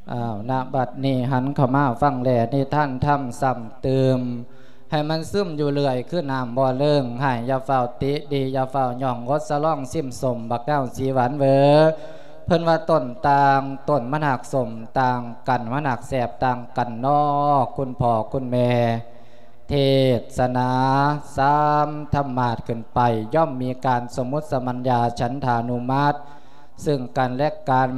ອ້າວ ນະບັດນີ້ຫັນເຂົ້າມາຟັງແລນິທານທຳຊ້ຳຕື່ມ ໃຫ້ມັນຊຶມຢູ່ເລື້ອຍຄືນ້ຳບໍ່ເລີງ. ຮ້າຍຢ່າຟ້າວຕິ ດີຢ່າຟ້າວຍ້ອງ ອົດສະຫຼອງຊິມສົ້ມ ບັກນາວສີຫວານເວີ. ເພິ່ນວ່າຕົ້ນຕ່າງ ຕົ້ນມັນຫາກສົ້ມຕ່າງກັນ ມັນຫາກແຊບຕ່າງກັນນໍ ຄຸນພໍ່ຄຸນແມ່. ເທດສະໜາສາມທຳມາດຂຶ້ນໄປ ຍ່ອມມີການສົມມຸດສະມັນຍາ ສັນທານຸມັດ ເຊິ່ງກັນແລະກັນ.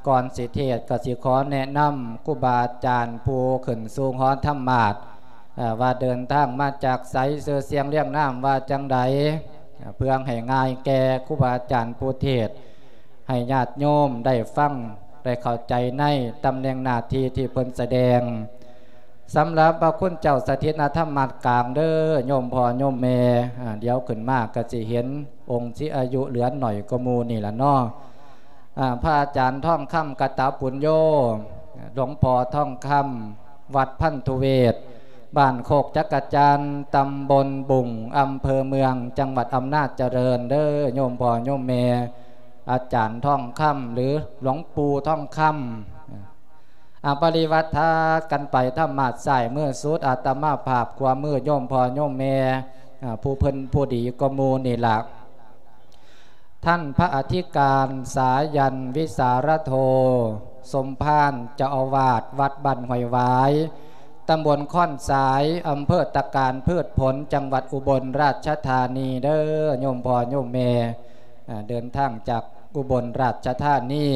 ກ່ອນຊິເທດກໍຊິຂໍແນະນຳຄູບາອາຈານຜູ້ຂຶ້ນສູ່ຫໍທຳມາດ ເອີ່ ວ່າເດີນທາງມາຈາກໃສ ຊື່ສຽງລຽງນາມວ່າຈັ່ງໃດ ເພື່ອໃຫ້ງ່າຍແກ່ຄູບາອາຈານຜູ້ເທດ ໃຫ້ຍາດໂຍມໄດ້ຟັງ ໄດ້ເຂົ້າໃຈໃນຕຳແໜ່ງໜ້າທີ່ທີ່ເພິ່ນສະແດງ. ສຳລັບພະຄຸນເຈົ້າສະຖິດນະທຳມາດກາງເດີ ໂຍມພໍ່ໂຍມແມ່. ອາ ດຽວຂຶ້ນມາກໍຊິເຫັນອົງທີ່ອາຍຸເຫຼືອໜ້ອຍກວ່າໝູ່ນີ້ລະເນາະ. ອາ ພະອາຈານທອງຄຳ ກະຕະປຸນໂຍ ຫຼວງພໍ່ທອງຄຳ ວັດພັນທຸເວດ ບ້ານໂຄກຈັກກະຈັນ ຕຳບົນບຸງ ອຳເພີເມືອງ ຈັງຫວັດອຳນາດຈະເລີນເດີ ໂຍມພໍ່ໂຍມແມ່. ອາຈານທອງຄຳ ຫຼື ຫຼວງປູ່ທອງຄຳ. ອາ ປະລິວັດທາກັນໄປທຳມາດຊ້າຍມືສຸດ ອາດຕະມາພາບຂວາມື ໂຍມພໍ່ໂຍມແມ່ ອາ ຜູ້ເພິ່ນຜູ້ດີກວ່າໝູ່ນີ້ລະ. ທ່ານພະອະທິການ ສາຍັນ ວິສາລະໂທ ສົມພານ ເຈົ້າອາວາດວັດບ້ານຫ້ວຍຫວາຍ ຕຳບົນຄ້ອນສາຍ ອຳເພີຕະການພືດຜົນ ຈັງຫວັດອຸບົນລາຊະທານີເດີ ໂຍມພໍ່ໂຍມແມ່. ອາ ເດີນທາງຈາກອຸບົນລາຊະທານີ.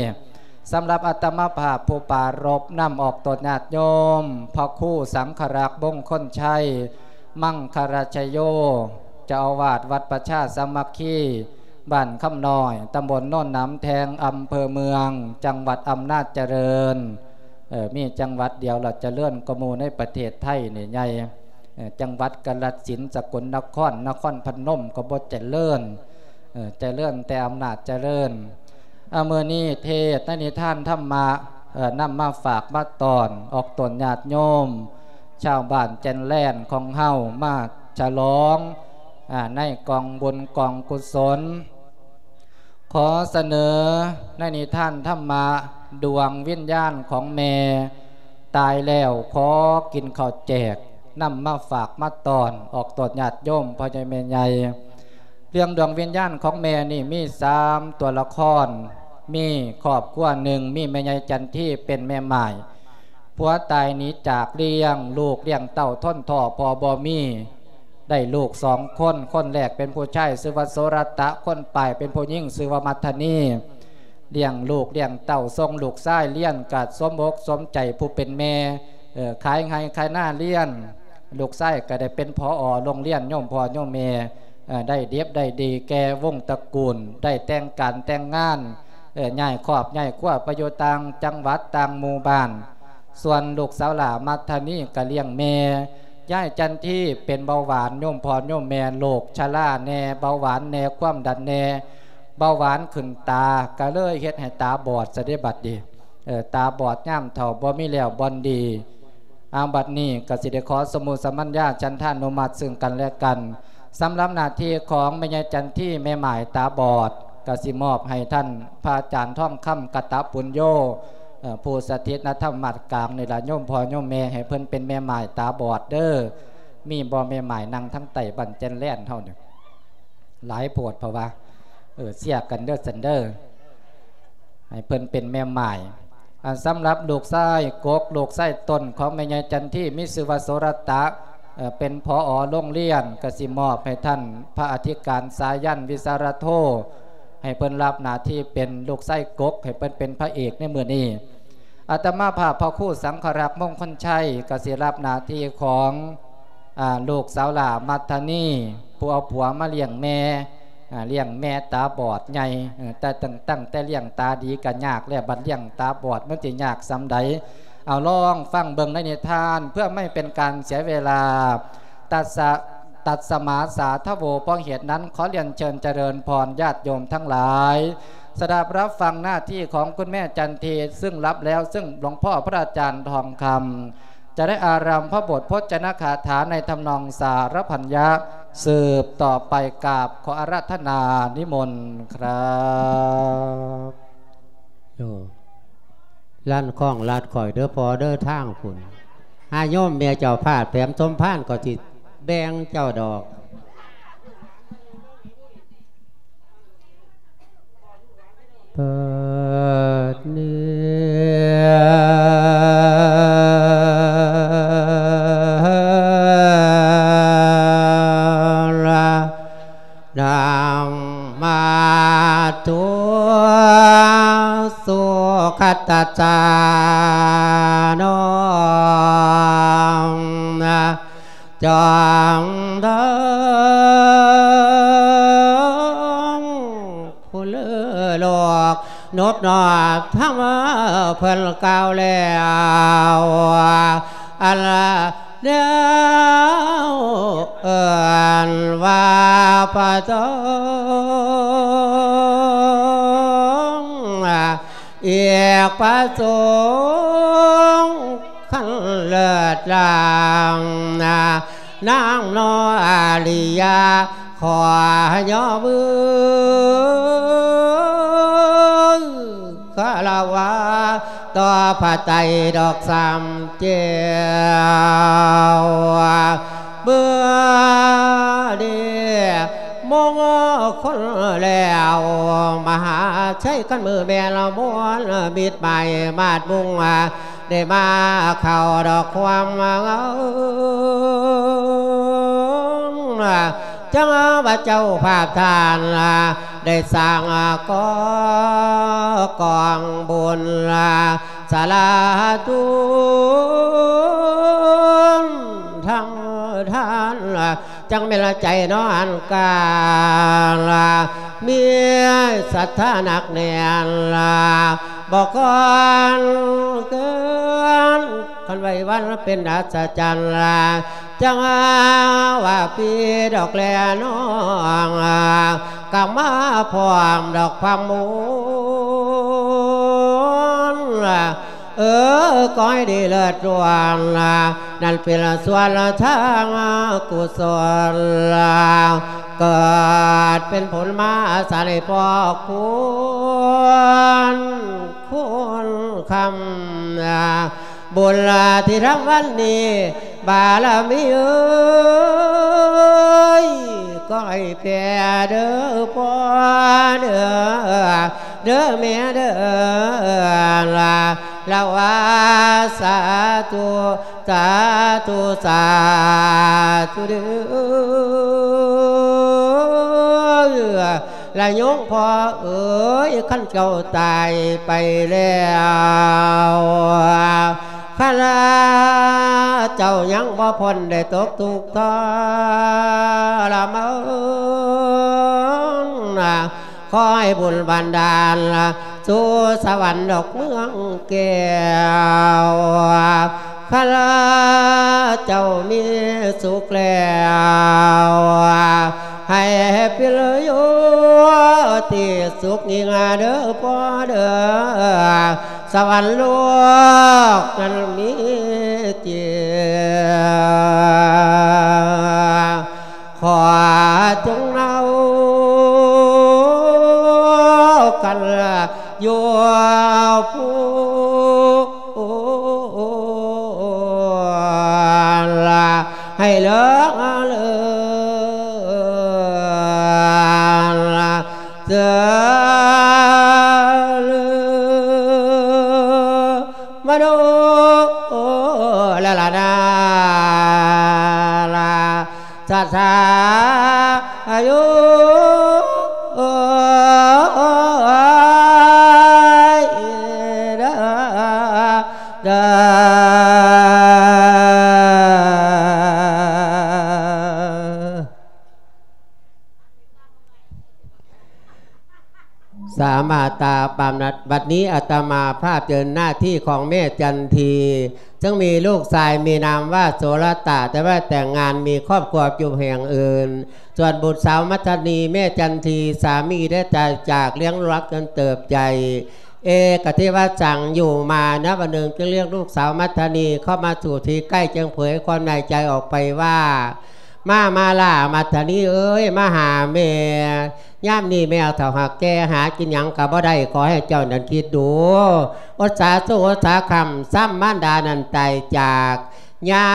ສຳລັບອາດຕະມາພາບຜູ້ປາລົບນຳອອກຕົນຍາດໂຍມ ພະຄູສັງຄະລັກ ມົງຄົນໄຊ ມັງຄະລະຊະໂຍ ເຈົ້າອາວາດວັດປະຊາສາມັກຄີ ບ້ານຄຳນ້ອຍ ຕຳບົນໂນນໜາມແທງ ອຳເພີເມືອງ ຈັງຫວັດອຳນາດຈະເລີນ. ເອີ ມີຈັງຫວັດດຽວລະຈະເລີນກວ່າໝູ່ໃນປະເທດໄທນີ້ໃຫຍ່. ເອີ ຈັງຫວັດກາລະສິນ ສະກົນນະຄອນ ນະຄອນພະນົມກໍບໍ່ຈະເລີນ. ເອີ ຈະເລີນແຕ່ອຳນາດຈະເລີນ. ອາ ມື້ນີ້ເທດໃນນິທານທຳມະ ເອີ ນຳມາຝາກມາຕ້ອນອອກຕົນຍາດໂຍມ ຊາວບ້ານແກ່ນແລນຂອງເຮົາມາສະຫຼອງ ອາ ໃນກອງບຸນກອງກຸສົນ. ຂໍສະເໜີໃນນິທານທຳມະ ດວງວິນຍານຂອງແມ່ຕາຍແລ້ວ ຂໍກິນເຂົ້າແຈກ ນຳມາຝາກມາຕ້ອນອອກຕົນຍາດໂຍມ ພໍ່ໃຫຍ່ແມ່ໃຫຍ່. ເລື່ອງດວງວິນຍານຂອງແມ່ນີ້ມີສາມຕົວລະຄອນ ມີຄອບຄົວໜຶ່ງ ມີແມ່ໃຫຍ່ຈັນທີເປັນແມ່ໝ້າຍ ຜົວຕາຍໜີຈາກລ້ຽງລູກລ້ຽງເຕົ້າ ທົນທໍ້ພໍ່ບໍ່ມີ ໄດ້ລູກສອງຄົນ ຄົນແລກເປັນຜູ້ຊາຍຊື່ວ່າໂສລະຕະ ຄົນປາຍເປັນຜູ້ຍິງຊື່ວ່າມັດທະນີ. ລ້ຽງລູກລ້ຽງເຕົ້າ ສົ່ງລູກຊາຍຮຽນກະສົມອົກສົມໃຈຜູ້ເປັນແມ່ ເອີ ຂາຍໄຮ່ຂາຍນາຮຽນ ລູກຊາຍກໍໄດ້ເປັນ ຜອ ໂຮງຮຽນ ໂຍມພໍ່ໂຍມແມ່ ເອີ ໄດ້ດິບໄດ້ດີແກ່ວົງຕະກູນ ໄດ້ແຕ່ງການແຕ່ງງານ ເອີ ຍ້າຍຄອບຍ້າຍຄົວໄປຢູ່ຕ່າງຈັງຫວັດຕ່າງໝູ່ບ້ານ. ສ່ວນລູກສາວຫຼ້າມັດທະນີກໍລ້ຽງແມ່ ຍາຍຈັນທີເປັນເບົາຫວານ ໂຍມພໍ່ໂຍມແມ່ ໂລກຊະລາແດ່ ເບົາຫວານແດ່ ຄວາມດັນແດ່ ເບົາຫວານຂຶ້ນຕາ ກໍເລີຍເຮັດໃຫ້ຕາບອດຊະເດບັດນີ້. ເອີ ຕາບອດຍາມເຖົ້າບໍ່ມີແລ້ວບ່ອນດີ. ອາ ບັດນີ້ກໍຊິໄດ້ຂໍສົມມຸດສະມັນຍາ ສັນທານຸມັດເຊິ່ງກັນແລະກັນ. ສຳລັບໜ້າທີ່ຂອງແມ່ໃຫຍ່ຈັນທີ ແມ່ໝ້າຍຕາບອດ ກໍຊິມອບໃຫ້ທ່ານພະອາຈານທອງຄຳ ກະຕະປຸນໂຍ ເອີ ຜູ້ສະຖິດນະທຳມາດກາງນີ້ລະ ໂຍມພໍ່ໂຍມແມ່ ໃຫ້ເພິ່ນເປັນແມ່ໝ້າຍຕາບອດເດີ. ມີບໍ່ແມ່ໝ້າຍ ນັ່ງທາງໃຕ້ບ້ານແຈນແລນເຮົານີ້ ຫຼາຍໂພດ ເພາະວ່າ ເອີ ເຊຍກັນເດີຊັ້ນເດີ ໃຫ້ເພິ່ນເປັນແມ່ໝ້າຍ. ອັນສຳລັບລູກຊາຍກົກ ລູກຊາຍຕົ້ນຂອງແມ່ໃຫຍ່ຈັນທີ ມີຊື່ວ່າໂສລະຕະ ເອີ ເປັນ ຜອ ໂຮງຮຽນ ກໍຊິມອບໃຫ້ທ່ານພະອະທິການ ສາຍັນ ວິສາລະໂທ ໃຫ້ເພິ່ນຮັບໜ້າທີ່ເປັນລູກຊາຍກົກ ໃຫ້ເພິ່ນເປັນພະເອກໃນມື້ນີ້. ອາດຕະມາພາບພະຄູສັງຄະລັກ ມົງຄົນໄຊ ກໍຊິຮັບໜ້າທີ່ຂອງ ອາ ລູກສາວຫຼ້າມັດທະນີ ຜູ້ເອົາຜົວມາລ້ຽງແມ່ ອາ ລ້ຽງແມ່ຕາບອດໃຫຍ່ ເອີ ແຕ່ຕັ້ງ ຕັ້ງແຕ່ລ້ຽງຕາດີກໍຍາກແລ້ວ ບັດລ້ຽງຕາບອດມັນຊິຍາກສ່ຳໃດ. ເອົາ ລອງຟັງເບິ່ງໃນນິທານ ເພື່ອໄມ່ເປັນການເສຍເວລາ. ຕັດສະ ຕັດສະມາສາທະໂວ ເພາະເຫດນັ້ນ ຂໍລຽນເຊີນຈະເລີນພອນຍາດໂຍມທັງຫຼາຍ ສະດັບຮັບຟັງໜ້າທີ່ຂອງຄຸນແມ່ຈັນທີ ຊຶ່ງຮັບແລ້ວ ຊຶ່ງຫຼວງພໍ່ພະອາຈານທອງຄຳ ຈະໄດ້ອາຣຳພະບົດພົດຈະນະຄາຖາໃນທຳນອງສາລະພັນຍະ ສືບຕໍ່ໄປ. ກາບຂໍອາລາທະນານິມົນຄຣັບ. ລັນຄ້ອງລັດຂ້ອຍເດີພໍ່ເດີທາງພຸ້ນ. ຫາໂຍມແມ່ເຈົ້າພາດແຖມສົມພານກໍຊິແບ່ງເຈົ້າດອກ. ບັດນີ້ ນະມະ ໂຕ ສຸຂະຕະສາ ໂນ ນະ ຈອງເດີງ ຜູ້ລືໂລກ ນົບນອບທຳເພິ່ນກ່າວແລ້ວ ອັນລະ ແລ້ວເອີ້ນວ່າພະສົງ ອີກພະສົງ ຄັນເລີດລາງນາ ນາງໂນອາລິຍາ ຂໍຍໍມືຄາລະວະຕໍ່ພະໄຕດອກສາມແກ້ວ ເມື່ອນີ້ມົງຄົນແລ້ວ ມະຫາໄຊຄັນມືແມ່ນລະມວນ ມິດໄມ້ມາດມຸງ ໄດ້ມາເຂົ້າດອກຄວາມເຫງົາ ຈັ່ງວ່າເຈົ້າພາບທ່ານ ໄດ້ສ້າງກໍ່ກອງບຸນ ສາລາຕຸນທຳທານ ຈັ່ງແມ່ນລະໃຈນອນການ ມີສັດທາໜັກແໜ້ນ ບໍ່ຄອນເກີນ ຄັນໄວ້ວັນເປັນອັດສະຈັນ ຈັ່ງວ່າພີ່ດອກແລນ້ອງ ກໍມາພ້ອມດອກຄວາມມົນ ເອີ ກໍໃຫ້ດີເລີດລ້ວນ ນັ້ນເປັນສ່ວນທາງກຸສົນ ເກີດເປັນຜົນມາສາໃຫ້ພໍ່ຄຸນ ຄຸນຄຳ ບຸນທີ່ທຳວັນນີ້ ບາລະມີເອີຍ ກໍໃຫ້ແຜ່ເດີພໍ່ເດີ ເດີແມ່ເດີ ລະລະວ່າສາທຸ ສາທຸ ສາທຸເດີ ລະໂຍມພໍ່ເອີຍ ຄັນເຈົ້າຕາຍໄປແລ້ວ ຄັນເຈົ້າຍັງບໍ່ພົ້ນໄດ້ຕົກທຸກທໍລະມານ ຂໍໃຫ້ບຸນບັນດານສູ່ສະຫວັນດອກເມືອງແກ້ວ ຂ້າພະເຈົ້າມີສຸກແລ້ວ ໃຫ້ເປັນຢູ່ທີ່ສຸກຍິ່ງເດີພໍ່ເດີ ສະຫວັນໂລກນັ້ນມີຈິງ ຂໍຈົ່ງເອົາກັນຢູ່ຜູ້ລະ ໃຫ້ເລີກເລີນເຈີມະໂນລະລະນາລາ ສາສາອາຍຸເດີ ເດີ ສາມາດຕາປາມນັດ ບັດນີ້ອາດຕະມາພາບເຊີນໜ້າທີ່ຂອງແມ່ຈັນທີ ເຊິ່ງມີລູກຊາຍມີນາມວ່າໂສລະຕະ ແຕ່ວ່າແຕ່ງງານມີຄອບຄົວຢູ່ແຫ່ງອື່ນ. ສ່ວນບຸດສາວມັດທະນີ ແມ່ຈັນທີ ສາມີໄດ້ຕາຍຈາກ ລ້ຽງລູກລັກຈົນເຕີບໃຫຍ່ ເອກະເທວະສັງຢູ່ມານະ ວັນໜຶ່ງຈຶ່ງລຽກລູກສາວມັດທະນີເຂົ້າມາສູ່ທີ່ໃກ້ ຈຶ່ງເຜີຍຄວາມໃນໃຈອອກໄປວ່າ ມາ ມາລາ ມັດທະນີເອີຍ ມາຫາແມ່. ຍາມນີ້ແມ່ເຖົ້າຫາກແກ່ ຫາກິນຫຍັງກໍບໍ່ໄດ້ ຂໍໃຫ້ເຈົ້ານັ້ນຄິດດູ. ອົດສາສູ້ ອົດສາຄ້ຳ ຊ້ຳມານດານັ້ນຕາຍຈາກ. ຍາ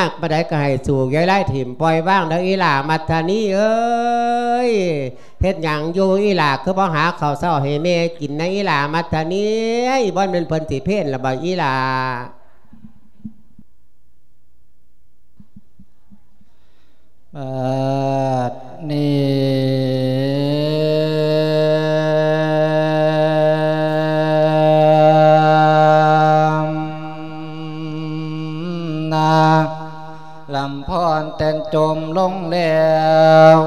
ກປານໃດກໍໃຫ້ສູ້ ຢ່າໄດ້ຖິ້ມປ່ອຍວາງເດີອີ່ຫຼ້າມັດທະນີເອີຍ. ເຮັດຫຍັງຢູ່ອີ່ຫຼ້າ ຄືບໍ່ຫາເຂົ້າເຊົ້າໃຫ້ແມ່ກິນນະອີ່ຫຼ້າມັດທະນີເອີຍ. ບໍ່ແມ່ນເພິ່ນຊິເພນລະບໍ່ອີ່ຫຼ້າ? ບັດນີ້ນາ ລຳພອນແຕ່ນຈົມລົງແລ້ວ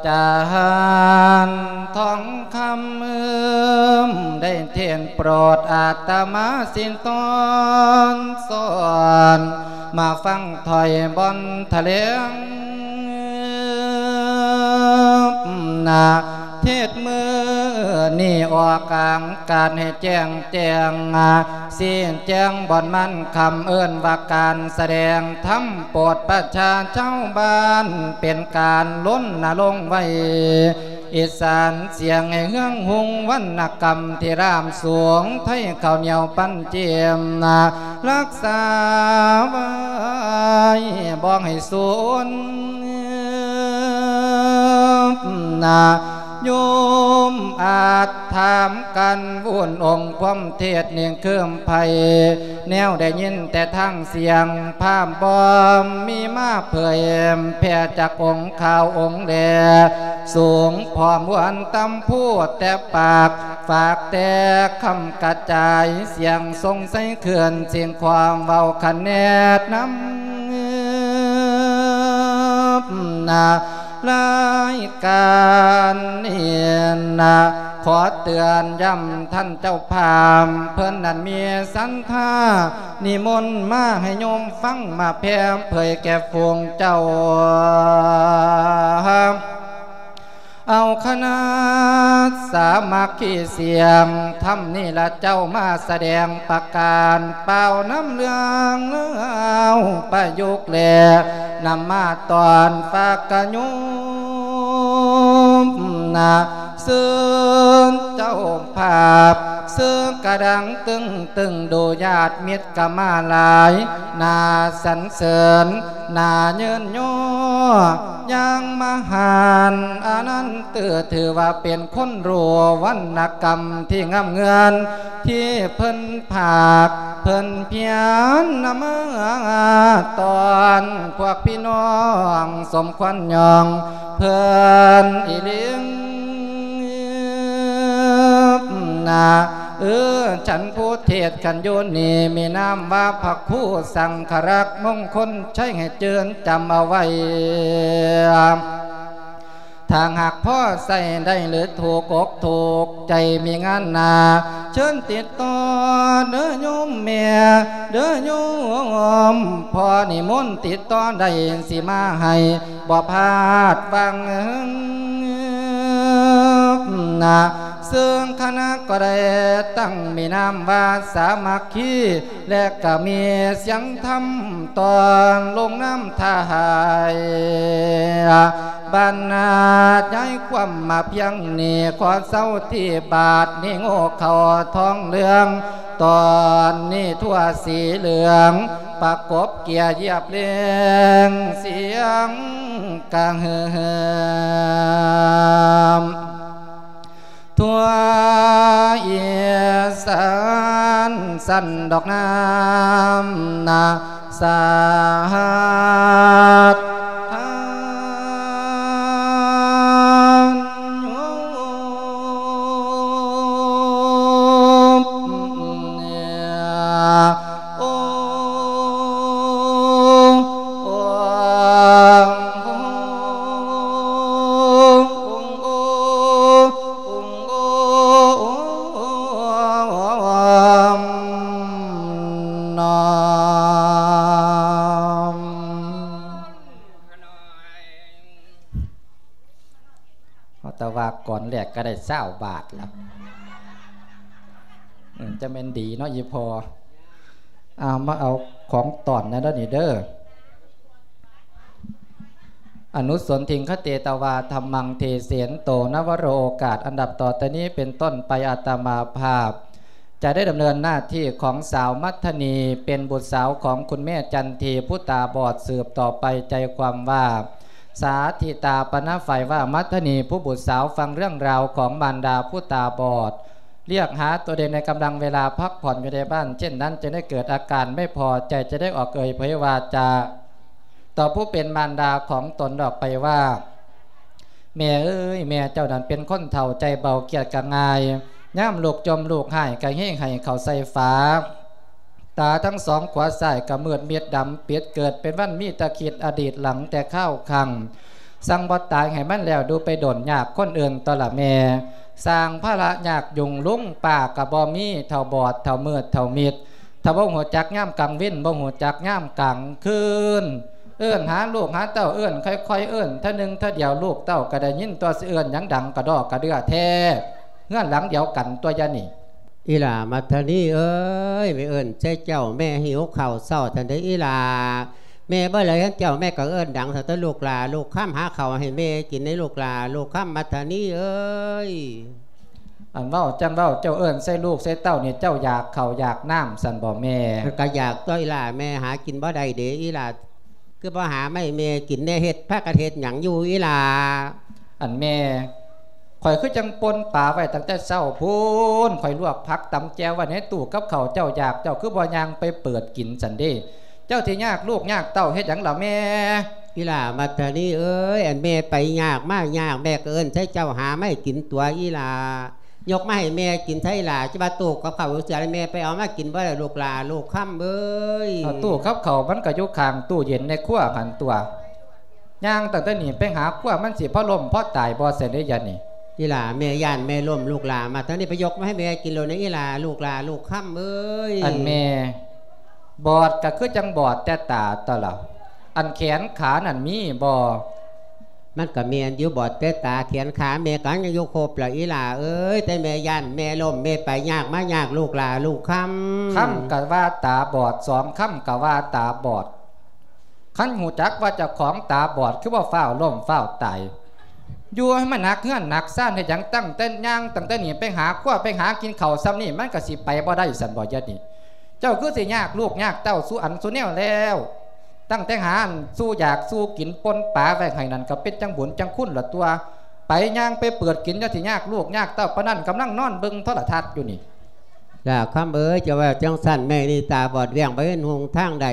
ຈານທອງຄຳ ໄດ້ເທດໂປດອາດຕະມາ ຊິນຕອນສອນ ມາຟັງຖ້ອຍບ່ອນຖະແຫຼງນາ. ເທດມື້ນີ້ອອກອາກາດໃຫ້ແຈ້ງແຈ້ງ ຊີ້ແຈງບ່ອນມັນຄຳ ເອີ້ນວ່າການສະແດງທຳໂປດປະຊາຊາວບ້ານ ເປັນການລົນນະລົງໄວ້ ອີສານສຽງໃຫ້ເຮືອງຮຸ່ງ ວັນນະກຳທີ່ລາບສູງ ໄທເຂົ້າໜຽວປັນຈິມນາ ຮັກສາໄວ້ບໍ່ໃຫ້ສູນນາ. ໂຍມອາດຖາມກັນວຸ່ນ ອົງຄວາມເທດນີ້ຄືມໃຜ ແນວໄດ້ຍິນແຕ່ທາງສຽງ ພາບບໍ່ມີມາເຜີຍແຜ່ຈາກອົງຂ່າວອົງແລ ສູງພ້ອມຫວນຕຳພູແຕ່ປາກ ຝາກແຕ່ຄຳກະຈາຍ ສຽງຊົງໄຊເຄື່ອນ ສຽງຄວາມເວົ້າຂະແນດນຳນາ. ລາຍການນີ້ນາ ຂໍເຕືອນຢ້ຳທ່ານເຈົ້າພາບ ເພິ່ນນັ້ນມີສັນທາ ນິມົນມາໃຫ້ໂຍມຟັງ ມາແຜ່ເຜີຍແກ່ຝູງເຈົ້າ ເອົາຄະນະສາມັກຄີສຽງທຳນີ້ລະເຈົ້າ ມາສະແດງປະການ ປ່າວນຳເລື່ອງລາວປະຍຸກ ແລະ ນຳມາຕ້ອນຝາກກະໂຍມນາ ເຊີນເຈົ້າພາບ ເຊີນກະດັງຕຶງຕຶງ ດູຍາດມິດກະມາຫຼາຍ ໜ້າສັນເສີນ ໜ້າເຍີນຍໍ ຢ່າງມະຫານອານັນ ຖື ຖືວ່າເປັນຄົນຮູ້ວັນນະກຳທີ່ງາມເງືອນ ທີ່ເພິ່ນພາກເພິ່ນພຽນນຳມາຕ້ອນ ພວກພີ່ນ້ອງສົມຄວນຍ້ອງເພິ່ນອີ່ຫຼີນາ. ເອີ ສັນຜູ້ເທດກັນຢູ່ນີ້ ມີນາມວ່າພະຄູສັງຄະລັກ ມົງຄົນໄຊ ໃຫ້ຈື່ນຈຳເອົາໄວ້ ຖ້າຫາກພໍໃຊ້ໄດ້ ຫຼື ຖືກອົກຖືກໃຈ ມີງານໜ້າ ເຊີນຕິດຕໍ່ເດີໂຍມແມ່ ເດີໂຍມພໍ່ ນິມົນຕິດຕໍ່ໄດ້ ຊິມາໃຫ້ບໍ່ພາດຫວັງນາ. ເຊິ່ງຄະນະກໍໄດ້ຕັ້ງມີນາມວ່າສາມັກຄີ ແລະກະມີສຽງທຳຕອນລົງນຳທ້າຍ ບັນນາຍຄວາມມາພຽງນີ້ ຂໍເຊົາທີ່ບາດນີ້ໂງ່ເຂົ້າທອງເຫຼືອງ ຕອນນີ້ທົ່ວສີເຫຼືອງ ປະກົບເກຍຢຽບເລງສຽງກະຫຶ່ມ ທົ່ວອີສານສັນດອກນາມນາສາດທານ ໂອ້ ໂອ້ ນ້ອມ ເຮົາແຕ່ວ່າກ່ອນແລກກໍໄດ້ຊາວບາດລະ ອືມ ຈະແມ່ນດີເນາະ ອີ່ພໍ່. ເອົາ ມາເອົາຂອງຕ້ອນແດ່ເດີນີ້ເດີ. ອະນຸສົນທິງຄະເຕຕະວາ ທຳມັງເທເສນໂຕ ນະວະໂລ ໂອກາດອັນດັບຕໍ່ໄປນີ້ເປັນຕົ້ນໄປ ອາດຕະມາພາບຈະໄດ້ດຳເນີນໜ້າທີ່ຂອງສາວມັດທະນີ ເປັນບຸດສາວຂອງຄຸນແມ່ຈັນທີຜູ້ຕາບອດ ສືບຕໍ່ໄປໃຈຄວາມວ່າ ສາທິຕາປະນະໄຟວາ ມັດທະນີຜູ້ບຸດສາວຟັງເລື່ອງລາວຂອງມານດາຜູ້ຕາບອດ ລຽກຫາຕົວເອງໃນກຳລັງເວລາພັກຜ່ອນຢູ່ໃນບ້ານ ເຊັ່ນນັ້ນຈຶ່ງໄດ້ເກີດອາການໄມ່ພໍໃຈ ຈະໄດ້ອອກເອີ່ຍເຜີຍວາຈາ ຕໍ່ຜູ້ເປັນມານດາຂອງຕົນອອກໄປວ່າ ແມ່ເອີຍ ແມ່ເຈົ້ານັ້ນເປັນຄົນເຖົ້າໃຈເບົາ ຄຽດກໍງ່າຍ ຍາມລູກຈົ່ມລູກຮ້າຍກໍເຮງໃຫ້ເຂົ້າໃສ່ຝາ ຕາທັງສອງຂວາຊ້າຍກໍມືດມິດດຳປິດ ເກີດເປັນວັນມີແຕ່ຄິດອະດີດຫຼັງແຕ່ຄາວຄັ້ງ ສັ່ງບໍ່ຕາຍໃຫ້ມັນແລ້ວ ດູໄປດົນຍາກຄົນອື່ນຕົວະລະແມ່ ສ້າງພາລະຍາກຫຍຸ້ງ ລຸງປ້າກໍບໍ່ມີ ເຖົ້າບອດ ເຖົ້າມືດ ເຖົ້າມິດ ຖ້າບໍ່ຮູ້ຈັກຍາມກາງເວັນ ບໍ່ຮູ້ຈັກຍາມກາງຄືນ ເອີ້ນຫາລູກຫາເຕົ້າ ເອີ້ນຄ່ອຍໆ ເອີ້ນເທື່ອໜຶ່ງເທື່ອດຽວ ລູກເຕົ້າກໍໄດ້ຍິນຕົວະ ຊິເອີ້ນຫຍັງດັງກະດໍກະເດືອແທ້ ເຮືອນຫຼັງດຽວກັນຕົວະຍານີ້. ອີ່ຫຼ້າມັດທະນີເອີຍ ແມ່ເອີ້ນໃສ່ເຈົ້າ ແມ່ຫິວເຂົ້າເຊົ້າຊັ້ນເດ້ອີ່ຫຼ້າ ແມ່ບໍ່ໄດ້ເຫັນເຈົ້າ ແມ່ກໍເອີ້ນດັງຊັ້ນຕົວະ ລູກຫຼ້າລູກຄຳ ຫາເຂົ້າໃຫ້ແມ່ກິນໃນລູກຫຼ້າລູກຄຳ ມັດທະນີເອີຍ. ອັນເວົ້າຈັ່ງເວົ້າ ເຈົ້າເອີ້ນໃສ່ລູກໃສ່ເຕົ້ານີ້ ເຈົ້າຢາກເຂົ້າຢາກນ້ຳຊັ້ນບໍ່ແມ່? ມັນກໍຢາກຕົວະອີ່ຫຼ້າ ແມ່ຫາກິນບໍ່ໄດ້ເດ້ອີ່ຫຼ້າ ຄືບໍ່ຫາມາໃຫ້ແມ່ກິນແດ່ ເຮັດ ພາກັນເຮັດຫຍັງຢູ່ອີ່ຫຼ້າ? ອັນແມ່ ຂ້ອຍຄືຈັ່ງປົ່ນປາໄວ້ຕັ້ງແຕ່ເຊົ້າພຸ້ນ ຂ້ອຍລວກຜັກຕຳແຈ່ວໄວ້ໃນຕູ້ກັບເຂົ້າ ເຈົ້າຢາກ ເຈົ້າຄືບໍ່ຍ່າງໄປເປີດກິນຊັ້ນເດ້? ເຈົ້າຊິຍາກລູກຍາກເຕົ້າເຮັດຫຍັງລະແມ່? ອີ່ຫຼ້າມັດທະນີເອີຍ ອັນແມ່ໄປຍາກມາຍາກ ແມ່ກໍເອີ້ນໃສ່ເຈົ້າຫາມາໃຫ້ກິນຕົວະອີ່ຫຼ້າ ຍົກມາໃຫ້ແມ່ກິນຊະອີ່ຫຼ້າ ຈະວ່າຕູ້ກັບເຂົ້າເສຍ ແມ່ໄປເອົາມາກິນບໍ່ໄດ້ ລູກຫຼ້າລູກຄຳເອີຍ. ເອົາຕູ້ກັບເຂົ້າມັນກໍຢູ່ຂ້າງຕູ້ເຢັນໃນຄົວຫັ້ນຕົວະ ຍ່າງຕັ້ງແຕ່ນີ້ໄປຫາຄົວ ມັນຊິພໍລົ້ມພໍຕາຍບໍ່ຊັ້ນເດ້ຍານີ້? ອີ່ຫຼ້າ ແມ່ຢ້ານແມ່ລົ້ມ ລູກຫຼ້າ ມາທາງນີ້ໄປຍົກມາໃຫ້ແມ່ກິນໂລດນະ ອີ່ຫຼ້າ ລູກຫຼ້າລູກຄຳເອີຍ. ອັນແມ່ ບອດກໍຄືຈັ່ງບອດແຕ່ຕາຕົວະລະ ອັນແຂນຂານັ້ນມີບໍ່? ມັນກໍແມ່ນຢູ່ ບອດແຕ່ຕາ ແຂນຂາແມ່ກໍຍັງຢູ່ຄົບລະອີ່ຫຼ້າເອີຍ ແຕ່ແມ່ຢ້ານແມ່ລົ້ມ ແມ່ໄປຍາກມາຍາກ ລູກຫຼ້າລູກຄຳ. ຄຳກໍວ່າຕາບອດ ສອງຄຳກໍວ່າຕາບອດ. ຄັນຮູ້ຈັກວ່າເຈົ້າຂອງຕາບອດ ຄືບໍ່ຟ້າວລົ້ມຟ້າວຕາຍ? ຢູ່ໃຫ້ມັນໜັກເຮືອນໜັກຊານເຮັດຫຍັງ? ຕັ້ງແຕ່ຍ່າງ ຕັ້ງແຕ່ນີ້ໄປຫາຄົວ ໄປຫາກິນເຂົ້າຊ່ຳນີ້ ມັນກໍຊິໄປບໍ່ໄດ້ຊັ້ນບໍ່? ຍາດນີ້ ເຈົ້າຄືຊິຍາກລູກຍາກເຕົ້າສູ່ອັນສູ່ແນວແລ້ວ ຕັ້ງແຕ່ຫາອັນສູ່ຢາກສູ່ກິນ ປົ່ນປາໄວ້ໃຫ້ນັ້ນ ກໍເປັນຈັ່ງບຸນຈັ່ງຄຸນລະຕົວະ. ໄປຍ່າງໄປເປີດກິນ ຈັ່ງຊິຍາກລູກຍາກເຕົ້າປານນັ້ນ ກຳລັງນອນເບິ່ງໂທລະທັດຢູ່ນີ້. ຫຼ້າຄຳເອີຍ ເຈົ້າວ່າຈັ່ງຊັ້ນ ແມ່ນີ້ຕາບອດແຫວ່ງ ບໍ່ເຫັນຫົນທາງໃດ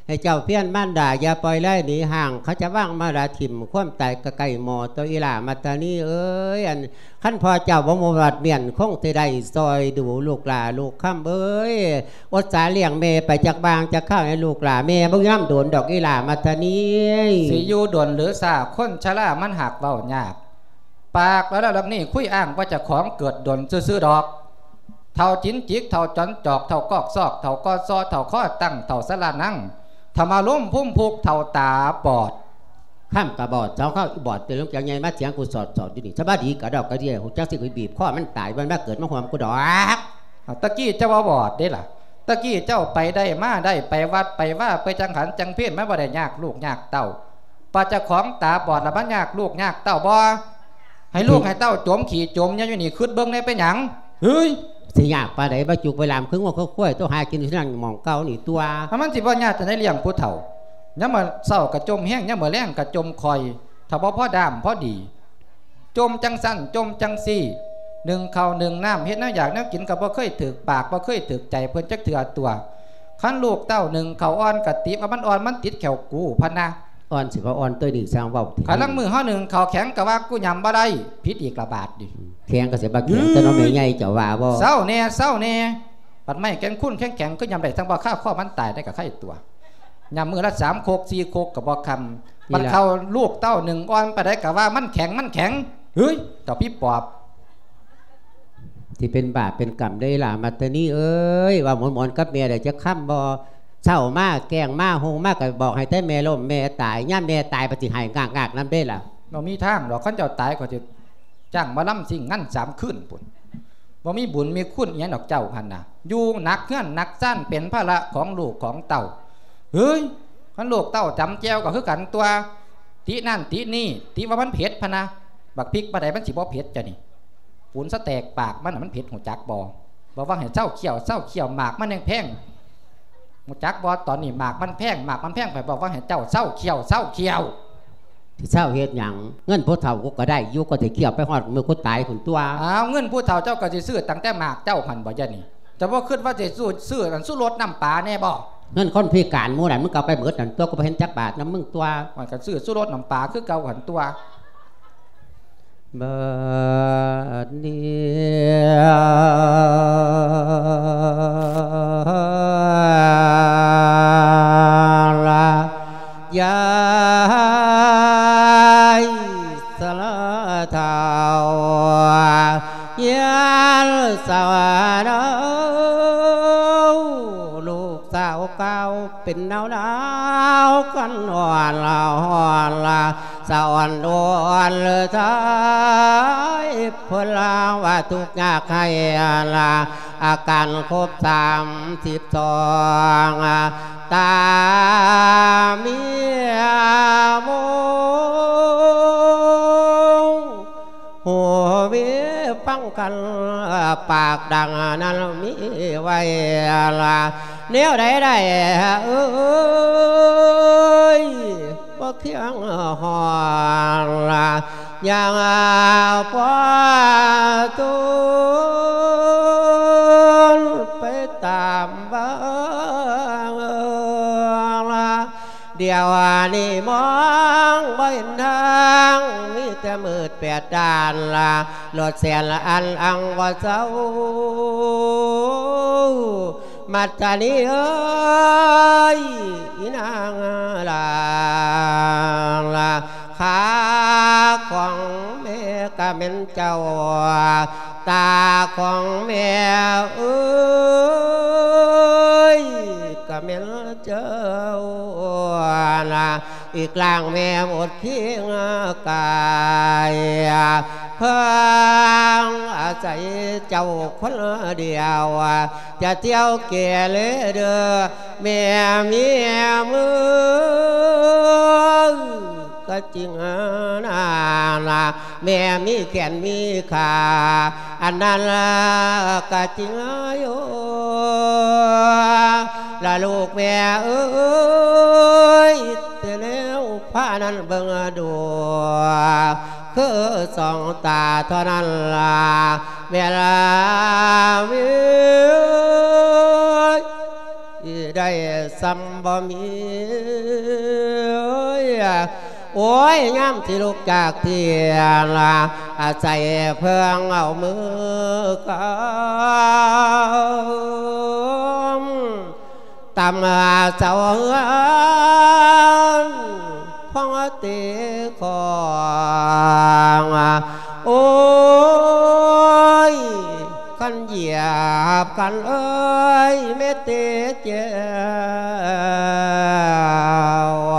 ໃຫ້ເຈົ້າພຽນມານດາ ຢ່າປ່ອຍໄລ່ໜີຫ່າງ ເຂົາຈະວາງມາລະຖິ້ມ ຄວາມຕາຍກໍໃກ້ໝໍ້ຕົວະ ອີ່ຫຼ້າມາທານີເອີຍ. ອັນ ຄັນພໍ່ເຈົ້າບໍ່ມາວັດວຽນ ຄົງຊິໄດ້ຊ່ອຍດູລູກຫຼ້າລູກຄຳເອີຍ. ອົດສາລ້ຽງແມ່ໄປຈັກບາງຈັກຄາວໃຫ້ລູກຫຼ້າ ແມ່ບໍ່ຢູ່ນຳດົນດອກ ອີ່ຫຼ້າມາທານີ. ຊິຢູ່ດົນຫຼືຊ້າ ຄົນຊະລາມັນຫາກເວົ້າຍາກ ປາກແລ້ວເລື່ອງນີ້ ຄຸຍອ້າງວ່າເຈົ້າຂອງເກີດດົນຊື່ໆດອກ. ເຖົ້າຈິນຈິກ ເຖົ້າຈອນຈອກ ເຖົ້າກອກຊອກ ເຖົ້າກໍຊໍ ເຖົ້າຄໍຕັ້ງ ເຖົ້າສະລະນັງ ທຳມາລຸມພຸມພຸກ ເຖົ້າຕາບອດ. ຄຳກະບອດ ສອງຄຳອີ່ບອດ ຕື່ນລົງຈາກໃຫຍ່ມາຖຽງກູສອດໆຢູ່ນີ້ ສະບາຍດີກະດອກກະເດຍ ຮູ້ຈັກຊິກູບີບຄໍມັນຕາຍ ມັນມາເກີດມາຮ່ວມກູດອກ. ຕະກີ້ເຈົ້າວ່າບອດເດ້ລະ ຕະກີ້ເຈົ້າໄປໄດ້ມາໄດ້ ໄປວັດໄປວາ ໄປຈັງຫັນຈັງເພນ ມັນບໍ່ໄດ້ຍາກລູກຍາກເຕົ້າ. ປາດເຈົ້າຂອງຕາບອດລະມັນຍາກລູກຍາກເຕົ້າບໍ່? ໃຫ້ລູກໃຫ້ເຕົ້າຈົມຂີ້ຈົມເຫຍື້ອຢູ່ນີ້ ຄຶດເບິ່ງແດ່ເປັນຫຍັງ? ເຮີ້ຍ ຊິຍາກປານໃດ ມາຈຸກໄປລາມຄືງົວຄືຄວາຍ ໂຕຫາກິນຢູ່ນັ້ນໝ່ອງເກົ່ານີ້ຕົວະ. ມັນຊິບໍ່ຍາກຈັ່ງໃດລ້ຽງຜູ້ເຖົ້າ ຍາມມື້ເຊົ້າກະຈົມແຮງ ຍາມມື້ແລງກະຈົມຄ່ອຍ ຖ້າບໍ່ພໍດ້າມພໍດີ ຈົ່ມຈັ່ງຊັ້ນຈົ່ມຈັ່ງຊີ້ ໜຶ້ງເຂົ້າໜຶ້ງນ້ຳ ເຮັດແນວຢາກແນວກິນກໍບໍ່ເຄີຍຖືກປາກ ບໍ່ເຄີຍຖືກໃຈເພິ່ນຈັກເທື່ອຕົວະ. ຄັນລູກເຕົ້າໜຶ້ງເຂົ້າອ່ອນກໍຕິວ່າມັນອ່ອນ ມັນຕິດແຂ້ວກູພະນະ. ອ່ອນຊິວ່າອ່ອນຕົວະ ນີ້ຊ່າງເວົ້າ. ຄັນລາງມື້ເຮົາໜຶ້ງເຂົ້າແຂງກໍວ່າກູຫຍ້ຳບໍ່ໄດ້ ຜິດອີກລະບາດນີ້. ແຂງກໍຊິວ່າແຂງ ແຕ່ເນາະແມ່ໃຫຍ່ເຈົ້າວ່າບໍ່? ເຊົາແດ່ ເຊົາແດ່ ບັດໄມ້ແກ່ນຄູນແຂງໆ ຄືຫຍ້ຳໄດ້ ທັງບໍ່ຄາຄໍມັນຕາຍໄດ້ກໍໄຄຕົວະ. ຍາມມື້ລະສາມຄົກສີ່ຄົກກໍບໍ່ຄຳ ບັດເຂົ້າລູກເຕົ້າໜຶ້ງອ່ອນປານໃດກໍວ່າມັນແຂງ ມັນແຂງ. ເຮີ້ຍ ເຈົ້າຜີປອບ ທີ່ເປັນບາບເປັນກຳໄດ້ຫຼ້າ ມັດຕະນີເອີຍ ເວົ້າມ່ວນໆກັບແມ່ໄດ້ຈັກຄຳບໍ່? ເຊົ້າມາແກງມາ ຮຸ່ງມາກໍບອກໃຫ້ແຕ່ແມ່ລົ້ມແມ່ຕາຍ ຍາມແມ່ຕາຍປະຕິໃຫ້ງາກໆນຳເດ້ລະ. ບໍ່ມີທາງດອກ ຄັນເຈົ້າຕາຍຂ້ອຍຊິຈ້າງໝໍລຳຊິງງານສາມຄືນພຸ້ນ. ບໍ່ມີບຸນມີຄຸນອີ່ຫຍັງດອກເຈົ້າຫັ້ນນະ ຢູ່ໜັກເຮືອນໜັກຊານ ເປັນພາລະຂອງລູກຂອງເຕົ້າ. ເຮີ້ຍ ຄັນລູກເຕົ້າຈຳແຈ່ວກໍຄືກັນຕົວະ. ຕິນັ້ນຕິນີ້ ຕິວ່າມັນເຜັດພະນະ. ບັກພິກປານໃດມັນຊິບໍ່ເຜັດ ເຈົ້ານີ້? ປູນສະແຕກປາກມັນນະ ມັນເຜັດ ຮູ້ຈັກບໍ່? ບອກວ່າໃຫ້ເຊົາຄ້ຽວ ເຊົາຄ້ຽວ ໝາກມັນແຮງແພງ ຮູ້ຈັກບໍ່? ຕອນນີ້ໝາກມັນແພງ ໝາກມັນແພງ ຂ້ອຍບອກວ່າໃຫ້ເຈົ້າເຊົາຄ້ຽວ ເຊົາຄ້ຽວ. ຊິເຊົາເຮັດຫຍັງ? ເງິນຜູ້ເຖົ້າກູກໍໄດ້ຢູ່ ກໍຊິຄ້ຽວໄປຮອດມື້ກູຕາຍພຸ້ນຕົວະ. ອ້າວ ເງິນຜູ້ເຖົ້າເຈົ້າກໍຊິຊື້ຕັ້ງແຕ່ໝາກເຈົ້າຫັ້ນບໍ່ ດຽວນີ້? ເຈົ້າບໍ່ຄິດວ່າຊິຊື້ ຊື້ອັນຊູລົດນ້ຳປາແດ່ບໍ່? ເງິນຄົນພິການໝູ່ນັ້ນ ມຶງກໍເອົາໄປໝົດນັ້ນຕົວະ ກູບໍ່ເຫັນຈັກບາດນຳມຶງຕົວະ. ຂ້ອຍກໍຊື້ຊູລົດນ້ຳປາຄືເກົ່າຫັ້ນຕົວະ. ບາດນີ້ ລະ ຍາຍສະລາເຖົ້າ ຍາຍສະຫວານເອົາ ລູກສາວເກົ່າເປັນໜາວໆ ກັນອ່ອນລະອ່ອນລະ ສະອ່ອນໂດນເລີທາຍ ເພິ່ນລາວ່າທຸກຍາກໄຮ້ລະ ອາການຄົບສາມສິບສອງ ຕາເມຍມົງ ຫູມີຟັງກັນ ປາກດັງນັ້ນມີໄວ້ລະ ແນວໃດໄດ້ເອີຍ ບໍ່ຄຽງຮອດລະ ຍັງພໍທົນໄປຕາມເບິ່ງລະ ດຽວນີ້ມອງບໍ່ເຫັນທາງ ມີແຕ່ມືດແປດດ້ານລະ ລົດແສນລະອັນອັງບໍ່ເຊົາ ມັດທະນີເອີຍ ອີນາງລາ ຂາຂອງແມ່ກະແມ່ນເຈົ້າ ຕາຂອງແມ່ເອີຍ ກະແມ່ນເຈົ້ານະ ອີກລ່າງແມ່ໝົດຄີງກາຍ ເພິ່ງອາໄສເຈົ້າຄົນດຽວ ຈະທ່ຽວເກເລເດີ ແມ່ເມຍເອີຍ ກະຈິງນານາ ແມ່ມີແຂນມີຂາ ອັນນັ້ນລະກະຈິງຢູ່ ລະລູກແມ່ເອີຍ ແຕ່ແນວພານັ້ນເບິ່ງດູ ຄືສອງຕາເທົ່ານັ້ນລະ ແມ່ລາເອີຍ ໄດ້ສ່ຳບໍ່ມີ ໂອ້ຍ ຍາມທີ່ລຸກຈາກທ່ຽງລະ ອາໄສເພິ່ງເອົາມືກຳ ຕຳເສົາເຮືອນ ພອງເຕຂອງ ໂອ້ຍ ຄັນຢຽບຄັນເອີຍ ແມ່ເຕແຈວ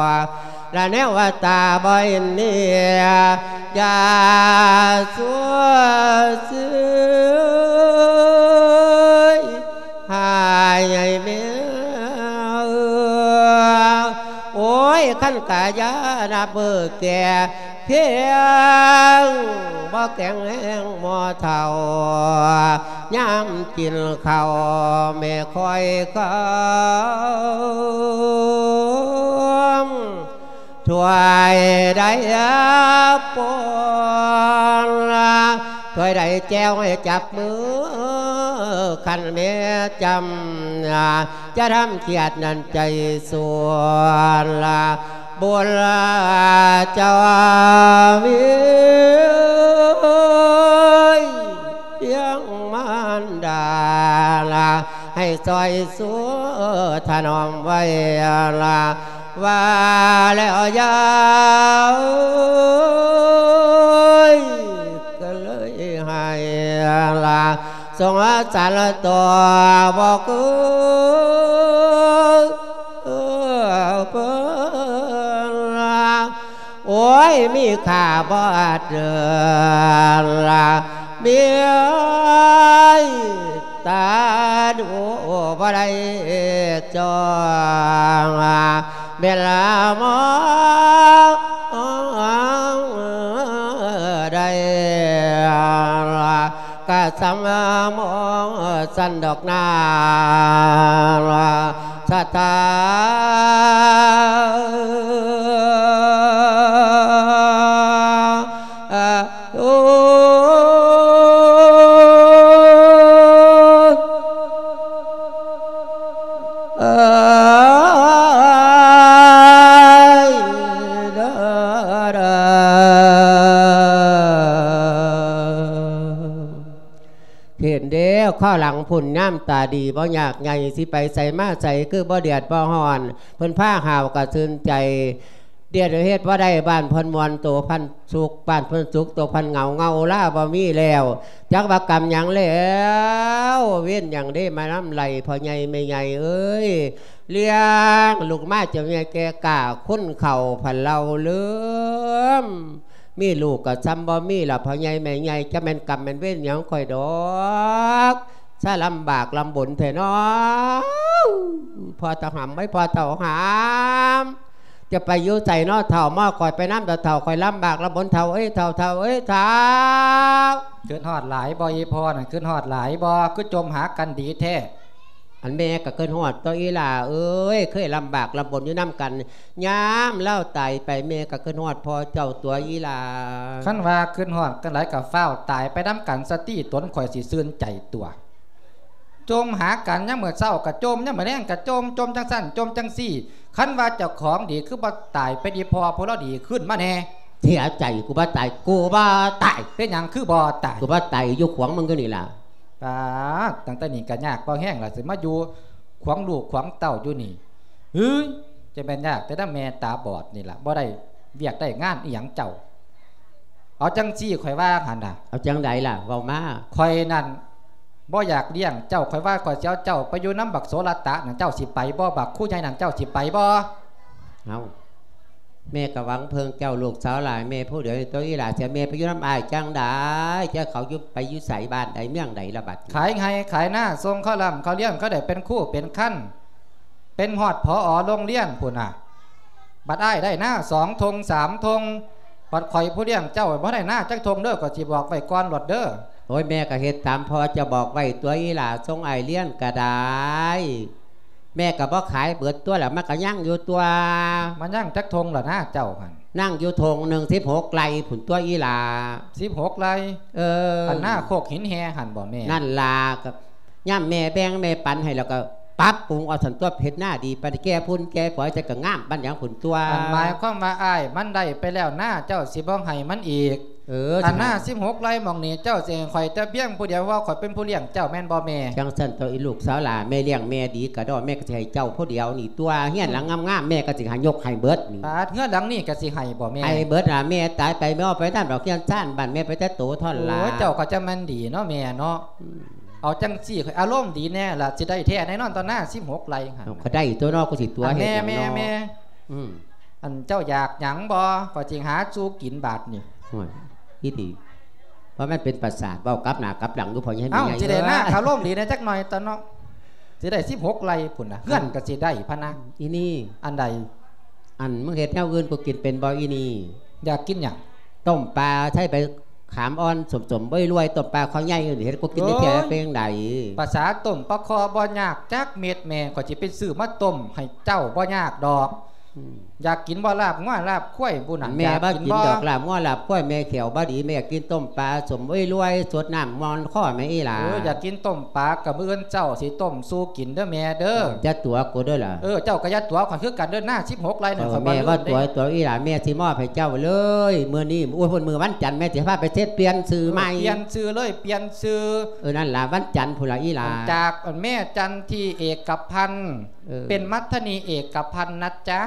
ລະແນວວ່າຕາບໍ່ເຫັນເໜືອ ຢ່າຊົ່ວເຊື່ອຍ ຫາຍໃຫ້ແມ່ເອີຍ ໂອ້ຍ ຄັນກະຢ່ານັບມື້ແກ່ພຽງ ບໍ່ແຂງແຮງໝໍເຖົ້າ ຍາມກິນເຂົ້າແມ່ຄອຍຄຳ ຖ້ວຍໃດປົນ ຖ້ວຍໃດແຈ່ວໃຫ້ຈັບມື ຄັນແມ່ຈຳ ຈະທຳຄຽດນັ້ນໃຈສວນ ບຸນເຈົ້າວິພຽງມານດາ ໃຫ້ຊ່ອຍຊູຖະໜອມໄວ້ ວ່າແລ້ວຢ່າເອີຍ ກໍເລີຍໃຫ້ລະສົງສານຕໍ່ບໍ່ຄືເພິ່ນລະ ໂອ້ຍ ມີຄ່າບໍ່ອາດເດີນລະ ເມຍເອີຍ ຕາດູບໍ່ໄດ້ຈ້ອງ ແມ່ນລະໝໍ ສຳມາມອງສັນດອກນາສະຖາ ໂອ້ ເອີຍ ເດີ ເດີ ເຫັນເດ້ ຄາວຫຼັງພຸ້ນຍາມຕາດີບໍ່ຍາກໃຫຍ່ ຊິໄປໃສມາໃສຄືບໍ່ເດືອດບໍ່ຮ້ອນ ເພິ່ນພາຫາວກະຊື່ນໃຈ ດຽວເຮັດບໍ່ໄດ້ ບ້ານເພິ່ນມ່ວນໂຕພັນສຸກ ບ້ານເພິ່ນສຸກໂຕພັນເຫງົາ ເຫງົາລາບໍ່ມີແລ້ວ ຈັກວ່າກຳຫຍັງແລ້ວ ເວນຫຍັງເດ້ມານຳໄລ່ພໍ່ໃຫຍ່ແມ່ໃຫຍ່ເອີຍ ລ້ຽງລູກມາຈົນໃຫຍ່ແກ່ກ້າ ຄຸນເຂົ້າພັນເລົ່າເລີມ ມີລູກກໍຊ່ຳບໍ່ມີລະ ພໍ່ໃຫຍ່ແມ່ໃຫຍ່ ຈະແມ່ນກຳແມ່ນເວນຫຍັງຂ້ອຍດອກ ຊະລຳບາກລຳບົນແທ້ເນາະ ພໍ່ເຖົ້າຫຳ ເອີຍ ພໍ່ເຖົ້າຫຳ ຈະໄປຢູ່ໃສເນາະເຖົ້າ ມາຂ້ອຍໄປນຳເຖົ້າ ຂ້ອຍລຳບາກລຳບົນເຖົ້າເອີຍ ເຖົ້າ ເຖົ້າເອີຍ ເຖົ້າ. ຄິດຮອດຫຼາຍບໍ່ອີ່ພໍ່ນັ້ນ ຄິດຮອດຫຼາຍບໍ່ ຄືຈົ່ມຫາກັນດີແທ້? ອັນແມ່ກໍຄິດຮອດຕົວະອີ່ຫຼ້າເອີຍ ເຄີຍລຳບາກລຳບົນຢູ່ນຳກັນ ຍາມລາວຕາຍໄປ ແມ່ກໍຄິດຮອດພໍ່ເຈົ້າຕົວະອີ່ຫຼ້າ. ຄັນວ່າຄິດຮອດກັນຫຼາຍກໍຟ້າວຕາຍໄປນຳກັນຊະຕິ ຕົນຂ້ອຍຊິຊື່ນໃຈຕົວະ. ຈົ່ມຫາກັນ ຍາມມື້ເຊົ້າກໍຈົ່ມ ຍາມມື້ແລງກໍຈົ່ມ ຈົ່ມຈັ່ງຊັ້ນ ຈົ່ມຈັ່ງຊີ້ ຄັນວ່າເຈົ້າຂອງດີຄືບໍ່ຕາຍໄປດີ ພໍ່ຜູ້ລາວດີຄືນມາແດ່. ເສຍໃຈ ກູບໍ່ຕາຍ ກູບໍ່ຕາຍ. ເປັນຫຍັງຄືບໍ່ຕາຍ? ກູບໍ່ຕາຍ ຢູ່ຂວາງມຶງຢູ່ນີ້ລະ. ປາດ ຕັ້ງແຕ່ນີ້ກໍຍາກພໍແຮງລະ ຊິມາຢູ່ຂວາງລູກຂວາງເຕົ້າຢູ່ນີ້ ເຮີ້ຍ ຈະແມ່ນຍາກແຕ່ນຳແມ່ຕາບອດນີ້ລະ ບໍ່ໄດ້ວຽກໄດ້ງານອີ່ຫຍັງເຈົ້າ. ເອົາຈັ່ງຊີ້ ຂ້ອຍວ່າຫັ້ນນະ. ເອົາຈັ່ງໃດລະ ເວົ້າມາ. ຂ້ອຍນັ້ນບໍ່ຢາກລ້ຽງເຈົ້າ ຂ້ອຍວ່າຂ້ອຍຊິເອົາເຈົ້າໄປຢູ່ນຳບັກໂສລະຕະນັ້ນ ເຈົ້າຊິໄປບໍ່? ບັກຄູໃຫຍ່ນັ້ນ ເຈົ້າຊິໄປບໍ່? ເອົາ ແມ່ກໍຫວັງເພິ່ງເຈົ້າລູກສາວຫຼາຍ ແມ່ຜູ້ດຽວນີ້ຕົວະອີ່ຫຼ້າ ເສຍແມ່ໄປຢູ່ນຳອ້າຍຈັ່ງໃດ? ຈະເຂົາຢູ່ ໄປຢູ່ໃສ ບ້ານໃດ ເມືອງໃດລະບັດ? ຂາຍໄຮ່ຂາຍນາ ສົ່ງເຂົາລ່ຳເຂົາລ້ຽງ ເຂົາໄດ້ເປັນຄູເປັນຄັນ ເປັນຮອດ ຜອ ໂຮງຮຽນພຸ້ນນະ. ບັດອ້າຍໄດ້ນາສອງທົ່ງສາມທົ່ງ ບັດຂ້ອຍຜູ້ລ້ຽງເຈົ້າບໍ່ໄດ້ນາຈັກທົ່ງເດີ ຂ້ອຍຊິບອກໄວ້ກ່ອນໂລດເດີ. ໂອ້ຍ ແມ່ກໍເຮັດຕາມພໍ່ເຈົ້າບອກໄວ້ຕົວະອີ່ຫຼ້າ ສົ່ງອ້າຍຮຽນກໍໄດ້ ແມ່ກໍບໍ່ຂາຍເບິດຕົວະລະ ມັນກໍຍັງຢູ່ຕົວະ. ມັນຍັງຈັກທົ່ງລະນາເຈົ້າຫັ້ນ? ຍັງຢູ່ທົ່ງໜຶ່ງ ສິບຫົກໄຮ່ພຸ້ນຕົວະອີ່ຫຼ້າ. ສິບຫົກໄຮ່? ເອີ ອັນນາໂຄກຫີນແຮ່ຫັ້ນບໍ່ແມ່? ນັ້ນລະ ກໍ ຍາມແມ່ແບ່ງແມ່ປັນໃຫ້ແລ້ວກໍປັບປຸງເອົາຊັ້ນຕົວະ ເຮັດນາດີປານແກ່ພຸ້ນແກ່ຝອຍ ແຕ່ກໍງາມປານຫຍັງພຸ້ນຕົວະ. ອັນໝາຍຄວາມວ່າອ້າຍມັນໄດ້ໄປແລ້ວນາ ເຈົ້າຊິບໍ່ໃຫ້ມັນອີກ? ເອີ ອັນນາສິບຫົກໄຮ່ໝ່ອງນີ້ ເຈົ້າຊິໃຫ້ຂ້ອຍແຕ່ພຽງຜູ້ດຽວ ເພາະຂ້ອຍເປັນຜູ້ລ້ຽງເຈົ້າແມ່ນບໍ່ແມ່? ຈັ່ງຊັ້ນຕົວະອີ່ລູກສາວຫຼ້າ ແມ່ລ້ຽງແມ່ດີກະດອກ ແມ່ກໍຊິໃຫ້ເຈົ້າຜູ້ດຽວນີ້ຕົວະ ເຮືອນຫຼັງງາມໆ ແມ່ກໍຊິໃຫ້ຍົກໃຫ້ເບິດນີ້. ປາດ ເຮືອນຫຼັງນີ້ກໍຊິໃຫ້ບໍ່ແມ່? ໃຫ້ເບິດລະ ແມ່ຕາຍໄປແມ່ເອົາໄປນຳດອກ ເຮືອນຊານບ້ານແມ່ໄປແຕ່ໂຕເທົ່ານັ້ນລະ. ໂອ້ຍ ເຈົ້າກໍຈະແມ່ນດີເນາະແມ່ເນາະ. ອືມ ເອົາຈັ່ງຊີ້ ຂ້ອຍອາລົມດີແດ່ລະ ຊິໄດ້ແທ້ແນ່ນອນຕໍ່ນາສິບຫົກໄຮ່ຫັ້ນ. ເອົາ ກໍໄດ້ຕົວະເນາະ ກູຊິຕົວະເຮັດຫຍັງເນາະ. ແມ່ ແມ່ ອືມ ອັນເຈົ້າຢາກຫຍັງບໍ່? ຂ້ອຍຊິຫາສູ່ກິນບາດນີ້. ໂອ້ຍ ອີ່ດີ ວ່າມັນເປັນປະສາດ ເວົ້າກັບໜ້າກັບຫຼັງຢູ່ພໍ່ໃຫຍ່. ເອົ້າ ແມ່ໃຫຍ່ ຊິໄດ້ນາ ເອີ ອາລົມດີແດ່ຈັກໜ່ອຍຕົວະເນາະ ຊິໄດ້ສິບຫົກໄຮ່ພຸ້ນນະ ເຮືອນກໍຊິໄດ້ພະນະ. ອີ່ນີ້ ອັນໃດ? ອັນ ມຶງເຮັດແນວອື່ນກູກິນເປັນບໍ່ອີ່ນີ້? ຢາກກິນຫຍັງ? ຕົ້ມປາໃສ່ໃບ ຂາມອ່ອນສົ້ມໆ ໂອ້ຍ ລວຍ ຕົ້ມປາຄໍໃຫຍ່ ເຮັດກູກິນໄດ້ແທ້. ໂອ້ຍ ເປັນຈັ່ງໃດ? ປາສາຕົ້ມປາຄໍບໍ່ຍາກຈັກເມັດແມ່ ຂ້ອຍຊິໄປຊື້ມາຕົ້ມໃຫ້ເຈົ້າ ບໍ່ຍາກດອກ. ອືມ ຢາກກິນບໍ່ລາບງົວລາບຄວາຍ? ຜູ້ນັ້ນ ແມ່ບໍ່ກິນດອກລາບງົວລາບຄວາຍ ແມ່ແຂ້ວບໍ່ດີ ແມ່ຢາກກິນຕົ້ມປາສົ້ມ ໂອ້ຍ ລວຍ ສົດນ້ຳມ່ອນຄໍແມ່ອີ່ຫຼ້າ. ເອີ ຢາກກິນຕົ້ມປາ ກໍມື້ອື່ນເຊົ້າຊິຕົ້ມສູ່ກິນເດີແມ່ເດີ. ຢ່າຕົວະກູເດີລະ. ເອີ ເຈົ້າກໍຢ່າຕົວະຂ້ອຍຄືກັນເດີ ນາສິບຫົກໄຮ່ນັ້ນ ເອີ ຂ້ອຍບໍ່ລືມເດ້. ແມ່ບໍ່ຕົວະ ຕົວະອີ່ຫຼ້າ ແມ່ຊິມອບໃຫ້ເຈົ້າເລີຍ ມື້ນີ້. ໂອ້ຍ ພຸ້ນ ມື້ວັນຈັນ ແມ່ຊິພາໄປເຊັດປ່ຽນຊື່ໃໝ່. ເອີ ປ່ຽນຊື່ເລີຍ ປ່ຽນຊື່. ເອີ ນັ້ນລະ ວັນຈັນພຸ້ນລະອີ່ຫຼ້າ. ຈາກແມ່ຈັນທີ່ເອກະພັນ ເອີ ເປັນມັດທະນີເອກະພັນນະຈ໊ະ.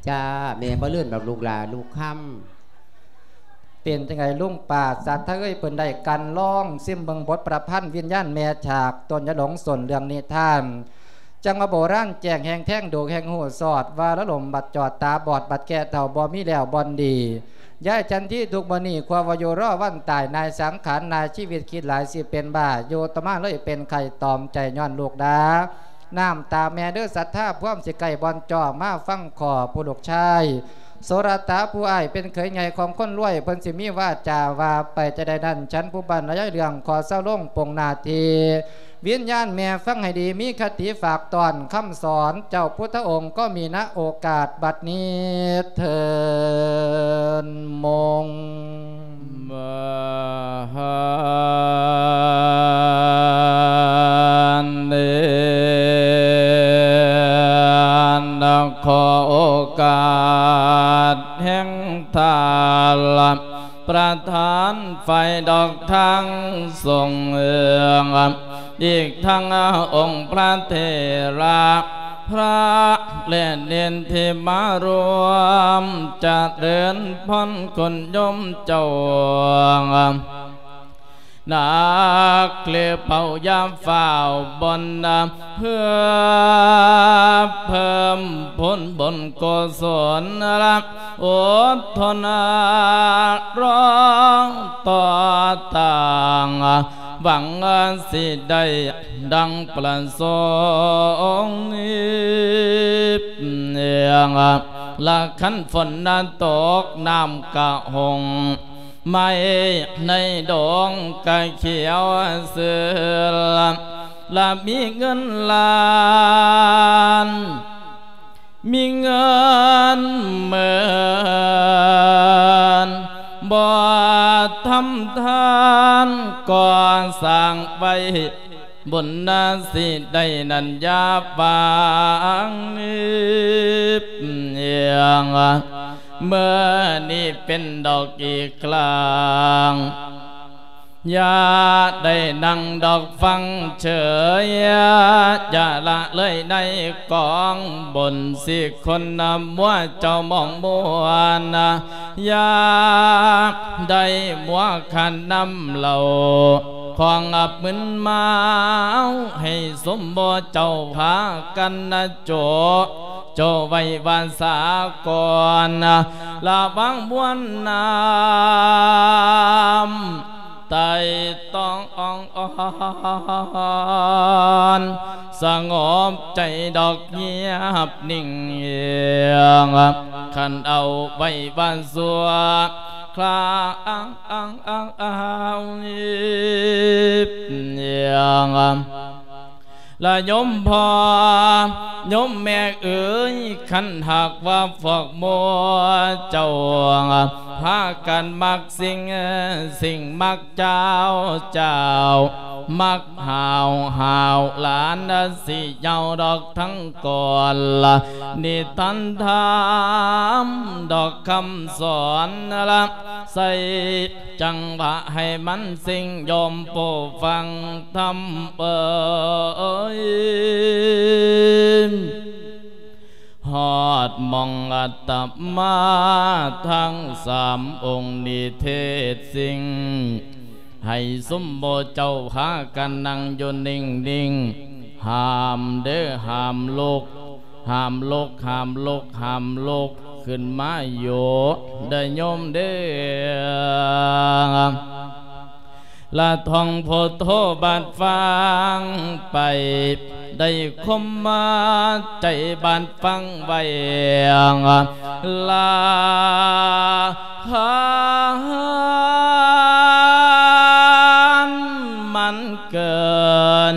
ຈ້າ ແມ່ບໍ່ລືມດອກລູກຫຼ້າລູກຄຳ. ເປັນຈັ່ງໃດລຸງປ້າສັດທະເອີຍ ເພິ່ນໄດ້ກັ່ນລອງຊິມເບິ່ງບົດປະພັນວິນຍານແມ່ຈາກຕົ້ນຍາຫຼົງ ຕົ້ນເລື່ອງນິທານ ຈັ່ງວ່າໂບລານແຈ້ງແຮ່ງແທງ ດູກແຮ່ງຮູ້ຊອດ ວ່າລະລົມບັດຈອດ ຕາບອດບັດແກ່ເຖົ້າ ບໍ່ມີແລ້ວບ່ອນດີ. ຍາຍຈັນທີທຸກມື້ນີ້ ຄວາວວ່າຢູ່ລໍວັນຕາຍ ນາຍສັງຂານ ນາຍຊີວິດຄິດຫຼາຍ ຊິເປັນບ້າ ຢູ່ຕໍ່ມາເລີຍເປັນໄຂ້ ຕອມໃຈຍ້ອນລູກດ່າ ນ້ຳຕາແມ່ເດີສັດທາ ພວມຊິໃກ້ບ່ອນຈໍ້ ມາຟັງຂໍຜູ້ລູກຊາຍ ໂສລະຕາ ຜູ້ອ້າຍເປັນເຂີຍໃຫຍ່ຂອງຄົນລວຍ ເພິ່ນຊິມີວາຈາວ່າໄປຈະໃດນັ້ນ ສັນຜູ້ບ້ານລະຍາຍເລື່ອງ ຂໍເຊົາລົງປົງໜ້າທີ່. ວິນຍານແມ່ຟັງໃຫ້ດີ ມີຄະຕິຝາກຕ້ອນຄຳສອນ ເຈົ້າພຸດທະອົງກໍມີນະໂອກາດບັດນີ້ເທີນ ມົງ. ມະຫາເນນ ຂໍໂອກາດແຫ່ງທ່ານ ປະທານຝ່າຍດອກທາງສົງ ອີກທັງອົງພະເຖລະ ພະ ແລະ ເນນທີ່ມາຮ່ວມຈະເລີນພອນຄຸນໂຍມເຈົ້າ ນັກເລເປົ່າຢ່າຟ້າວບ່ອນ ເພື່ອເພີ່ມຜົນບຸນກຸສົນ ອົດທົນ ລໍຕໍ່ຕັ້ງ ຫວັງຊິໄດ້ດັ່ງປະສົງ ລະຄັນຝົນຕົກນ້ຳກະຫົງ ໄມ້ໃນດົງກະຂຽວຊື່ນ ລະມີເງິນລ້ານ ມີເງິນໝື່ນ ບໍ່ທຳທານກໍ່ສ້າງໄວ້ ບຸນນາຊິໄດ້ນັ້ນຢ່າຫວັງ ເມື່ອນີ້ເປັນດອກອີກຄັ້ງ ຢ່າໄດ້ນັ່ງດອກຟັງເສີຍ ຢ່າລະເລີຍໃນກອງບຸນ ຊິຄົນນຳມົວເຈົ້າມອງມ່ວນ ຢ່າໄດ້ມົວຂັນນຳເຫຼົ້າ ຂອງອັບມຶນເມົາ ໃຫ້ສົມບໍ່ເຈົ້າພາກັນນະໂຈະ ໂຈະໄວ້ວ່າສາກ່ອນ ລະວັງມວນນ້ຳ ໄຕ່ຕອງອ່ອນ ສະຫງົບໃຈດອກງຽບນິ່ງ ຄັນເອົາໄວ້ວ່າຊົ່ວຄາວ ລະໂຍມພໍ່ໂຍມແມ່ເອີຍ ຄັນຫາກວ່າພວກໝູ່ເຈົ້າ ພາກັນມັກສິ່ງ ສິ່ງມັກເຈົ້າ ເຈົ້າມັກຫ້າວ ຫ້າວຫຼານ ຊິເຍົາດອກທັງກ່ອນ ນິທານທຳດອກຄຳສອນ ລະໃສ່ ຈັງຫວະໃຫ້ມັນສິ່ງ ໂຍມຜູ້ຟັງທຳເອີຍ ຮອດໝ່ອງອາດຕະມາທັງສາມອົງນິເທດສິ່ງ ໃຫ້ຊຸມໝູ່ເຈົ້າພາກັນນັ່ງຢູ່ນິ່ງໆ ຫ້າມເດີ ຫ້າມລຸກ ຫ້າມລຸກ ຫ້າມລຸກ ຫ້າມລຸກຂຶ້ນມາຢູ່ເດີໂຍມເດີ ລະທ່ອງພຸດໂທບາດຟັງໄປ ໄດ້ຄົມມາໃຈບາດຟັງໄວ້ ລະທານມັນເກີນ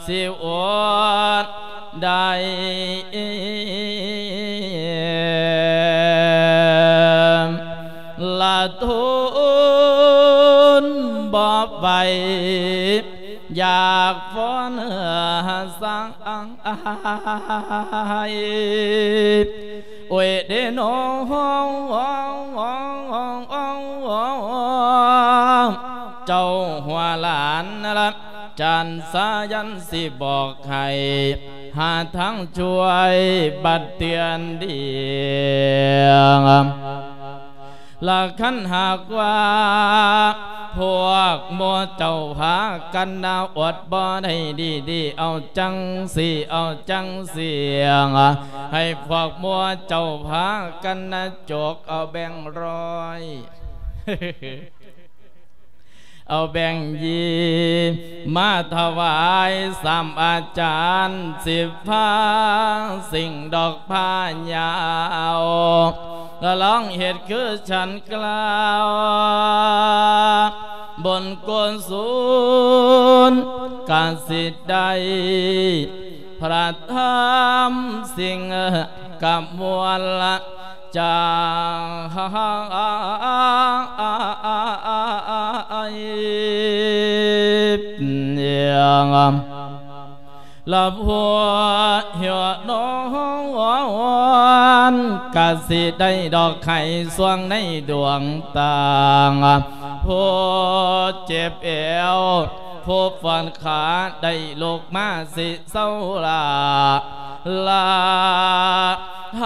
ຊິອົດໄດ້ ລະທົນບໍ່ໄຫວ ຢາກຟ້ອນສາຍ ໂອຍເດໂນ ເຈົ້າຫົວຫຼານລະ ຈານສາຍັນຊິບອກໃຫ້ ຫາທາງຊ່ວຍບັດເຕືອນດີ ລະຄັນຫາກວ່າ ພວກໝູ່ເຈົ້າພາກັນນະ ອົດບໍ່ໄດ້ດີໆ ເອົາຈັ່ງຊີ້ ເອົາຈັ່ງຊີ້ ໃຫ້ພວກໝູ່ເຈົ້າພາກັນນະ ຈົກເອົາແບງຮ້ອຍ ເອົາແບງຢີ ມາຖວາຍສາມອາຈານ ສິບພາ ສິ່ງດອກພາຍາວ ລອງເຮັດຄືສັນກ່າວ ບຸນກຸສົນກະຊິໄດ້ ພະທຳສິ່ງກະມວນຈາກ ລະພວກເຮົານອນ ກະຊິໄດ້ດອກໄຂ້ສວງໃນດວງຕາ ຜູ້ເຈັບແອວ ຜູ້ຟອນຂາໄດ້ລຸກມາຊິເຊົາລາ ລາທ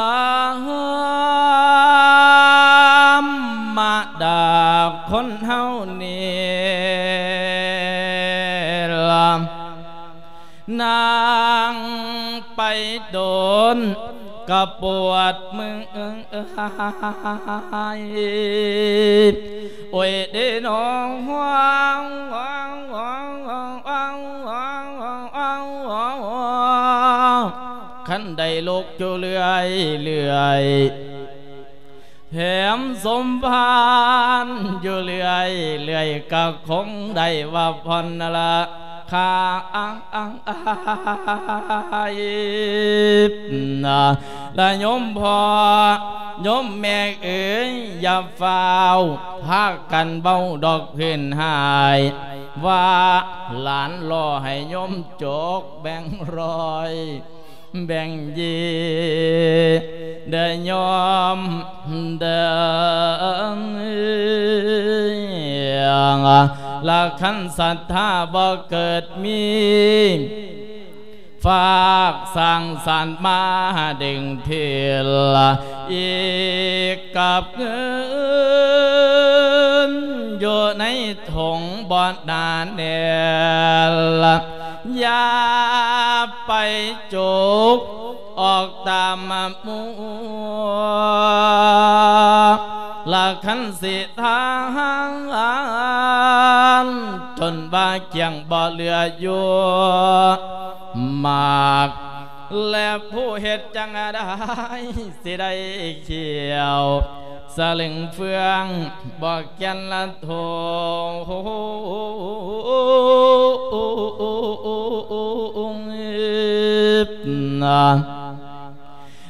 ຳມະດາຄົນເຮົານີ້ລະ ນັ່ງໄປດົນກະປວດເມື່ອຍ ໂອ້ຍເດ້ນ້ອງ ຄັນໄດ້ລຸກຢູ່ເລື້ອຍໆ ແຖມສົມພານຢູ່ເລື້ອຍໆ ກະຄົງໄດ້ວ່າຜ່ອນລາຄາ ລະໂຍມພໍ່ໂຍມແມ່ເອີຍ ຢ່າຟ້າວພາກັນເວົ້າດອກພື້ນຫາຍ ວ່າຫຼານລໍໃຫ້ໂຍມຈົກແບ່ງຮ້ອຍ ແບ່ງເຢ ເດີໂຍມເດີ ລະຄັນສັດທາບໍ່ເກີດມີ ຝາກສ້າງສັນມາດຶງເທລ ອີກກັບເງິນຢູ່ໃນຖົງບໍ່ໜາແໜ້ນ ຢ່າໄປ ຈົກອອກຕາມໝູ່ ລະຄັນຊິທານ ຈົນວ່າກ້ຽງບໍ່ເຫຼືອຢູ່ມາກ ແລະຜູ້ເຮັດຈັ່ງໃດ ຊິໄດ້ຂຽວສະເຫຼັງເຟືອງ ບໍ່ແກ່ນລະໂທ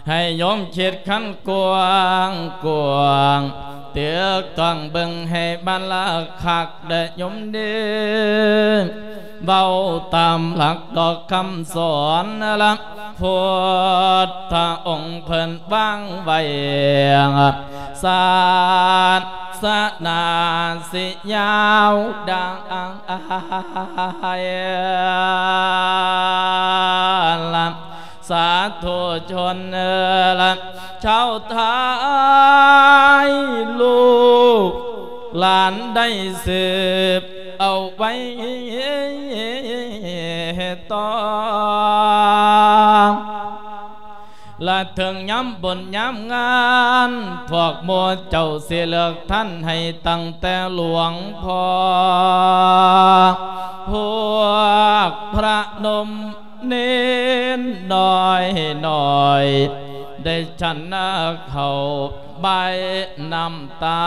ໃຫ້ໂຍມຄິດຄັນກວ້າງກວ້າງ ຕຶກຕ້ອງເບິ່ງໃຫ້ມັນລະຄັກເດີໂຍມເດີ ເວົ້າຕາມຫຼັກດອກຄຳສອນລະ ພຸດທະອົງເພິ່ນວາງໄວ້ ສາສະໜາຊິຍາວໄດ້ລະ ສາທຸຊົນເອີຍລະ ຊາວໄທ ລູກຫຼານໄດ້ສືບເອົາໄວ້ຕໍ່ ລະເຖິງຍາມບຸນຍາມງານ ພວກໝູ່ເຈົ້າຊິເລືອກທ່ານໃຫ້ຕັ້ງແຕ່ຫຼວງພໍ່ ພວກພະນົມ ເນນນ້ອຍໆ ໄດ້ສັນເຂົ້າບາຍນ້ຳຕາ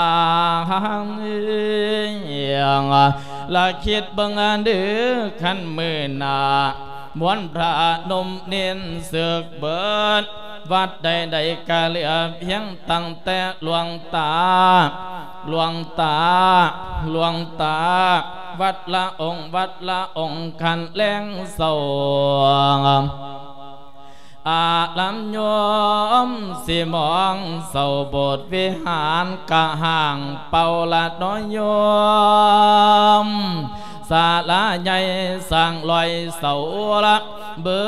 ລະຄິດເບິ່ງເດີ ຄັນມື້ໜ້າ ມວນພະນົມເນນເສືອກເບິດ ວັດໃດໆ ກະເຫຼືອພຽງຕັ້ງແຕ່ຫຼວງຕາ ຫຼວງຕາ ຫຼວງຕາ ວັດລະອົງ ວັດລະອົງ ຄັນແລງເຊົ້າ ອາລາມໂຍມຊິມອງເສົ້າ ໂບດວິຫານກະຮ້າງເປົ່າລະເນາະໂຍມ ສາລາໃຫຍ່ສ້າງຮ້ອຍເສົາລະ ເບິ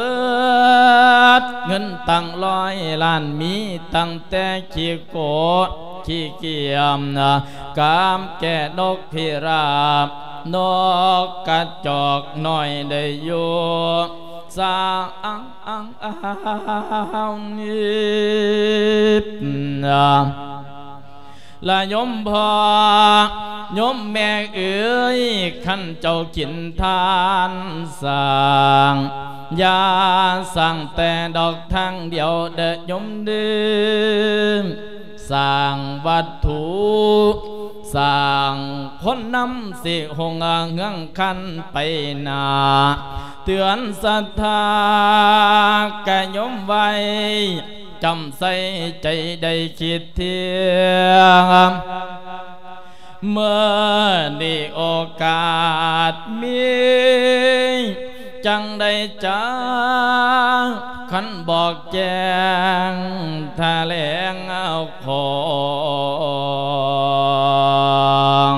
ດເງິນຕັ້ງຮ້ອຍລ້ານ ມີຕັ້ງແຕ່ຂີ້ໂກດຂີ້ກຽມນະ ກາມແກ່ນົກພິລາບ ນົກກະຈອກນ້ອຍໄດ້ຢູ່ ສາງ ລະໂຍມພໍ່ໂຍມແມ່ເອີຍ ຄັນເຈົ້າກິນທານສ້າງ ຢ່າສ້າງແຕ່ດອກທາງດຽວເດີໂຍມເດີ ສ້າງວັດຖຸ ສ້າງຄົນນຳ ຊິຮຸ່ງເຮືອງຄັນໄປໜ້າ ເຕືອນສັດທາ ກະຍົມໄວ້ ຈຳໃສ່ໃຈໄດ້ຄິດທຽງ ເມື່ອນີ້ໂອກາດມີ ຈັ່ງໃດຈາ ຄັນບອກແຈ້ງຖະແຫຼງເອົາຂອງ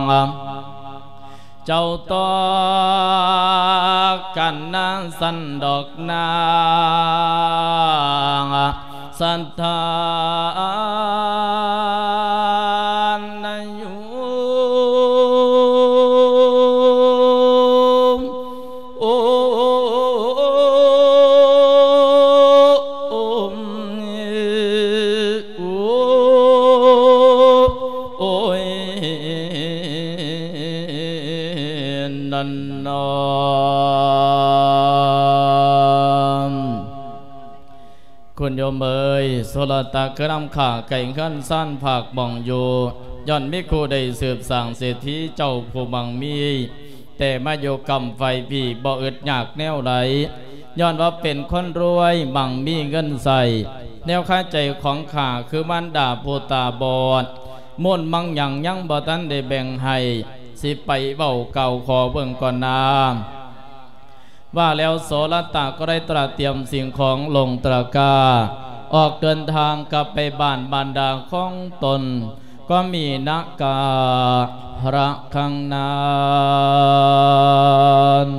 ເຈົ້າຕໍ່ກັນນາຊັ້ນດອກນາງ ສະຖານະໂຍມ ໂອ ໂອ ໂອ ໂອ ໂອຍ ນັ້ນນອ ຄຸນໂຍມເອີຍ ໂສລະຕະຄືນຳຂ້າ ໃກ້ເຮືອນຊານພາກບ່ອນຢູ່ ຍ້ອນມີຄູ່ໄດ້ສືບສ້າງເສດຖີເຈົ້າຜູ້ໝັ່ງມີ ແຕ່ມາຢູ່ກຳໄຟພີ ບໍ່ອຶດຍາກແນວໃດ ຍ້ອນວ່າເປັນຄົນລວຍໝັ່ງມີເງິນໃຊ້ ແນວຄາໃຈຂອງຂ້າຄືມານດາຜູ້ຕາບອດ ມູນມັງຍັງຍັງບໍ່ທັນໄດ້ແບ່ງໃຫ້ ຊິໄປເວົ້າກ່າວຂໍເບິ່ງກ່ອນນາ. ວ່າແລ້ວໂສລະຕະກໍໄດ້ຕຣະຕຽມສິ່ງຂອງລົງຕະກະ ອອກເດີນທາງກັບໄປບ້ານບານດາຂອງຕົນ ກໍມີນະກາລະຄັງນານ.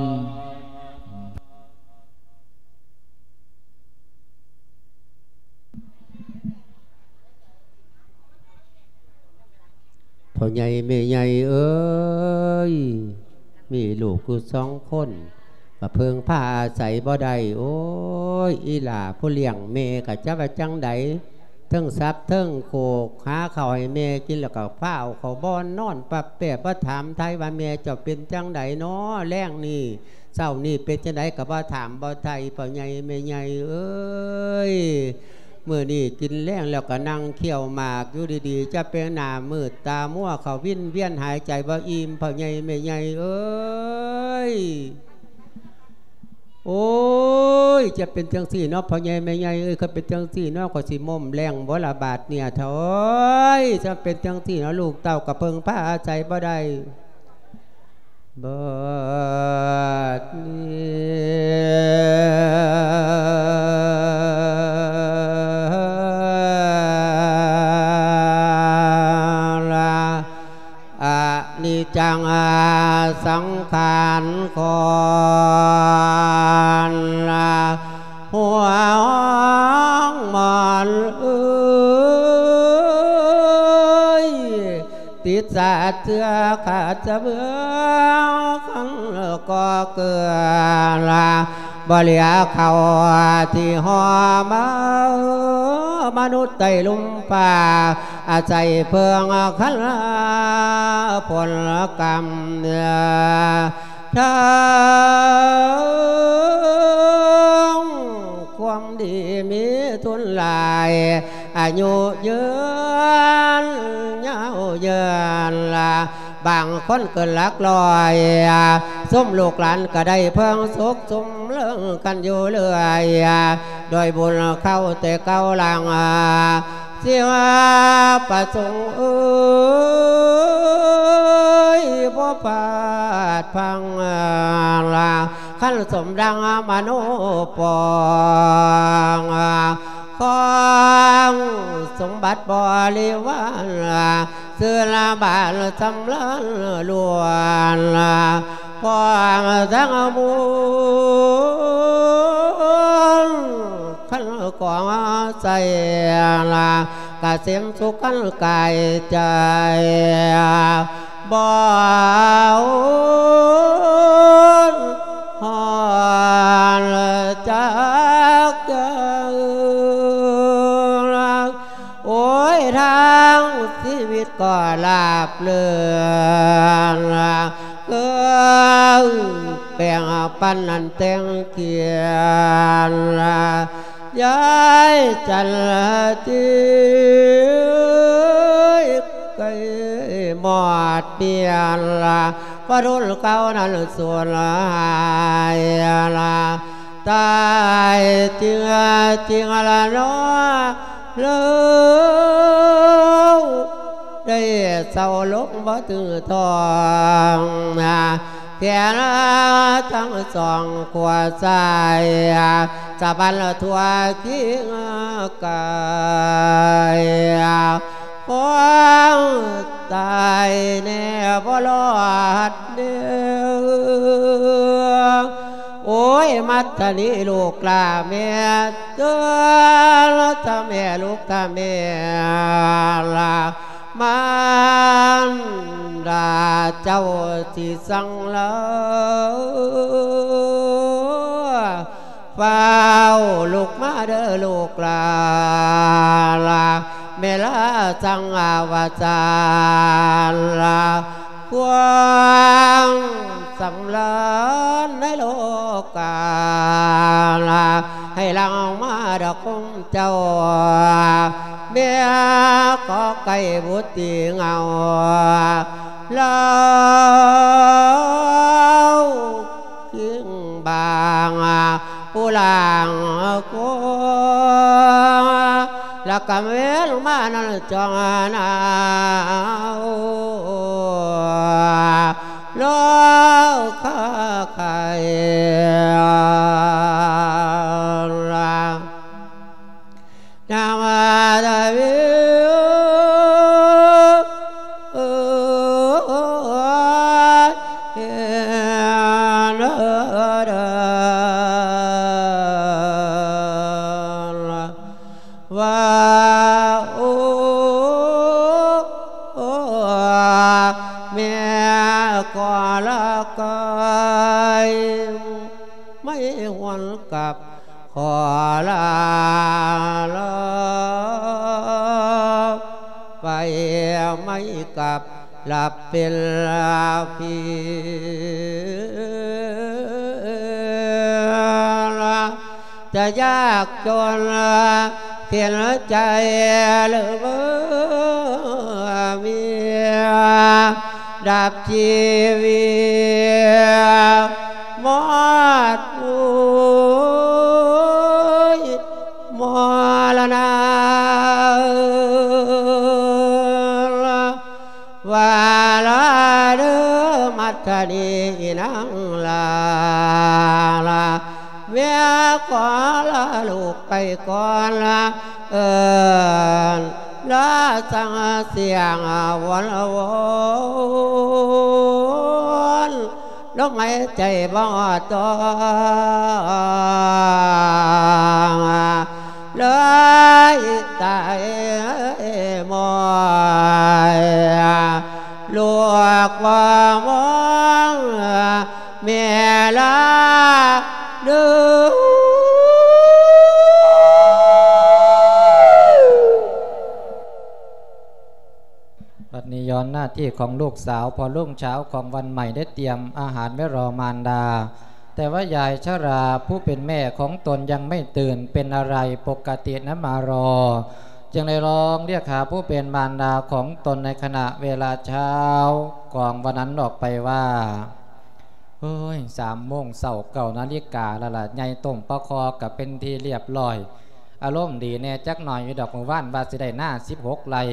ພໍ່ໃຫຍ່ແມ່ໃຫຍ່ເອີຍ ມີລູກຢູ່ສອງຄົນ ກະເພິ່ງພາອາໄສບໍ່ໄດ້. ໂອ້ຍ ອີ່ຫຼ້າຜູ້ລ້ຽງແມ່ກະຈັກວ່າຈັ່ງໃດ ເທິງສັບເທິງໂຄກ ຫາເຂົ້າໃຫ້ແມ່ກິນ ແລ້ວກະພາເອົາເຂົ້າບ່ອນນອນປັບແປບ ມາຖາມໄຖ່ວ່າແມ່ເຈົ້າເປັນຈັ່ງໃດນໍ ແລງນີ້ ເຊົ້ານີ້ເປັນຈັ່ງໃດ ກະບໍ່ຖາມບໍ່ໄຖ່. ພໍ່ໃຫຍ່ແມ່ໃຫຍ່ເອີຍ ມື້ນີ້ກິນແລງແລ້ວກະນັ່ງຄ້ຽວໝາກຢູ່ດີໆ ຈະເປັນໜ້າມືດຕາມົວ ເຂົ້າວິນວຽນຫາຍໃຈບໍ່ອີ່ມ ພໍ່ໃຫຍ່ແມ່ໃຫຍ່ເອີຍ. ໂອ້ຍ ຈະເປັນຈັ່ງຊີ້ເນາະ ພໍ່ໃຫຍ່ແມ່ໃຫຍ່ເອີຍ ຄັນເປັນຈັ່ງຊີ້ເນາະ ຂ້ອຍຊິມົ້ມແລງບໍ່ລະບາດເນຍ ເຖົ້າເອີຍ ຈະເປັນຈັ່ງຊີ້ເນາະ ລູກເຕົ້າກະເພິ່ງພາອາໄສບໍ່ໄດ້. ບາດນີ້ ອະນິດຈັງສັງຂານຂອງ ຫົວມອນເອີຍ ຕິດສາດເຊື້ອຂາດສະເບືອງ ຄັນກໍເກືອລະ ບໍ່ເຫຼືອເຂົ້າທີ່ຫໍ່ມາ ມະນຸດໃຕ້ລຸ່ມຟ້າ ອາໄສເພິ່ງຄັນຜົນກຳ ທາງຄວາມດີມີທຶນຫຼາຍ ອາຍຸຍືນຍາວເຍີນລະ ບາງຄົນເກີນຫຼັກຮ້ອຍ ຊຸມລູກຫຼານກະໄດ້ເພິ່ງສຸກຊຸມເລິງກັນຢູ່ເລື້ອຍ ດ້ວຍບຸນເຂົ້າແຕ່ເກົ່າຫຼັງ ຊິວ່າປະສົງເອີຍ ບໍ່ພາດພັງລະ ຄັນສົມດັ່ງມະໂນປອງ ຂອງສົມບັດບໍລິວານ ເຊື້ອລະບານສຳລານລ້ວນ ພວງທັງມວນ ຄັນຂອງໃສລະ ກະເສັມສຸກຄັນກາຍໃຈ ບໍ່ຫວັ່ນຮອນຈັກເກີນ ໂອ້ຍ ທາງຊີວິດກໍລາບເລື່ອນ ເກີນແບ່ງປັນອັນແຕ່ງກຽນ ຍາຍຈັນທີ ມອດເມຍນລະ ພະດົນເກົ່ານັ້ນສູນຫາຍລະ ຕາຍຈິງຈິງລະເນາະ ເລີວໄດ້ເຊົາລົງບໍ່ຖືກຕ້ອງນະ ແຂນທັງສອງຂວາຊ້າຍ ສະບັນທົ່ວຄິງກາຍ ຄວາມຕາຍແນ່ບໍ່ລອດເດີ ໂອ້ຍ ມັດທະນີລູກຫຼ້າແມ່ເຕີນ ຖ້າແມ່ລູກ ຖ້າແມ່ລະ ມານດາເຈົ້າຊິສັ່ງລາ ຟ້າວລຸກມາເດີລູກຫຼ້າ ແມ່ລາສັ່ງວ່າຊັ້ນລະ ຄວາມສຳລານໃນໂລກາລະ ໃຫ້ຫຼັ່ງມາດອກຄົງເຈົ້າ ແມ່ຂໍໄກ່ບຸດຕີເງົາ ລາວ ຄິງບາງ ຜູ້ລ່າງໂກ ລະກຳເວນມານັ້ນຈອງນາວ ລາວຄາໄຄລາ ນາມາດາເວ ວ່າ ໂອ ແມ່ກໍລະໄກ ໄມ່ຫວນກັບ ຂໍລາລາໄປ ໄມ່ກັບລັບເປັນຜີ ຈະຍາກຈົນເຂັນໃຈ ຫຼືເມີຍ ດັບຊີວິດ ໝົດໂອຍ ມໍລະນະ ວ່າລາເດີ ມັດທະນີນາງລາ ແມ່ຂໍລາລູກໄປກ່ອນ ເອີ້ນລາສັງສຽງວອນວອນ ລົມຫາຍໃຈບໍ່ຕໍ່ ເລີຍຕາຍໝອຍ ລູກບໍ່ມອງ ແມ່ລາເດີ. ບັດນີ້ຍ້ອນໜ້າທີ່ຂອງລູກສາວ ເພາະລຸງເຊົ້າຂອງວັນໃໝ່ໄດ້ຕຽມອາຫານໄວ້ລໍມານດາ ແຕ່ວ່າຍາຍຊະລາຜູ້ເປັນແມ່ຂອງຕົນຍັງໄມ່ຕື່ນ ເປັນອາໄລປົກກະຕິນຳມາລໍ ຈຶ່ງໄດ້ລອງລຽກຫາຜູ້ເປັນມານດາຂອງຕົນໃນຂະນະເວລາເຊົ້າຂອງວັນນັ້ນອອກໄປວ່າ ເຮີ້ຍ ສາມໂມງເຊົ້າ ເກົ້ານາລິກາແລ້ວລະ ໃຫຍ່ຕົ້ມປາຄໍກະເປັນທີ່ລຽບລ້ອຍ ອາລົມດີແດ່ຈັກໜ້ອຍຢູ່ດອກ ມື້ວານວ່າຊິໄດ້ນາສິບຫົກໄຮ່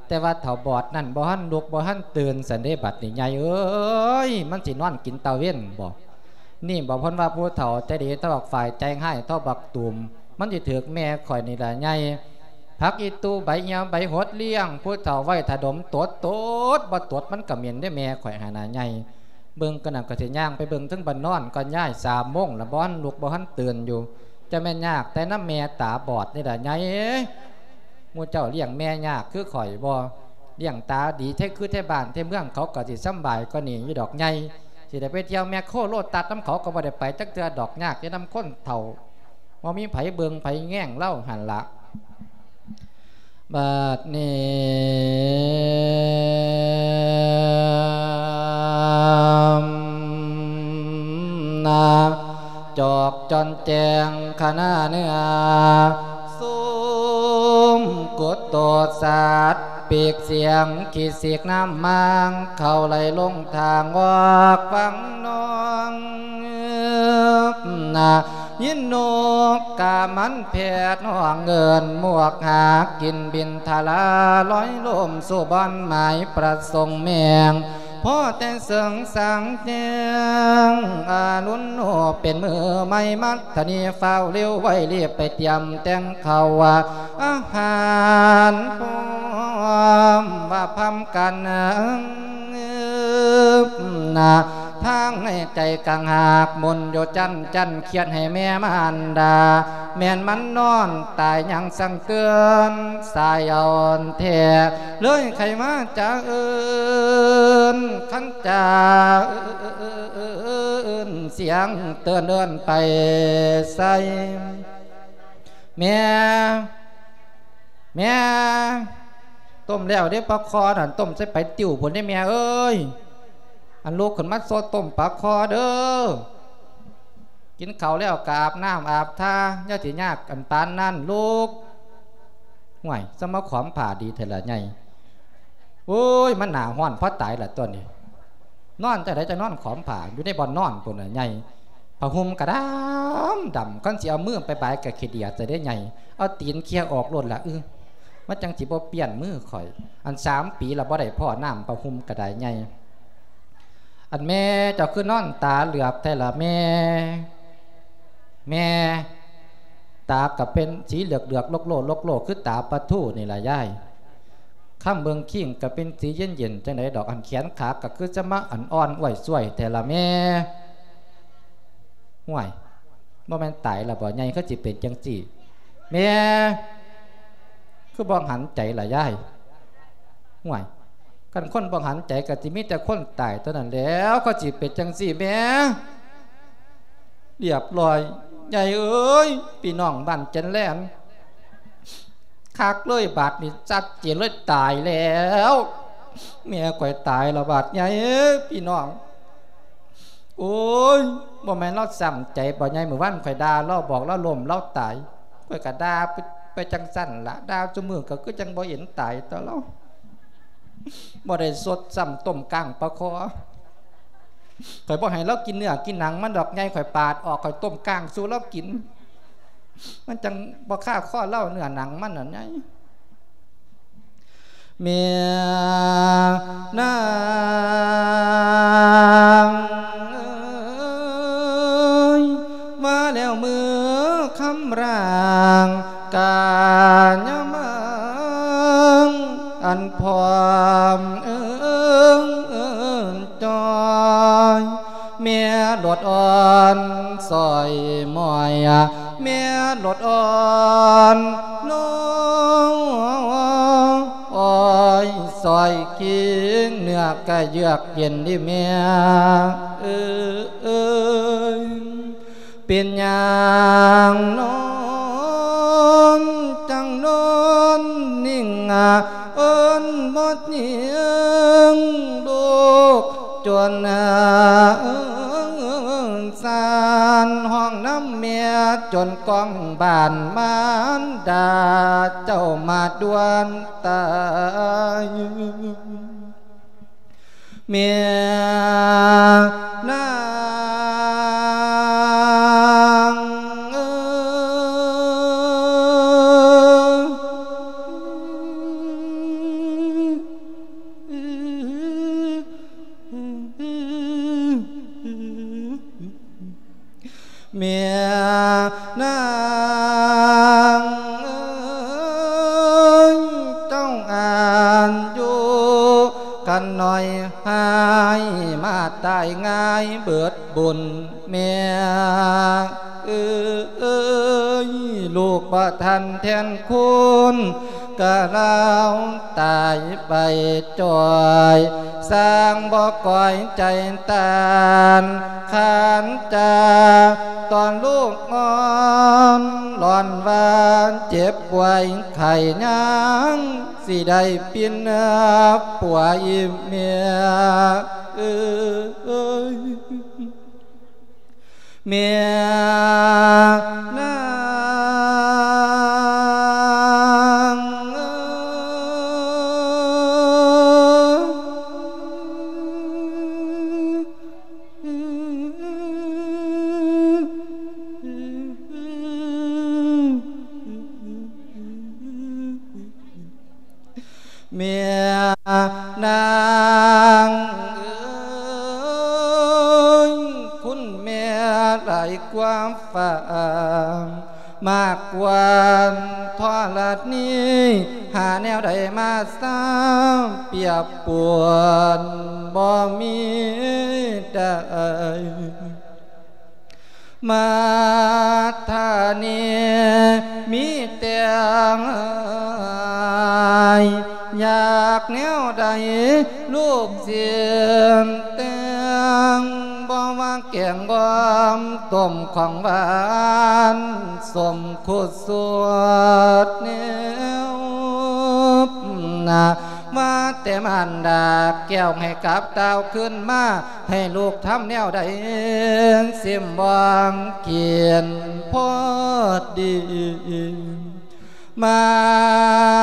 ແຕ່ວ່າເຖົ້າບອດນັ້ນບໍ່ທັນລຸກບໍ່ທັນຕື່ນຊັ້ນເດ້ ບັດນີ້ໃຫຍ່ເອີຍ ມັນຊິນອນກິນຕາເວັນບໍ? ນີ້ບໍ ເພິ່ນວ່າຜູ້ເຖົ້າໃຈດີເທົ່າບັກຝ້າຍ ໃຈຮ້າຍເທົ່າບັກຕູມ ມັນຊິຖືກແມ່ຂ້ອຍນີ້ລະໃຫຍ່ ຜັກອີ່ຕູ່ໃບຫ່ຽວໃບຫົດລ້ຽງຜູ້ເຖົ້າໄວ້ຖ້າດົມ ຕົດ ຕົດ ບໍ່ຕົດມັນກະເໝັນເດ້ແມ່ຂ້ອຍຫັ້ນນະໃຫຍ່ ເບິ່ງກະນັ້ນກະຊິຍ່າງໄປເບິ່ງເທິງບ່ອນນອນກ່ອນຍາຍ ສາມໂມງລະບໍ່ທັນລຸກບໍ່ທັນຕື່ນຢູ່ ຈະແມ່ນຍາກແຕ່ນຳແມ່ຕາບອດນີ້ລະໃຫຍ່ເອີຍ ໝູ່ເຈົ້າລ້ຽງແມ່ຍາກຄືຂ້ອຍບໍ່? ລ້ຽງຕາດີແທ້ຄືແທ້ບ້ານແທ້ເມືອງ ເຂົາກໍຊິສຳບາຍກວ່ານີ້ຢູ່ດອກໃຫຍ່ ຊິໄດ້ໄປທ່ຽວແມັກໂຄໂລຕັດນຳເຂົາກໍບໍ່ໄດ້ໄປຈັກເທື່ອດອກ ຍາກຢູ່ນຳຄົນເຖົ້າ ບໍ່ມີໃຜເບິ່ງໃຜແຍງລາວຫັ້ນລະ ບາດນີ້ ນາ ຈອກຈອນແຈ້ງຄະນາເນື້ອ ຊຸມກຸດໂຕດສັດ ປີກສຽງຂີ້ສີກນ້ຳມັງ ເຂົ້າໄຫຼລົງທາງອອກຝັ່ງໜອງນາ ຍິນນົກກາມັນແພດຮ້ອງເອີ້ນ ໝວກຫາກກິນບິນທະລາ ລອຍລົມສູ່ບ່ອນໝາຍປະສົງແມງ ພໍແຕ່ເສີງສາງແຈ້ງອາລຸນໂນ ເປັນມື້ໃໝ່ມັດທະນີ ຟ້າວເລັວໄວ ລີບໄປຕຽມແຕ່ງເຂົ້າອາຫານ ພ້ອມວ່າພຳກັນນາ ທາງໃນໃຈກະຫາກໝຸນຢູ່ຈັນ ຈັນຄຽດໃຫ້ແມ່ມານດາ ແມ່ນມັນນອນຕາຍຍັງສັງເຕືອນ ສາຍອ່ອນແທ້ ເລີຍໄຂມາຈາເອີ້ນ ຄັນຈາເອີ້ນ ສຽງເຕືອນເອີ້ນໄປໃສ ແມ່ ແມ່ ຕົ້ມແລ້ວເດ້ປາຄໍນັ້ນ ຕົ້ມໃສ່ໄປຕິ້ວພຸ້ນເດ້ແມ່ເອີຍ ອັນລຸກຂຶ້ນມາໂຊດຕົ້ມປາຄໍເດີ ກິນເຂົ້າແລ້ວກະອາບນ້ຳອາບທ່າ ຢ່າຊິຍາກອັນປານນັ້ນລູກ ຫ້ວຍ ສະມາຂອມຜ້າດີແທ້ລະໃຫຍ່ ໂອ້ຍ ມັນໜ້າຮ້ອນພໍຕາຍລະຕົວນີ້ ນອນຈັ່ງໃດຈັ່ງນອນຂອມຜ້າ ຢູ່ໃນບ່ອນນອນພຸ້ນນະໃຫຍ່ ຜ້າຫົ່ມກະດຳດຳ ຄັນຊິເອົາມືໄປບາຍກະຂີ້ດຽດຊະເດ້ໃຫຍ່ ເອົາຕີນເຄຍອອກໂລດລະ ອື ມັນຈັ່ງຊິບໍ່ປ່ຽນມືຂ້ອຍ ອັນສາມປີລະບໍ່ໄດ້ພໍ້ນ້ຳ ຜ້າຫົ່ມກະດາຍໃຫຍ່ ອັນແມ່ເຈົ້າຄືນອນຕາເຫຼືອບແທ້ລະແມ່ ແມ່ ຕາກະເປັນສີເຫຼືອກໆ ໂລກໆ ໂລກໆ ຄືຕາປາທູນີ້ລະຍາຍ ຄຳເບິ່ງຄີງກະເປັນສີເຢັນໆ ຈັ່ງໃດດອກ ອັນແຂນຂາກະຄືຈະມາອັນອ່ອນອ້ວຍຊ່ວຍແທ້ລະແມ່ ຫ້ວຍ ບໍ່ແມ່ນຕາຍລະບໍ່ໃຫຍ່ ຄືຊິເປັນຈັ່ງຊີ້ ແມ່ ຄືບໍ່ຫັນໃຈລະຍາຍ ຫ້ວຍ ຄັນຄົນບໍ່ຫັນໃຈກະຊິມີແຕ່ຄົນຕາຍເທົ່ານັ້ນແຫຼ້ວ ຄືຊິເປັນຈັ່ງຊີ້ແມ່ ລຽບລ້ອຍ ໃຫຍ່ເອີຍ ພີ່ນ້ອງບ້ານຈັນແລນ ຄັກເລີຍບາດນີ້ ຊັດເຈນເລີຍ ຕາຍແລ້ວ ແມ່ຂ້ອຍຕາຍລະບາດໃຫຍ່ເອີຍ ພີ່ນ້ອງ ໂອ້ຍ ບໍ່ແມ່ນລາວຊ້ຳໃຈບໍ່ໃຫຍ່ ມື້ວານຂ້ອຍດ່າລາວ ບອກລາວລົ້ມລາວຕາຍ ຂ້ອຍກະດ່າໄປ ໄປຈັ່ງຊັ້ນລະ ດ່າຊຸມື້ກະຄືຈັ່ງບໍ່ເຫັນຕາຍຕໍ່ລາວ ບໍ່ໄດ້ສົດຊ້ຳຕົ້ມກ້າງປາຄໍ ຂ້ອຍບໍ່ໃຫ້ລາວກິນເນື້ອກິນໜັງມັນດອກໃຫຍ່ ຂ້ອຍປາດອອກ ຂ້ອຍຕົ້ມກ້າງສູ່ລາວກິນ ມັນຈັ່ງບໍ່ຄາຄໍລາວເນື້ອໜັງມັນນັ້ນໃຫຍ່ ແມ່ນາງເອີຍ ວ່າແລ້ວມື້ຄຳລາງ ກາຍາມາງ ອັນພ້ອມເອີງເອີງຈອຍ ແມ່ຫຼົດອ່ອນຊ່ອຍໝ້ອຍ ແມ່ຫຼົດອ່ອນນ້ອຍ ຊ່ອຍຄີງ ເນື້ອກະເຍືອກເຢັນດີແມ່ເອີຍ ເປັນຫຍັງນອນ ຈັ່ງນອນນິ່ງ ເອີ້ນບໍ່ຍິງລູກ ຈົນສານຮ້ອງນຳແມ່ ຈົນກ້ອງບ້ານມານດາ ເຈົ້າມາດ່ວນຕາຍ ແມ່ນາງເອີຍ ແມ່ນາງເອີຍ ເຈົ້າອາຍຸຄັນນ້ອຍ ຫາຍມາຕາຍງ່າຍເບິດບຸນແມ່ເອີຍ ລູກບໍ່ທັນແທນຄຸນ ກະລາວຕາຍໄປຈ່ອຍ ສ້າງບໍ່ກອຍໃຈຕ້ານ ຄານຈາຕອນລູກອ່ອນ ລ້ອນວ່າເຈັບປ່ວຍໄຂ້ ຍັງຊິໄດ້ປິ່ນປົວອີແມ່ເອີຍ. ແມ່ນາງເອີ ແມ່ນາງເອີຍ ຄຸນແມ່ຫຼາຍກວ່າຟ້າ ມາກກວ່າທໍລະນີ ຫາແນວໃດມາສາ ປຽບປວນບໍ່ມີໄດ້. ມາດທານີມີແຕ່ຢາກແນວໃດ ລູກຊິແຕ່ງ ບໍ່ວ່າແກງບອມຕົ້ມຂອງຫວານ ສົມຄູ່ສວດແນວນາ ວ່າແຕ່ມານດາແກ້ວໃຫ້ກັບຕ່າວຄືນມາ ໃຫ້ລູກທຳແນວໃດ ຊິມບໍ່ກິນພໍດີ ມາ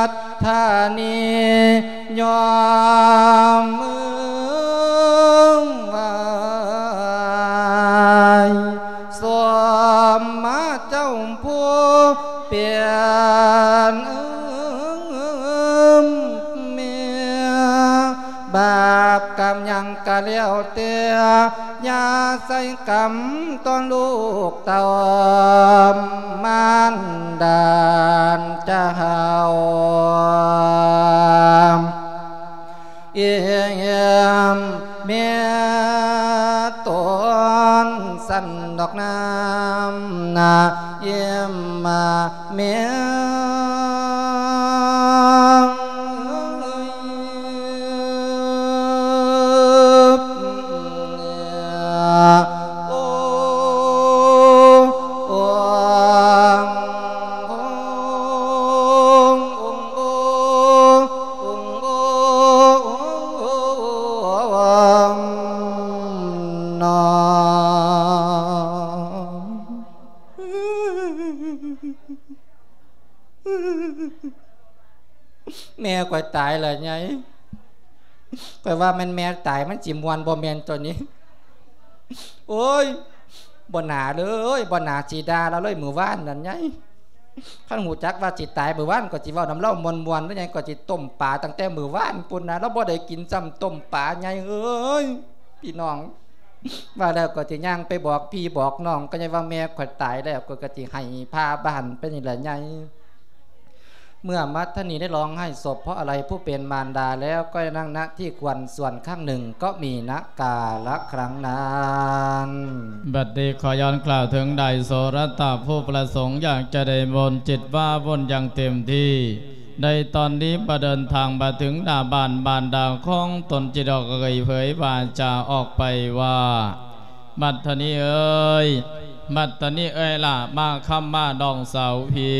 ດທານີຍອມມືໄຫວ້ ສົມມາເຈົ້າຜູ້ເປັນແມ່ ບາບກຳຫຍັງກະແລ້ວແຕ່ ຢ່າໃສ່ກຳຕໍ່ລູກເຕົ້າ ມານດາເຈົ້າເອີຍ ແມ່ຕົນສັນດອກນ້ຳນາ ອີມມາແມ່ ໂອ້ ໂອ້ ໂອ້ ໂອ້ ໂອ້ ໂອ້ ນອ ແມ່ຂ້ອຍຕາຍແລ້ວໃຫຍ່ ຂ້ອຍວ່າແມ່ນແມ່ຕາຍມັນຊິມ່ວນ ບໍ່ແມ່ນຕົວນີ້ ໂອ້ຍ ບໍ່ໜ້າເລີຍ ບໍ່ໜ້າຊິດ່າລາວເລີຍມື້ວານນັ້ນໃຫຍ່ ຄັນຮູ້ຈັກວ່າຊິຕາຍມື້ວານ ຂ້ອຍຊິເວົ້ານຳລາວມ່ວນໆ ຫຼືໃຫຍ່ ຂ້ອຍຊິຕົ້ມປາຕັ້ງແຕ່ມື້ວານພຸ້ນນະ ລາວບໍ່ໄດ້ກິນຊ້ຳຕົ້ມປາໃຫຍ່ເອີຍ ພີ່ນ້ອງ. ວ່າແລ້ວກໍຊິຍ່າງໄປບອກພີ່ບອກນ້ອງ ກໍຍັງວ່າແມ່ຂ້ອຍຕາຍແລ້ວ ຂ້ອຍກໍຊິໃຫ້ພາບ້ານໄປນີ້ແຫຼະໃຫຍ່. ເມື່ອມັດທະນີໄດ້ຮ້ອງໄຫ້ສົບເພາະອາໄລຜູ້ເປັນມານດາແລ້ວ ກໍໄດ້ນັ່ງ ณ ທີ່ຄວນສ່ວນຂ້າງໜຶ່ງ ກໍມີນະກາລະຄຄັ້ງນັ້ນ. ບັດນີ້ຂໍຍ້ອນກ່າວເຖິງນາຍໂສລະຕະ ຜູ້ປະສົງຢາກຈະໄດ້ມົນຈິດວາວຸນຢ່າງເຕັມທີ່. ໃນຕອນນີ້ມາເດີນທາງມາເຖິງໜ້າບ້ານ ບ້ານດາຂອງຕົນ ຈຶ່ງໄດ້ອອກເຜີຍວາຈາອອກໄປວ່າ ມັດທະນີເອີຍ ມັດທະນີເອີຍຫຼ້າ ມາຄຳມານ້ອງສາວພີ່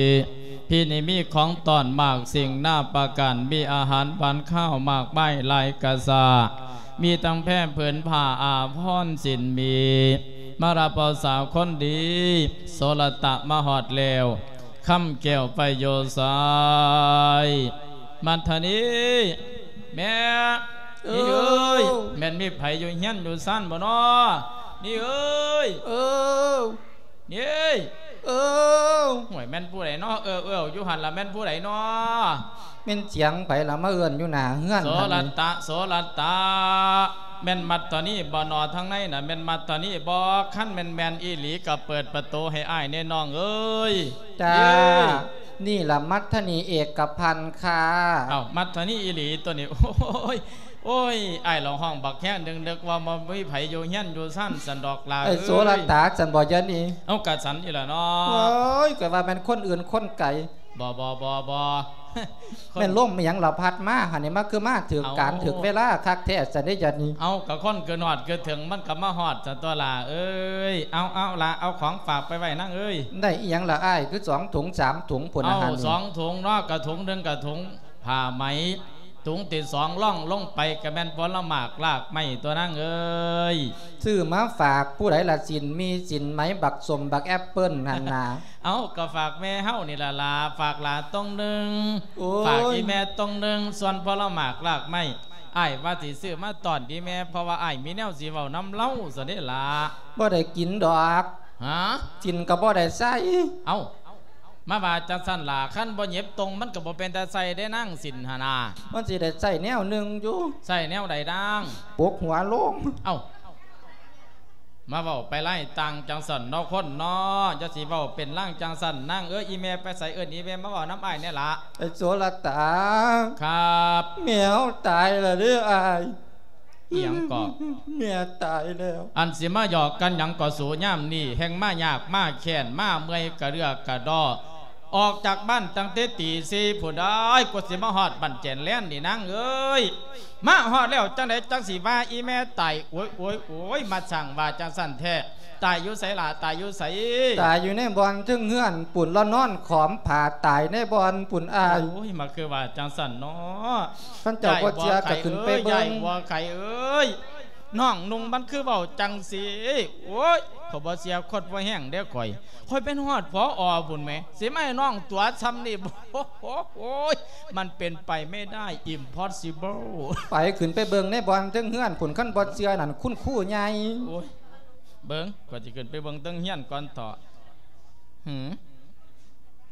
ພີ່ນີ້ມີຂອງຕ້ອນມາກສິ່ງນາປະການ ມີອາຫານຫວານຄາວມາກມາຍຫຼາຍກະຊາ ມີທັງແພຜືນຜ້າອາພອນສິນມີ ມາຮັບເອົາສາວຄົນດີ ໂສລະຕະມາຮອດແລ້ວ ຄຳແກ້ວໄປຢູ່ໃສ? ມັດທະນີ ແມ່ ເອີ ນີ້ເອີຍ ແມ່ນມີໃຜຢູ່ເຮືອນຢູ່ຊານບໍ່ນໍ? ນີ້ເອີຍ ເອີ ນີ້ເອີຍ ເອີ ໂອ້ຍ ແມ່ນຜູ້ໃດນໍ? ເອີ ເອີ ຢູ່ຫັ້ນລະ ແມ່ນຜູ້ໃດນໍ? ແມ່ນສຽງໃຜລະມາເອີ້ນຢູ່ໜ້າເຮືອນ? ໂສລະຕະ ໂສລະຕະ ແມ່ນມັດທະນີບໍ່ນໍ? ທາງໃນນະແມ່ນມັດທະນີບໍ່? ຄັນແມ່ນແມ່ນອີ່ຫຼີກໍເປີດປະຕູໃຫ້ອ້າຍແດ່ນ້ອງເອີຍ. ຈ້າ ນີ້ລະມັດທະນີເອກະພັນຄ່າ. ເອົ້າ ມັດທະນີອີ່ຫຼີຕົວນີ້. ໂອ້ຍ ໂອ້ຍ ອ້າຍລະຮ້ອງບັກແຮງ ນຶກວ່າບໍ່ມີໃຜຢູ່ເຮືອນຢູ່ຊານຊັ້ນດອກຫຼ້າເອີຍ. ໂສລະຕາຊັ້ນບໍ່ ດຽວນີ້? ເອົ້າ ກະສັນນີ້ລະເນາະ. ໂອ້ຍ ຂ້ອຍວ່າແມ່ນຄົນອື່ນຄົນໄກ. ບໍ່ ບໍ່ ບໍ່ ບໍ່ ແມ່ນລົມອີ່ຫຍັງລະພັດມາຫັ້ນນີ້ ມາຄືມາຖືກການ ເອົ້າ ຖືກເວລາຄັກແທ້ຊັ້ນເດ້ ດຽວນີ້. ເອົ້າ ກະຄົນຄືນຮອດຄືເຖິງ ມັນກະມາຮອດຊັ້ນຕົວຫຼ້າເອີຍ. ເອົາ ເອົາລະ ເອົາຂອງຝາກໄປໄວ້ນາງເອີຍ. ໄດ້ອີ່ຫຍັງລະອ້າຍ ຄືສອງຖົງສາມຖົງພຸ້ນນະ? ເອົ້າ ຫັ້ນ ສອງຖົງເນາະ ກະຖົງໜຶ່ງກະຖົງຜ້າໄໝ ຖົງທີສອງລອງລົງໄປກະແມ່ນຜົນລະໝາກລາກໄມ້ຕົວະນາງເອີຍ. ຊື້ມາຝາກຜູ້ໃດລະ ສິນມີສິນໄໝ ບັກສົ້ມບັກແອັບເປິ້ນຫັ້ນນາ. ເອົ້າ ກະຝາກແມ່ເຮົານີ້ລະຫຼ້າ ຝາກຫຼ້າຕົງໜຶ່ງ. ໂອ້ຍ ຝາກອີ່ແມ່ຕົງໜຶ່ງ ສ່ວນຜົນລະໝາກລາກໄມ້ ອ້າຍວ່າຊິຊື້ມາຕ້ອນອີ່ແມ່ ເພາະວ່າອ້າຍມີແນວຊິເວົ້ານຳລາວຊັ້ນເດ້ລະ. ບໍ່ໄດ້ກິນດອກ. ຫາ? ກິນກະບໍ່ໄດ້ໃຊ້. ເອົ້າ ມາວ່າຈັ່ງຊັ້ນລະ ຄັນບໍ່ຫຍິບຕົງ ມັນກໍບໍ່ເປັນຕາໃສ່ເດ້ນາງ ສິ້ນຫັ້ນນາ. ມັນຊິໄດ້ໃຊ້ແນວໜຶ່ງຢູ່. ໃຊ້ແນວໃດນາງ? ປົກຫົວລົງ. ເອົ້າ ມາເວົ້າໄປຫຼາຍຕ່າງຈັ່ງຊັ້ນເນາະຄົນເນາະ, ຢ່າຊິເວົ້າເປັນລາງຈັ່ງຊັ້ນນາງເອີຍ. ອີແມ່ໄປໃສ? ເອີ້ນອີແມ່ມາເວົ້ານຳອ້າຍແດ່ລະ. ໄອ້ໂສລະຕາ. ຄັບ. ແມ່ເຮົາຕາຍແລ້ວເດີອ້າຍ. ອີ່ຫຍັງເກາະ? ແມ່ຕາຍແລ້ວ. ອັນຊິມາຫຍອກກັນຫຍັງເກາະສູ ຍາມນີ້ແຮ່ງມາຍາກມາແຄ້ນ ມາເມື່ອຍກະເລື່ອກະດໍ້ ອອກຈາກບ້ານຕັ້ງແຕ່ຕີສີ່ພຸ້ນເອີຍ ກວ່າຊິມາຮອດບ້ານແຈນແລນນີ້ນາງເອີຍ. ມາຮອດແລ້ວຈັ່ງໃດຈັ່ງຊິວ່າອີ່ແມ່ຕາຍ? ໂອ້ຍ ໂອ້ຍ ໂອ້ຍ ມາຊ່າງວ່າຈັ່ງຊັ້ນແທ້. ຕາຍຢູ່ໃສລະ? ຕາຍຢູ່ໃສ? ຕາຍຢູ່ໃນບ່ອນເທິງເຮືອນພຸ້ນລະ ນອນຂອມຜ້າຕາຍໃນບ່ອນພຸ້ນອ້າຍ. ໂອ້ຍ ມາຄືວ່າຈັ່ງຊັ້ນເນາະ. ຄັນເຈົ້າບໍ່ເຊື່ອກໍຂຶ້ນໄປເບິ່ງ. ຍາຍບົວໄຂ່ເອີຍ ຍາຍບົວໄຂ່ເອີຍ ນ້ອງນຸ່ງມັນຄືເວົ້າຈັ່ງຊີ້. ໂອ້ຍ ຂ້ອຍບໍ່ເຊື່ອຄົນບໍ່ແຮງເດ້ຂ້ອຍ. ຂ້ອຍເປັນຮອດ ຜອ ພຸ້ນແໝ ຊິມາໃຫ້ນ້ອງຕົວຊ່ຳນີ້. ໂອ້ຍ ມັນເປັນໄປໄມ່ໄດ້ impossible. ໄປ ຂຶ້ນໄປເບິ່ງໃນບ່ອນເທິງເຮືອນພຸ້ນ ຄັນບໍ່ເຊື່ອນັ້ນ ຄຸນຄູໃຫຍ່. ໂອ້ຍ ເບິ່ງ ຂ້ອຍຊິຂຶ້ນໄປເບິ່ງເທິງເຮືອນກ່ອນເຖາະ. ຫື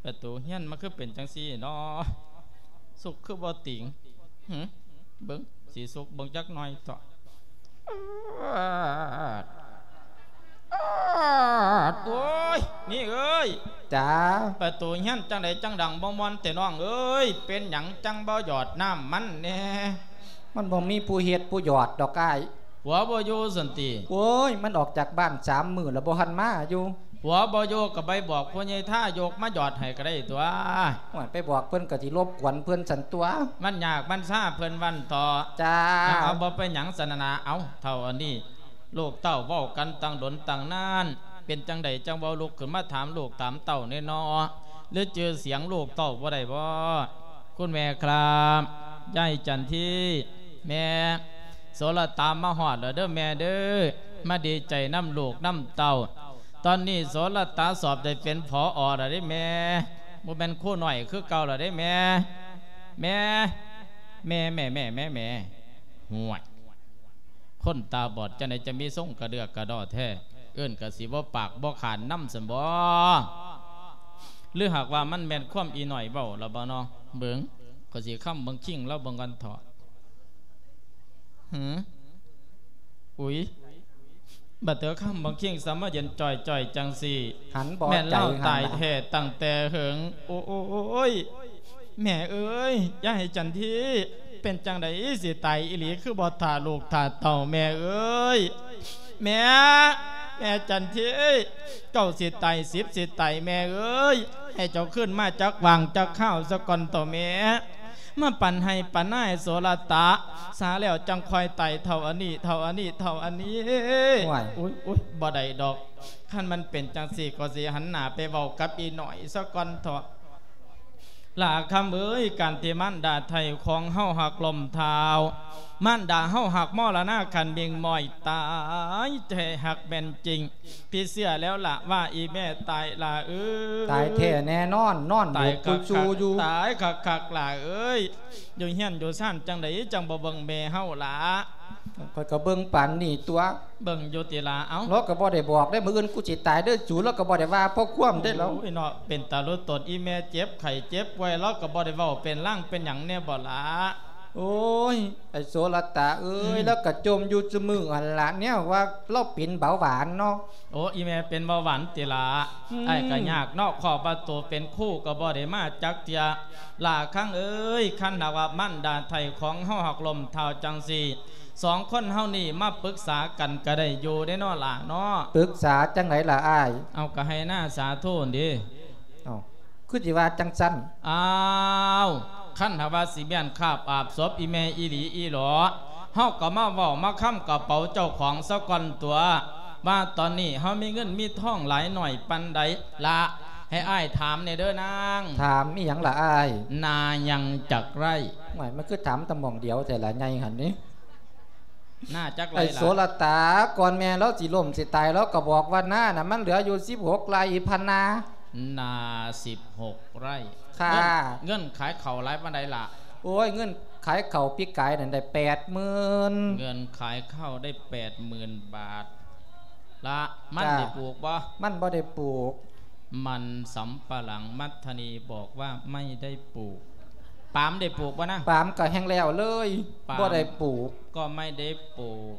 ປະຕູເຮືອນມັນຄືເປັນຈັ່ງຊີ້ເນາະ ສຸກຄືບໍ່ຕິງ. ຫື ເບິ່ງ ຊິສຸກເບິ່ງຈັກໜ່ອຍເຖາະ. ໂອ້ຍ ນີ້ເອີຍ. ຈ້າ. ປະຕູເຮືອນຈັ່ງໃດຈັ່ງດັງບໍ່ມ່ວນແຕ່ນ້ອງເອີຍ? ເປັນຫຍັງຈັ່ງບໍ່ຫຍອດນ້ຳມັນແດ່? ມັນບໍ່ມີຜູ້ເຮັດຜູ້ຫຍອດດອກອ້າຍ. ຜົວບໍ່ຢູ່ຊັ້ນຕິ? ໂອ້ຍ ມັນອອກຈາກບ້ານສາມມື້ແລ້ວ ບໍ່ທັນມາຢູ່. ຜົວບໍ່ຢູ່ກໍໄປບອກພໍ່ໃຫຍ່ທາຍົກມາຫຍອດໃຫ້ກໍໄດ້ຕົວະ. ໂອ້ຍ ໄປບອກເພິ່ນກໍຊິລົບກວນເພິ່ນຊັ້ນຕົວະ. ມັນຍາກມັນຊາເພິ່ນວ່າຊັ້ນເຖາະ. ຈ້າ. ເອົາ ເອົາ ບໍ່ເປັນຫຍັງຊັ້ນນະ. ເອົາ ເຖົ້າອັນນີ້ ລູກເຕົ້າເວົ້າກັນຕັ້ງດົນຕັ້ງນານ ເປັນຈັ່ງໃດຈັ່ງບໍ່ລຸກຂຶ້ນມາຖາມລູກຖາມເຕົ້າແດ່ເນາະ? ຫຼືຈື່ສຽງລູກເຕົ້າບໍ່ໄດ້ບໍ? ຄຸນແມ່ຄັບ ຍາຍຈັນທີ ແມ່ ໂສລະຕາມາຮອດແລ້ວເດີແມ່ເດີ ມາດີໃຈນຳລູກນຳເຕົ້າ. ຕອນນີ້ໂສລະຕາສອບໄດ້ເປັນ ຜອ ແລ້ວເດ້ແມ່ ບໍ່ແມ່ນຄູນ້ອຍຄືເກົ່າແລ້ວເດ້ແມ່. ແມ່ ແມ່ ແມ່ ແມ່ ແມ່ ແມ່ ຫ້ວຍ ຄົນຕາບອດຈັ່ງໃດຈະມີຊົງກະເດືອກກະດໍ້ແທ້ ເອີ້ນກະຊິບໍ່ປາກບໍ່ຂານນຳຊັ້ນບໍ? ຫຼືຫາກວ່າມັນແມ່ນຄວາມອີນ້ອຍເວົ້າລະບໍເນາະ? ເບິ່ງ ຂ້ອຍຊິຄຳເບິ່ງ ຄິງລາວເບິ່ງກ່ອນເຖາະ. ຫື ອຸຍ ບັດເຕີຄຳບັກຄີງສະມາເຢັນຈ່ອຍໆ ຈັ່ງຊີ້ ຫັນບໍ່ ແມ່ນລາວຕາຍແທ້ຕັ້ງແຕ່ເຫິງ. ໂອ້ຍ ແມ່ເອີຍ ຍາຍຈັນທີ ເປັນຈັ່ງໃດຊິຕາຍອີ່ຫຼີ ຄືບໍ່ຖ້າລູກຖ້າເຕົ້າ ແມ່ເອີຍ? ແມ່ ແມ່ຈັນທີ ເກົ້າຊິຕາຍ ສິບຊິຕາຍ ແມ່ເອີຍ ໃຫ້ເຈົ້າຄືນມາຈັກຫວ່າງຈັກຄາວສາກ່ອນເຖາະແມ່. ມາປັນໄຮ່ປັນນາໃຫ້ໂສລະຕະ ສາແລ້ວຈັ່ງຄ່ອຍໄຕ່ເທົ່າອັນນີ້ ເທົ່າອັນນີ້ ເທົ່າອັນນີ້. ໂອ້ຍ ໂອ້ຍ ບໍ່ໄດ້ດອກ ຄັນມັນເປັນຈັ່ງຊີ້ ກໍຊິຫັນໜ້າໄປເວົ້າກັບອີ່ນ້ອຍສາກ່ອນເຖາະ. ຫຼ້າຄຳເອີຍ ການທີ່ມານດາໄຖ່ຂອງເຮົາຫາກລົ້ມທ້າວ ມານດາເຮົາຫາກມໍລະນາຄັນມິ່ງມ້ອຍຕາຍແທ້ ຫາກແມ່ນຈິງ ຕິດເຊື້ອແລ້ວລະວ່າອີ່ແມ່ຕາຍຫຼ້າເອີຍ. ຕາຍແທ້ແນ່ນອນ ນອນໂບກກຸຊູຢູ່. ຕາຍຄັກໆ ຫຼ້າເອີຍ ຢູ່ເຮືອນຢູ່ຊານຈັ່ງໃດຈັ່ງບໍ່ເບິ່ງແມ່ເຮົາລະ? ຂ້ອຍກໍເບິ່ງປານນີ້ຕົວະ. ເບິ່ງຢູ່ຕິລະ. ເອົ້າ ລາວກໍບໍ່ໄດ້ບອກເດ້ ມື້ອື່ນກູຊິຕາຍເດີສູ ລາວກໍບໍ່ໄດ້ວ່າພໍຄວາມເດ້ລາວ. ໂອ້ຍເນາະ ເປັນຕາລຸຕົນ ອີ່ແມ່ເຈັບໄຂ້ເຈັບປ່ວຍ ລາວກໍບໍ່ໄດ້ເວົ້າເປັນລາງເປັນຫຍັງແນ່ບໍລະ? ໂອ້ຍ ໄອ້ໂສລະຕາເອີຍ ອືມ ລາວກໍຈົ່ມຢູ່ຊຸມື້ຫັ້ນລະ ແນວວ່າລາວເປັນເບົາຫວານເນາະ. ໂອ້ ອີ່ແມ່ເປັນເບົາຫວານຕິລະ? ອືມ ອ້າຍກໍຍາກເນາະ ເພາະວ່າໂຕເປັນຄູກໍບໍ່ໄດ້ມາຈັກເທື່ອ. ຫຼ້າຄັງເອີຍ ຄັນຫາກວ່າມານດາໄຖ່ຂອງເຮົາຫາກລົ້ມທ້າວຈັ່ງຊີ້ ສອງຄົນເຮົານີ້ມາປຶກສາກັນກໍໄດ້ຢູ່ເດ້ເນາະຫຼ້າເນາະ. ປຶກສາຈັ່ງໃດລະອ້າຍ? ເອົາ ກໍໄຮ່ນາສາໂທນເດ. ເອົ້າ ຄືຊິວ່າຈັ່ງຊັ້ນ? ອ້າວ ຄັນຫາກວ່າຊິແມ່ນຄາບອາບສົບອີ່ແມ່ອີ່ຫຼີອີ່ຫຼໍ ເຮົາກໍມາເວົ້າມາຄຳກະເປົາເຈົ້າຂອງສາກ່ອນຕົວະ ວ່າຕອນນີ້ເຮົາມີເງິນມີທອງຫຼາຍໜ້ອຍປານໃດລະ? ໃຫ້ອ້າຍຖາມແດ່ເດີນາງ. ຖາມອີ່ຫຍັງລະອ້າຍ? ນາຍັງຈັກໄຮ່? ໂອ້ຍ ມັນຄືຖາມແຕ່ໝ່ອງດຽວແທ້ລະ ໃຫຍ່ຫັ້ນນີ້. ນາຈັກໄຮ່ລະ? ໄອ້ໂສລະຕາ ກ່ອນແມ່ລາວຊິລົ້ມຊິຕາຍ ລາວກໍບອກວ່ານານະ ມັນເຫຼືອຢູ່ສິບຫົກໄຮ່ພະນາ. ນາສິບຫົກໄຮ່. ຄ່າ. ເງິນ ເງິນຂາຍເຂົ້າຫຼາຍປານໃດລະ? ໂອ້ຍ ເງິນຂາຍເຂົ້າປີກາຍນັ້ນໄດ້ແປດໝື່ນ. ເງິນຂາຍເຂົ້າໄດ້ແປດໝື່ນບາດລະ. ມັນ ຈ້າ ໄດ້ປູກບໍ່? ມັນບໍ່ໄດ້ປູກ. ມັນສຳປະຫຼັງ ມັດທະນີບອກວ່າໄມ່ໄດ້ປູກ. ປາມໄດ້ປູກບໍ່ນາງ? ປາມກໍແຮ່ງແລ້ວເລີຍ ປາມບໍ່ໄດ້ປູກ. ກໍໄມ່ໄດ້ປູກ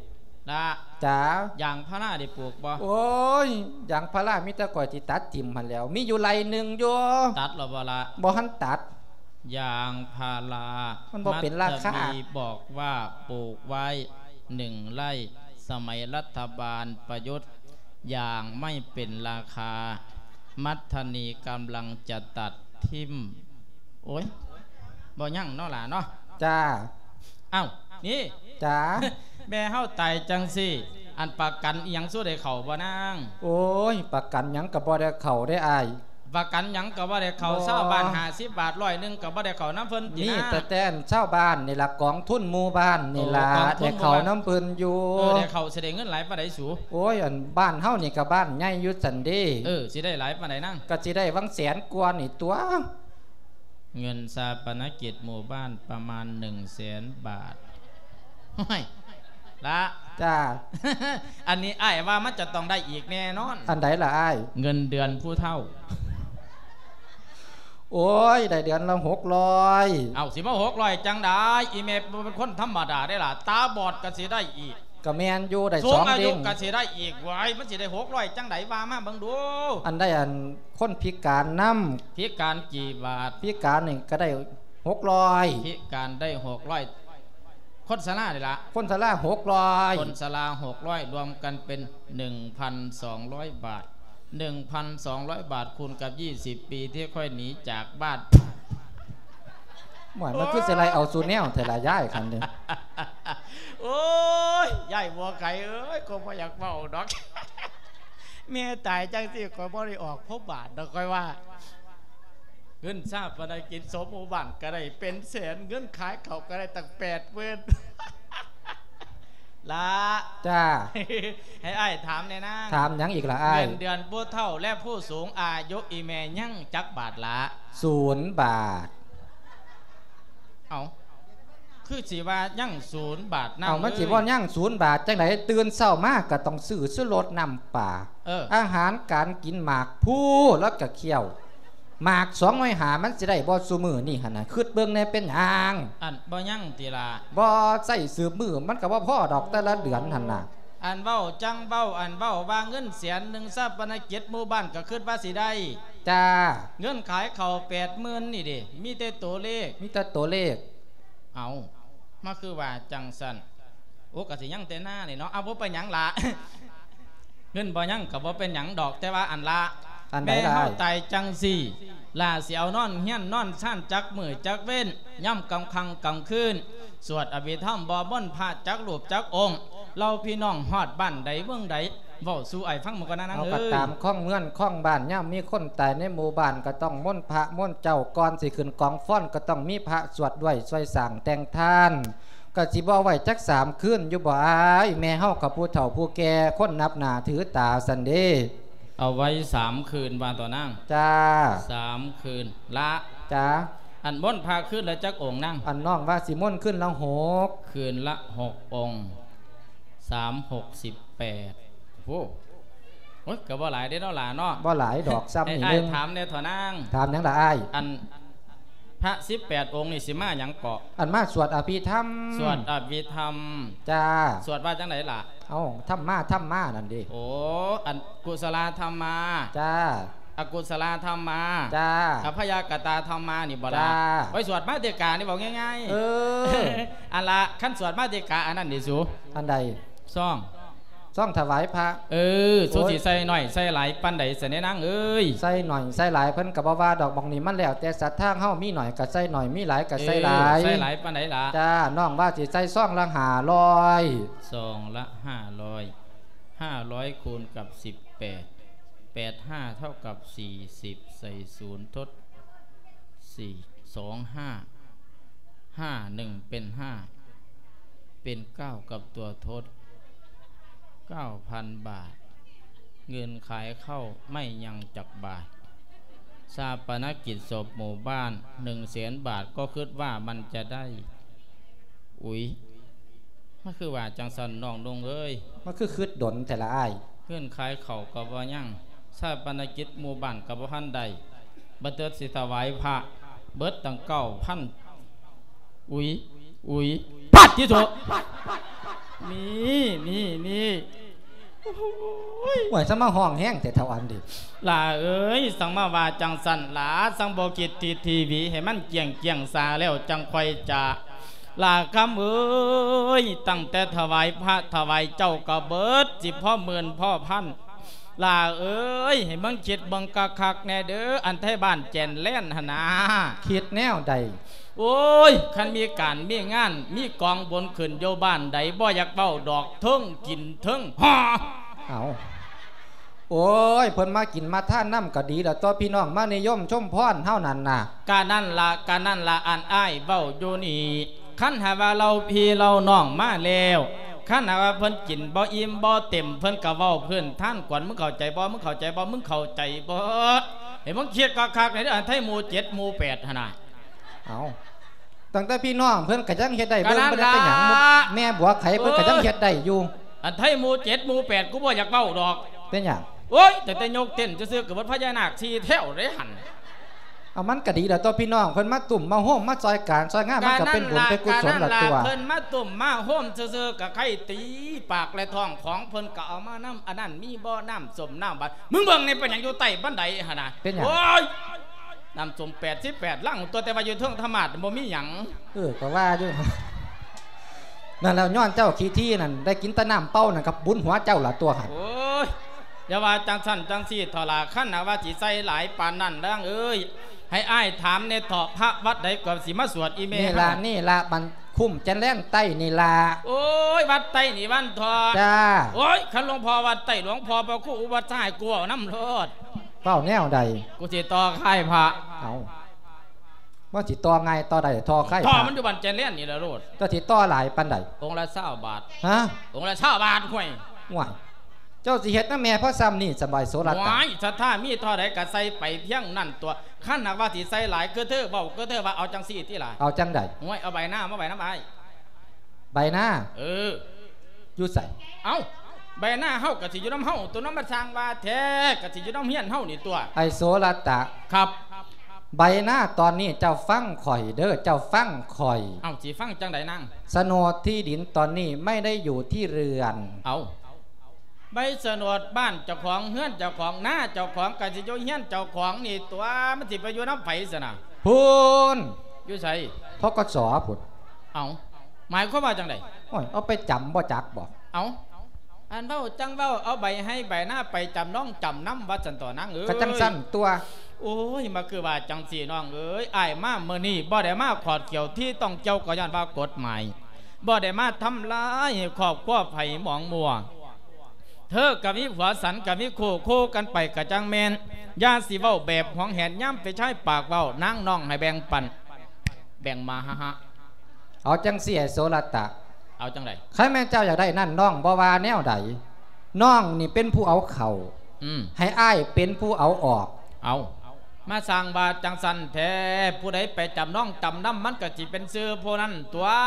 ລະ. ຈ້າ. ຢາງພາລາໄດ້ປູກບໍ່? ໂອ້ຍ ຢາງພາລາມີແຕ່ຂ້ອຍຊິຕັດຖິ້ມຫັ້ນແຫຼ້ວ ມີຢູ່ໄຮ່ໜຶ່ງຢູ່. ຕັດແລ້ວບໍ່ລະ? ບໍ່ທັນຕັດ. ຢາງພາລາ ມັນບໍ່ເປັນລາຄາ. ມັດທະນີບອກວ່າປູກໄວ້ໜຶ່ງໄຮ່ ສະໄໝລັດຖະບານປະຍຸດ ຢາງໄມ່ເປັນລາຄາ ມັດທະນີກຳລັງຈະຕັດຖິ້ມ. ໂອ້ຍ ບໍ່ຍັງເນາະຫຼາເນາະ. ຈ້າ. ເອົ້າ ນີ້. ຈ້າ. ແມ່ເຮົາຕາຍຈັ່ງຊີ້ ອັນປະກັນອີ່ຫຍັງ ສູ່ໄດ້ເຂົ້າບໍ່ນາງ? ໂອ້ຍ ປະກັນຫຍັງກໍບໍ່ໄດ້ເຂົ້າເດ້ອ້າຍ. ປະກັນຫຍັງກໍບໍ່ໄດ້ເຂົ້າ. ບໍ່. ຊາວບ້ານຫ້າສິບບາດ ຮ້ອຍໜຶ່ງກໍບໍ່ໄດ້ເຂົ້ານຳເພິ່ນຕິນາ? ມີແຕ່ ແຕ່ຊາວບ້ານນີ້ລະ ກອງທຶນໝູ່ບ້ານນີ້ລະ. ໂອ້ ກອງທຶນໝູ່ບ້ານ ໄດ້ເຂົ້ານຳເພິ່ນຢູ່. ເອີ ໄດ້ເຂົ້າ ຊິໄດ້ເງິນຫຼາຍປານໃດສູ? ໂອ້ຍ ອັນບ້ານເຮົານີ້ກໍບ້ານໃຫຍ່ຢູ່ຊັ້ນເດ. ເອີ ຊິໄດ້ຫຼາຍປານໃດນາງ? ກໍຊິໄດ້ຫວ່າງແສນກວ່ານີ້ຕົວະ. ເງິນຊາປະນະກິດໝູ່ບ້ານປະມານໜຶ່ງແສນບາດ. ໂອ້ຍ ລະ. ຈ້າ. ອັນນີ້ອ້າຍວ່າມັນຈະຕ້ອງໄດ້ອີກແນ່ນອນ. ອັນໃດລະອ້າຍ? ເງິນເດືອນຜູ້ເຖົ້າ. ໂອ້ຍ ໄດ້ເດືອນລະຫົກຮ້ອຍ. ເອົ້າ ຊິມາຫົກຮ້ອຍຈັ່ງໃດ? ອີ່ແມ່ບໍ່ເປັນຄົນທຳມະດາເດ້ລະ ຕາບອດກໍຊິໄດ້ອີກ. ກໍແມ່ນຢູ່ ໄດ້ສອງເດ້ງ. ສູງອາຍຸກໍຊິໄດ້ອີກ. ວ້າຍ ມັນຊິໄດ້ຫົກຮ້ອຍຈັ່ງໃດ? ວ່າມາເບິ່ງດູ. ອັນໃດ ອັນ ຄົນພິການນຳ. ພິການກີ່ບາດ? ພິການນີ້ກໍໄດ້ຫົກຮ້ອຍ. ພິການໄດ້ຫົກຮ້ອຍ. ຄົນຊະລານີ້ລະ? ຄົນຊະລາຫົກຮ້ອຍ. ຄົນຊະລາຫົກຮ້ອຍ ລວມກັນເປັນໜຶ່ງພັນສອງຮ້ອຍບາດ. ໜຶ່ງພັນສອງຮ້ອຍບາດຄູນກັບຊາວປີທີ່ຂ້ອຍໜີຈາກບ້ານ. ໂອ້ຍ ມັນຄືຊິໄລ່ເອົາສູ່ແນວແທ້ລະຍາຍຄັນນີ້. ໂອ້ຍ ຍາຍບົວໄກ່ເອີຍ ກໍບໍ່ຢາກເວົ້າດອກ. ແມ່ຕາຍຈັ່ງຊີ້ ຂ້ອຍບໍ່ໄດ້ອອກພົບບາດດອກ ຂ້ອຍວ່າ. ເງິນຊາປະນະກິດສົບໝູ່ບ້ານກໍໄດ້ເປັນແສນ ເງິນຂາຍເຂົ້າກໍໄດ້ຕັ້ງແປດໝື່ນ. ລະ. ຈ້າ. ໃຫ້ອ້າຍຖາມແດ່ນາງ. ຖາມຫຍັງອີກລະອ້າຍ? ເງິນເດືອນຜູ້ເຖົ້າ ແລະ ຜູ້ສູງອາຍຸ ອີ່ແມ່ຍັງຈັກບາດລະ? ສູນບາດ. ເອົ້າ ຄືຊິວ່າຍັງສູນບາດນຳ. ເອົ້າ ມັນຊິບໍ່ຍັງສູນບາດຈັ່ງໃດ? ຕື່ນເຊົ້າມາກໍຕ້ອງຊື້ຊູລົດນ້ຳປາ. ເອີ ອາຫານການກິນ ໝາກພູ ລະກະຄ້ຽວ ໝາກສອງຮ້ອຍຫ້າ ມັນຊິໄດ້ບໍ່ຊຸມື້ນີ້ຫັ້ນນະ? ຄິດເບິ່ງແດ່ ເປັນຫຍັງ? ອັນ ບໍ່ຍັງຕິລະ? ບໍ່ໃຊ້ສືບມື້ ມັນກໍບໍ່ພໍດອກແຕ່ລະເດືອນຫັ້ນນະ. ອັນເວົ້າຈັ່ງເວົ້າ ອັນເວົ້າວ່າເງິນແສນໜຶ່ງຊາປະນະກິດໝູ່ບ້ານກໍຄິດວ່າຊິໄດ້. ຈ້າ. ເງິນຂາຍເຂົ້າແປດໝື່ນນີ້ເດ ມີແຕ່ໂຕເລກ. ມີແຕ່ໂຕເລກ. ເອົ້າ ມາຄືວ່າຈັ່ງຊັ້ນ? ໂອ້ ກໍຊິຍັງແຕ່ນານີ້ເນາະ. ເອົາ ບໍ່ເປັນຫຍັງລະ ເງິນບໍ່ຍັງກໍບໍ່ເປັນຫຍັງດອກ ແຕ່ວ່າອັນລະ ອັນໃດລະ? ແມ່ເຮົາຕາຍຈັ່ງຊີ້ ລະຊິເອົານອນເຮືອນນອນຊານຈັກມື້ຈັກເວັນ ຍາມກາງຄ່ຳກາງຄືນ ສວດອະພິທຳບໍ່ ມົນພະຈັກຮູບຈັກອົງ ເຫຼົ່າພີ່ນ້ອງຮອດບ້ານໃດເມືອງໃດ ເວົ້າສູ່ອ້າຍຟັງໝູ່ກ່ອນນານາງເອີຍ. ເຮົາກໍຕາມຄອງເຮືອນຄອງບ້ານ ຍາມມີຄົນຕາຍໃນໝູ່ບ້ານ ກໍຕ້ອງມົນພະມົນເຈົ້າ ກ່ອນຊິຂຶ້ນກອງຟ້ອນ ກໍຕ້ອງມີພະສວດດ້ວຍ ຊ່ວຍສ້າງແຕ່ງທານ. ກໍຊິບໍ່ໄວ້ຈັກສາມຄືນຢູ່ບໍ່ອ້າຍ? ແມ່ເຮົາກໍຜູ້ເຖົ້າຜູ້ແກ່ ຄົນນັບໜ້າຖືຕາຊັ້ນເດ. ເອົາໄວ້ສາມຄືນວ່າຕໍ່ນາງ. ຈ້າ. ສາມຄືນລະ. ຈ້າ. ອັນມົນພະຄືນລະຈັກອົງນາງ? ອັນນ້ອງວ່າຊິມົນຄືນລະຫົກ. ຄືນລະຫົກອົງ ສາມຫົກສິບແປດ. ໂອ້ ໂອ້ຍ ກໍບໍ່ຫຼາຍເດ້ເນາະຫຼາເນາະ. ບໍ່ຫຼາຍດອກ ສ່ຳນີ້ໜຶ່ງ. ອ້າຍຖາມແດ່ເຖາະນາງ. ຖາມຫຍັງລະອ້າຍ? ອັນພະສິບແປດອົງນີ້ຊິມາຫຍັງເກາະ? ອັນມາສວດອະພິທຳ. ສວດອະພິທຳ. ຈ້າ. ສວດວ່າຈັ່ງໃດລະ? ເອົ້າ ທຳມາ ທຳມານັ້ນເດ. ໂອ້ ອັນກຸສະລາທຳມາ. ຈ້າ. ອະກຸສະລາທຳມາ. ຈ້າ. ອະພະຍາກະຕາທຳມານີ້ບໍ່ລະ? ຈ້າ. ໄວ້ສວດມາຕິການີ້ເວົ້າງ່າຍໆ. ເອີ ອັນລະ ຄັນສວດມາຕິກາອັນນັ້ນເດສູ. ອັນໃດ? ຊອງ ຊອງຖວາຍພະ. ເອີ ໂອ້ຍ ສູຊິໃສ່ໜ້ອຍໃສ່ຫຼາຍປານໃດຊັ້ນແດ່ນາງເອີຍ? ໃສ່ໜ້ອຍໃສ່ຫຼາຍເພິ່ນກໍບໍ່ວ່າດອກ. ໝ່ອງນີ້ມັນແລ້ວແຕ່ສັດທາເຮົາ ມີໜ້ອຍກໍໃສ່ໜ້ອຍ ມີຫຼາຍກໍໃສ່ຫຼາຍ. ເອີ ໃສ່ຫຼາຍປານໃດລະ? ຈ້າ ນ້ອງວ່າຊິໃສ່ຊອງລະຫ້າຮ້ອຍ. ຊອງລະຫ້າຮ້ອຍ. ຫ້າຮ້ອຍຄູນກັບສິບແປດ ແປດຫ້າເທົ່າກັບສີ່ສິບ ໃສ່ສູນທົດສີ່ ສອງຫ້າ ຫ້າໜຶ່ງເປັນຫ້າ ເປັນເກົ້າກັບຕົວທົດ ເກົ້າພັນບາດ. ເງິນຂາຍເຂົ້າໄມ່ຍັງຈັກບາດ. ຊາປະນະກິດສົບໝູ່ບ້ານ ໜຶ່ງແສນບາດ ກໍຄິດວ່າມັນຈະໄດ້. ອຸຍ ມັນຄືວ່າຈັ່ງຊັ້ນນ້ອງນຸ່ງເອີຍ? ມັນຄືຄິດດົນແທ້ລະອ້າຍ? ເງິນຂາຍເຂົ້າກໍບໍ່ຍັງ ຊາປະນະກິດໝູ່ບ້ານກໍບໍ່ທັນໄດ້ ບັດເຕີດຊິຖວາຍພະ ເບິດຕັ້ງເກົ້າພັນ ອຸຍ ອຸຍ ປາດຕິໂທ ນີ້ ນີ້ ນີ້ ໂອ້ຍ ໂອ້ຍ ສັງມາຮ້ອງແຮງແທ້ເຖົ້າອັນນີ້ ຫຼ້າເອີຍ ສັງມາວ່າຈັ່ງຊັ້ນຫຼ້າ ສັງບໍ່ຄິດທີ່ທີວີໃຫ້ມັນກ້ຽງໆຊາແລ້ວຈັ່ງຄ່ອຍຈະ ຫຼ້າຄຳເອີຍ ຕັ້ງແຕ່ຖວາຍພະຖວາຍເຈົ້າກໍເບິດ ຊິພໍໝື່ນພໍພັນ ຫຼ້າເອີຍ ໃຫ້ເບິ່ງຄິດເບິ່ງຄັກໆແດ່ເດີ ອັນໄທບ້ານແຈນແລນຫັ້ນນາ ຄິດແນວໃດ? ໂອ້ຍ ຄັນມີການມີງານ ມີກອງບຸນຂຶ້ນຢູ່ບ້ານໃດ ບໍ່ຢາກເວົ້າດອກ ເທິງກິນເທິງຫໍ່ ເອົ້າ ໂອ້ຍ ເພິ່ນມາກິນມາທານນຳກໍດີແລ້ວຕົວະ ພີ່ນ້ອງມານິຍົມຊົມພອນເຮົານັ້ນນະ ກະນັ້ນລະ ກະນັ້ນລະ ອັນອ້າຍເວົ້າຢູ່ນີ້ ຄັນຫາກວ່າເຫຼົ່າພີ່ເຫຼົ່ານ້ອງມາແລ້ວ ຄັນຫາກວ່າເພິ່ນກິນບໍ່ອີ່ມບໍ່ເຕັມ ເພິ່ນກໍເວົ້າພື້ນຖານກວນ ມຶງເຂົ້າໃຈບໍ່? ມຶງເຂົ້າໃຈບໍ່? ມຶງເຂົ້າໃຈບໍ່? ໃຫ້ມຶງຄິດຄັກໆແດ່ເດີ ອັນໄທໝູ່ເຈັດໝູ່ແປດຫັ້ນນະ ເອົ້າ ຕັ້ງແຕ່ພີ່ນ້ອງເພິ່ນກໍຍັງເຮັດໄດ້ ເບິ່ງບໍ່ໄດ້ເປັນຫຍັງ ກະນັ້ນລະ ແມ່ບົວໄຂເພິ່ນກໍຍັງເຮັດໄດ້ຢູ່ ອັນໄທໝູ່ເຈັດໝູ່ແປດ ກູບໍ່ຢາກເວົ້າດອກ ເປັນຫຍັງ? ໂອ້ຍ ຕັ້ງແຕ່ຍົກເຕັ້ນຊື່ໆ ກໍເບິດພະຍານາກສີ່ແຖວເດ້ຫັ້ນ ເອົາ ມັນກໍດີແລ້ວຕົວະ ພີ່ນ້ອງເພິ່ນມາຕຸ້ມມາໂຮມມາຊ່ອຍການຊ່ອຍງານ ມັນກໍເປັນບຸນເປັນກຸສົນແລ້ວຕົວະ ເພິ່ນມາຕຸ້ມມາໂຮມຊື່ໆ ກໍໄຄຕີປາກແລະທ້ອງຂອງເພິ່ນ ກໍເອົາມານຳ ອັນນັ້ນມີບໍ່ ນ້ຳສົ້ມນ້ຳຫວານ ມຶງເບິ່ງນີ້ ເປັນຫຍັງຢູ່ໃຕ້ບັນໄດຫັ້ນນະ ເປັນຫຍັງ? ໂອ້ຍ ນ້ຳສົ້ມແປດສິບແປດລັງຕົວະ ແຕ່ວ່າຢູ່ເທິງທຳມາດບໍ່ມີຫຍັງ ເອີ ກໍວ່າຢູ່ ນັ້ນແຫຼະ ຍ້ອນເຈົ້າຂີ້ຖີ່ນັ້ນ ໄດ້ກິນແຕ່ນ້ຳເປົ່ານັ້ນ ກໍບຸນຫົວເຈົ້າລະຕົວະຫັ້ນ ໂອ້ຍ ຢ່າວ່າຈັ່ງຊັ້ນຈັ່ງຊີ້ເຖາະຫຼ້າ ຄັນຫາກວ່າຊິໃສ່ຫຼາຍປານນັ້ນ ນາງເອີຍ ໃຫ້ອ້າຍຖາມແດ່ເຖາະ ພະວັດໃດກໍຊິມາສວດອີ່ແມ່ ນີ້ລະ ເຮົາ ນີ້ລະ ບ້ານຄຸ້ມແຈນແລນໃຕ້ນີ້ລະ ໂອ້ຍ ວັດໃຕ້ນີ້ວັນເຖາະ ຈ້າ ໂອ້ຍ ຄັນຫຼວງພໍ່ວັດໃຕ້ ຫຼວງພໍ່ພະຄູອຸປັດຊາ ໃຫ້ກູເວົ້ານຳໂລດ ເວົ້າແນວໃດ? ກູຊິຕໍ່ຄ້າຍພະ ເອົ້າ ວ່າຊິຕໍ່ງ່າຍຕໍ່ໄດ້ ຕໍ່ຄ້າຍພະ ຕໍ່ມັນຢູ່ບ້ານແຈນແລນນີ້ລະໂລດ ເຈົ້າຊິຕໍ່ຫຼາຍປານໃດ? ອົງລະຊາວບາດ ຮະ? ອົງລະຊາວບາດ ຫ້ວຍ ຫ້ວຍ ເຈົ້າຊິເຮັດນຳແມ່ພໍສ່ຳນີ້ສະບາຍໂສລະຕະ ຫ້ວຍ ສັດທາມີທໍ່ໃດກໍໃສ່ໄປພຽງນັ້ນຕົວະ ຄັນຫາກວ່າຊິໃສ່ຫຼາຍ ຄືເທີເວົ້າ ຄືເທີວ່າ ເອົາຈັ່ງຊີ້ຕິລະ ເອົາຈັ່ງໃດ? ຫ້ວຍ ເອົາໃບນາມາໄວ້ນຳອ້າຍ ໃບນາ ເອີ ຢູ່ໃສ? ເອົ້າ ໃບນາເຮົາກໍຊິຢູ່ນຳເຮົາຕົວະ ນຳມາສ້າງວ່າແທ້ ກໍຊິຢູ່ນຳເຮືອນເຮົານີ້ຕົວະ ໄອ້ໂສລະຕະ ຄັບ ໃບນາຕອນນີ້ເຈົ້າຟັງຂ້ອຍເດີ ເຈົ້າຟັງຂ້ອຍ ເອົ້າ ຊິຟັງຈັ່ງໃດນາງ? ໂສນດທີ່ດິນຕອນນີ້ໄມ່ໄດ້ຢູ່ທີ່ເຮືອນ ເອົ້າ ໃບໂສນດບ້ານເຈົ້າຂອງ ເຮືອນເຈົ້າຂອງ ນາເຈົ້າຂອງ ກໍຊິຢູ່ເຮືອນເຈົ້າຂອງນີ້ຕົວະ ມັນຊິໄປຢູ່ນຳໃຜຊັ້ນນະ? ພຸ້ນ ຢູ່ໃສ? ທກສ ພຸ້ນ ເອົ້າ ໝາຍຄວາມວ່າຈັ່ງໃດ? ໂອ້ຍ ເອົາໄປຈຳບໍ່ຈັກບໍ? ເອົ້າ ອັນເວົ້າຈັ່ງເວົ້າ ເອົາໃບໄຮ່ໃບນາໄປຈຳນອງຈຳນຳວ່າຊັ້ນຕົວະນາງເອີຍ ກໍຈັ່ງຊັ້ນຕົວະ ໂອ້ຍ ມາຄືວ່າຈັ່ງຊີ້ນ້ອງເອີຍ ອ້າຍມາມື້ນີ້ບໍ່ໄດ້ມາຂອດຂຽວທີ່ຕ້ອງກ່ຽວ ກໍຍ້ອນວ່າກົດໝາຍ ບໍ່ໄດ້ມາທຳລາຍໃຫ້ຄອບຄົວໃຜໝອງມົວ ເທີກໍມີຜົວ ສັນກໍມີຄູ່ ຄູ່ກັນໄປກໍຈັ່ງແມ່ນ ຢ່າຊິເວົ້າແບບຫວງແຫນ ຍາມເປັນຊາຍປາກເວົ້າ ນາງນ້ອງໃຫ້ແບ່ງປັນ ແບ່ງມາຫະຫະ ເອົາຈັ່ງຊີ້ ໄອ້ໂສລະຕະ ເອົາຈັ່ງໃດ? ຄັນແມ່ນເຈົ້າຢາກໄດ້ນັ້ນ ນ້ອງບໍ່ວ່າແນວໃດ ນ້ອງນີ້ເປັນຜູ້ເອົາເຂົ້າ ອືມ ໃຫ້ອ້າຍເປັນຜູ້ເອົາອອກ ເອົາ ມາສ້າງວ່າຈັ່ງຊັ້ນແທ້ ຜູ້ໃດໄປຈຳນອງຈຳນຳ ມັນກໍຊິເປັນຊື່ຜູ້ນັ້ນຕົວະ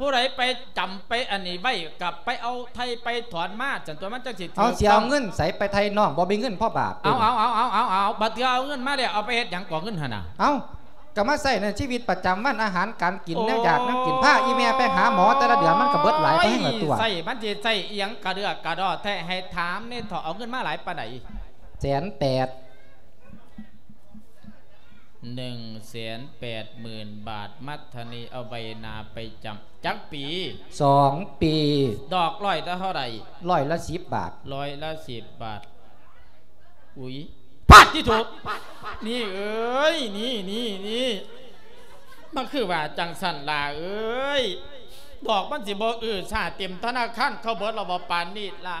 ຜູ້ໃດໄປຈຳໄປອັນນີ້ໄວ້ ກໍໄປເອົາໄຖ່ໄປຖອນມາ ຈັ່ງຕົວະ ມັນຈັ່ງຊິຖືກຕ້ອງ ເອົາ ຊິເອົາເງິນໃສໄປໄຖ່ນ້ອງ ບໍ່ມີເງິນພໍບາດ ເອົາ ເອົາ ເອົາ ເອົາ ເອົາ ບັດເທື່ອເອົາເງິນມາແລ້ວ ເອົາໄປເຮັດຫຍັງກໍເງິນຫັ້ນນະ? ເອົ້າ ກໍມາໃຊ້ໃນຊີວິດປະຈຳວັນ ອາຫານການກິນ ໂອ້ຍ ແນວຢາກແນວກິນ ພາອີ່ແມ່ໄປຫາໝໍແຕ່ລະເດືອນ ມັນກໍເບິດຫຼາຍໄປແຮງລະຕົວະ ໃຊ້ມັນຊິໃຊ້ອີ່ຫຍັງກະເດືອກະດໍແທ້ ໃຫ້ຖາມແດ່ເຖາະ ເອົາເງິນມາຫຼາຍປານໃດ? ແສນແປດ ໜຶ່ງແສນແປດໝື່ນບາດ ມັດທະນີ ເອົາໃບນາໄປຈຳ ຈັກປີ? ສອງປີ ດອກຮ້ອຍລະເທົ່າໃດ? ຮ້ອຍລະສິບບາດ ຮ້ອຍລະສິບບາດ ອຸຍ ປາດຕິໂທ ນີ້ເອີຍ ນີ້ ນີ້ ນີ້ ມັນຄືວ່າຈັ່ງຊັ້ນຫຼ້າເອີຍ ດອກມັນຊິບໍ່ອື້ຊາເຕັມທະນາຄານເຂົາເບິດລະບໍ່ປານນີ້ຫຼ້າ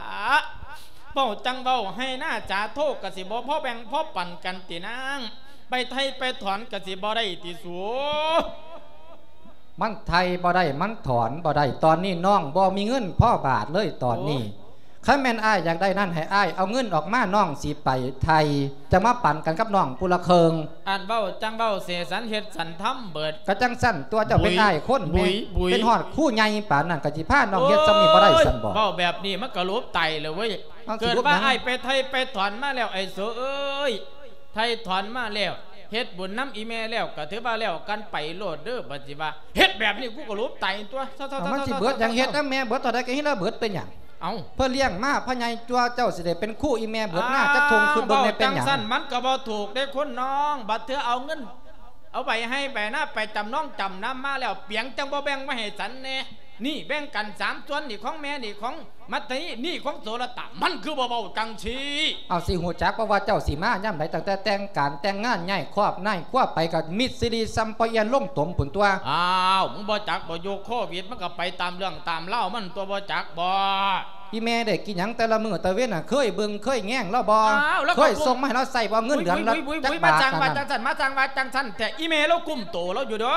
ເວົ້າຈັ່ງເວົ້າ ໄຮ່ນາສາໂທກະຊິບໍ່ພໍແບ່ງພໍປັນກັນຕິນາງ ໄປໄຖ່ໄປຖອນກະຊິບໍ່ໄດ້ຕິສູ ມັນໄຖ່ບໍ່ໄດ້ ມັນຖອນບໍ່ໄດ້ ຕອນນີ້ນ້ອງບໍ່ມີເງິນພໍບາດເລີຍຕອນນີ້ ໂອ້ຍ ຄັນແມ່ນອ້າຍຢາກໄດ້ນັ້ນ ໃຫ້ອ້າຍເອົາເງິນອອກມາ ນ້ອງຊິໄປໄຖ່ ຈະມາປັນກັນກັບນ້ອງຜູ້ລະເຄິ່ງ ອັນເວົ້າຈັ່ງເວົ້າ ເສສັນເຮັດສັນທຳເບີດ ກະຈັ່ງຊັ້ນຕົວະ ເຈົ້າເປັນອ້າຍຄົນ ບຸຍ ແມ່ນ ບຸຍ ເປັນຮອດຄູໃຫຍ່ປານນັ້ນ ກະຊິພານ້ອງເຮັດສ່ຳນີ້ບໍ່ໄດ້ຊັ້ນບໍ? ໂອ້ຍ ເວົ້າແບບນີ້ມັນກະຫຼຸບໄຕແລ້ວເວີຍ ເອົາ ເກີດວ່າອ້າຍໄປໄຖ່ໄປຖອນມາແລ້ວ ໄອ້ໂສເອີຍ ໄຖ່ຖອນມາແລ້ວ ເຮັດບຸນນຳອີ່ແມ່ແລ້ວ ກໍຖືວ່າແລ້ວກັນໄປໂລດເດີ. ບັດຊິວ່າເຮັດແບບນີ້ ກູກໍຫຼຸບໄຕຕົວະ. ເອົາ ມັນຊິເບິດຫຍັງ ເຮັດນຳແມ່ເບິດເທົ່າໃດກໍເຮັດລະເບິດ ເປັນຫຍັງ? ເອົ້າ ເພິ່ນລ້ຽງມາພະໃຫຍ່ຈົວເຈົ້າ ຊິໄດ້ເປັນຄູອີ່ແມ່ເບິດນາ ອ່າ ຈັກທົ່ງຄືເບິ່ງແດ່ເປັນຫຍັງ? ເວົ້າຈັ່ງຊັ້ນມັນກໍບໍ່ຖືກເດ້ຄົນນ້ອງ ບັດເທື່ອເອົາເງິນ ເອົາໃບໄຮ່ໃບນາໄປຈຳນອງຈຳນຳມາແລ້ວ ປຽງຈັ່ງບໍ່ແບ່ງມາໃຫ້ສັນແດ່? ນີ້ແບ່ງກັນສາມສ່ວນ ນີ້ຂອງແມ່ ນີ້ຂອງມັດຕະນີ ນີ້ຂອງໂສລະຕະ ມັນຄືບໍ່ເວົ້າຈັ່ງຊີ້? ເອົາ ຊິຮູ້ຈັກບໍ່ວ່າເຈົ້າຊິມາຍາມໃດ? ຕັ້ງແຕ່ແຕ່ງການແຕ່ງງານ ຍ້າຍຄອບຍ້າຍຄົວໄປ ກໍມິດຊິລິຊຳປະອຽນລົງຕົມພຸ້ນຕົວະ. ອ້າວ ມຶງບໍ່ຈັກບໍ່? ຍຸກໂຄວິດມັນກໍໄປຕາມເລື່ອງຕາມລາວມັນຕົວະ ບໍ່ຈັກບໍ່? ອີ່ແມ່ໄດ້ກິນຫຍັງແຕ່ລະມື້ແຕ່ເວັນນະ? ເຄີຍເບິ່ງເຄີຍແຍງລາວບໍ່? ອ້າວ ລາວກໍ ເຄີຍສົ່ງມາໃຫ້ລາວໃຊ້ບໍ່? ເງິນເດືອນລາວຈັກບາດ? ມາຈັ່ງວ່າຈັ່ງຊັ້ນ ມາຈັ່ງວ່າຈັ່ງຊັ້ນແທ້ ອີ່ແມ່ລາວກຸ້ມໂຕລາວຢູ່ເດີ.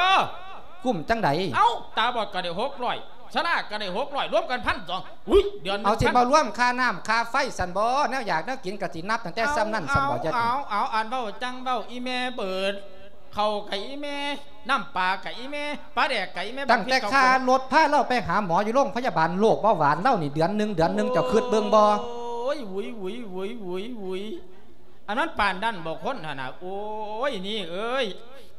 ກຸ້ມຈັ່ງໃດ? ເອົ້າ ຕາບອດກໍໄດ້ຫົກຮ້ອຍ ຊະລາກໍໄດ້ຫົກຮ້ອຍ ລວມກັນພັນສອງ. ອຸ້ຍ ເດືອນໜຶ່ງ ເອົາ ຊິບໍ່ລວມຄ່ານ້ຳຄ່າໄຟຊັ້ນບໍ່? ແນວຢາກແນວກິນກໍຊິນັບຕັ້ງແຕ່ຊ່ຳນັ້ນຊັ້ນບໍ່? ເອົາ ເອົາ ອັນເວົ້າຈັ່ງເວົ້າ ອີ່ແມ່ເບີດ ເຂົ້າກະອີ່ແມ່ ນ້ຳປາກະອີ່ແມ່ ປາແດກກະອີ່ແມ່ ຕັ້ງແຕ່ຄ່າລົດພາລາວໄປຫາໝໍຢູ່ໂລງພະຍາບານໂລກເບົາຫວານລາວນີ້ ເດືອນໜຶ່ງ ເດືອນໜຶ່ງ ເຈົ້າຄິດເບິ່ງບໍ່? ໂອ້ຍ ຫວຸຍ ຫວຸຍ ຫວຸຍ ຫວຸຍ ຫວຸຍ ອັນນັ້ນປານນັ້ນບໍ່ຄົນຫັ້ນນະ? ໂອ້ຍ ນີ້ເອີຍ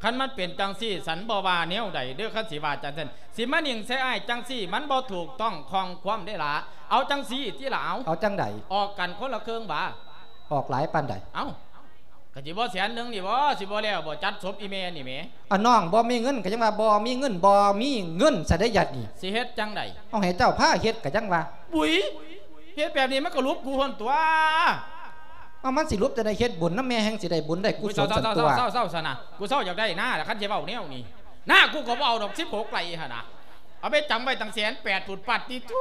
ຄັນມັນເປັນຈັ່ງຊີ້ ສັນບໍ່ວ່າແນວໃດເດີ. ຄັນຊິວ່າຈັ່ງຊັ້ນ ຊິມານິ່ງໃສ່ອ້າຍຈັ່ງຊີ້ ມັນບໍ່ຖືກຕ້ອງຂ້ອງຄວາມເດ້ລະ. ເອົາຈັ່ງຊີ້ຕິລະ ເອົາ ເອົາຈັ່ງໃດ? ອອກກັນຄົນລະເຄິ່ງຫວາ? ອອກຫຼາຍປານໃດ? ເອົ້າ ກໍຊິບໍ່ແສນໜຶ່ງນີ້ບໍ? ຊິບໍ່ແລ້ວບໍ? ຈັດສົບອີ່ແມ່ນີ້ແໝ. ອາ ນ້ອງບໍ່ມີເງິນກໍຍັງວ່າບໍ່ມີເງິນ ບໍ່ມີເງິນຊະໄດ້ຍາດນີ້ ຊິເຮັດຈັ່ງໃດ? ເອົາ ໃຫ້ເຈົ້າພາເຮັດກໍຍັງວ່າ. ອຸ້ຍ ເຮັດແບບນີ້ມັນກໍຫຼຸບກູຫັ້ນຕົວະ. ເອົາ ມັນຊິຫຼຸບຈັ່ງໃດ? ເຮັດບຸນນຳແມ່ແຮ່ງຊິໄດ້ບຸນໄດ້ກຸສົນຊັ້ນຕົວະ. ເຊົາໆໆໆ ຊັ້ນນະ ກູເຊົາຢາກໄດ້ນາລະ ຄັນຊິເວົ້າແນວນີ້ ນາກູກໍບໍ່ເອົາດອກ ສິບຫົກໄຮ່ຫັ້ນນະ ເອົາໄປຈຳໄວ້ຕັ້ງແສນແປດພຸ້ນ ປາດຕິໂທ.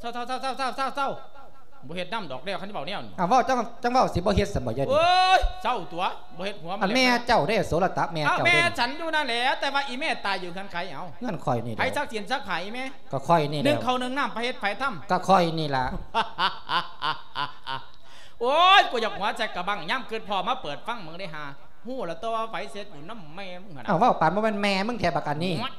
ເຊົາໆໆໆ ບໍ່ເຮັດນຳດອກແລ້ວ ຄັນຊິເວົ້າແນວນີ້. ອາ ເວົ້າຈັ່ງ ຈັ່ງເວົ້າ ຊິບໍ່ເຮັດຊັ້ນບໍ່ຍາດນີ້? ໂອ້ຍ ເຊົາຕົວະ ບໍ່ເຮັດຫົວມັນ. ອັນແມ່ເຈົ້າເດ້ ໂສລະຕະ ແມ່ເຈົ້າເດ້. ແມ່ສັນຢູ່ນັ້ນແຫຼະ ແຕ່ວ່າອີ່ແມ່ຕາຍຢູ່ເຮືອນໃຜ? ເອົາ ເຮືອນຂ້ອຍນີ້ແຫຼະ. ໃຜຊັກສິນຊັກຜ້າອີ່ແມ່? ກໍຂ້ອຍນີ້ແຫຼະ. ໜຶ້ງເຂົ້າໜຶ້ງນ້ຳ ໃຜເຮັດໃຜທຳ? ກໍຂ້ອຍນີ້ລະ. ໂອ້ຍ ກູຢາກຫົວໃສ່ກະບັງ ຍາມຄິດພໍ້ມາເປີດຟັງເບິ່ງເດ້ຫາ ຮູ້ລະຕົວະວ່າໃຜເຮັດບຸນນຳແມ່ມຶງຫັ້ນນະ. ອ້າວ ເວົ້າປານບໍ່ແມ່ນແມ່ມຶງແທ້ບັກອັນນີ້. ໂອ້ຍ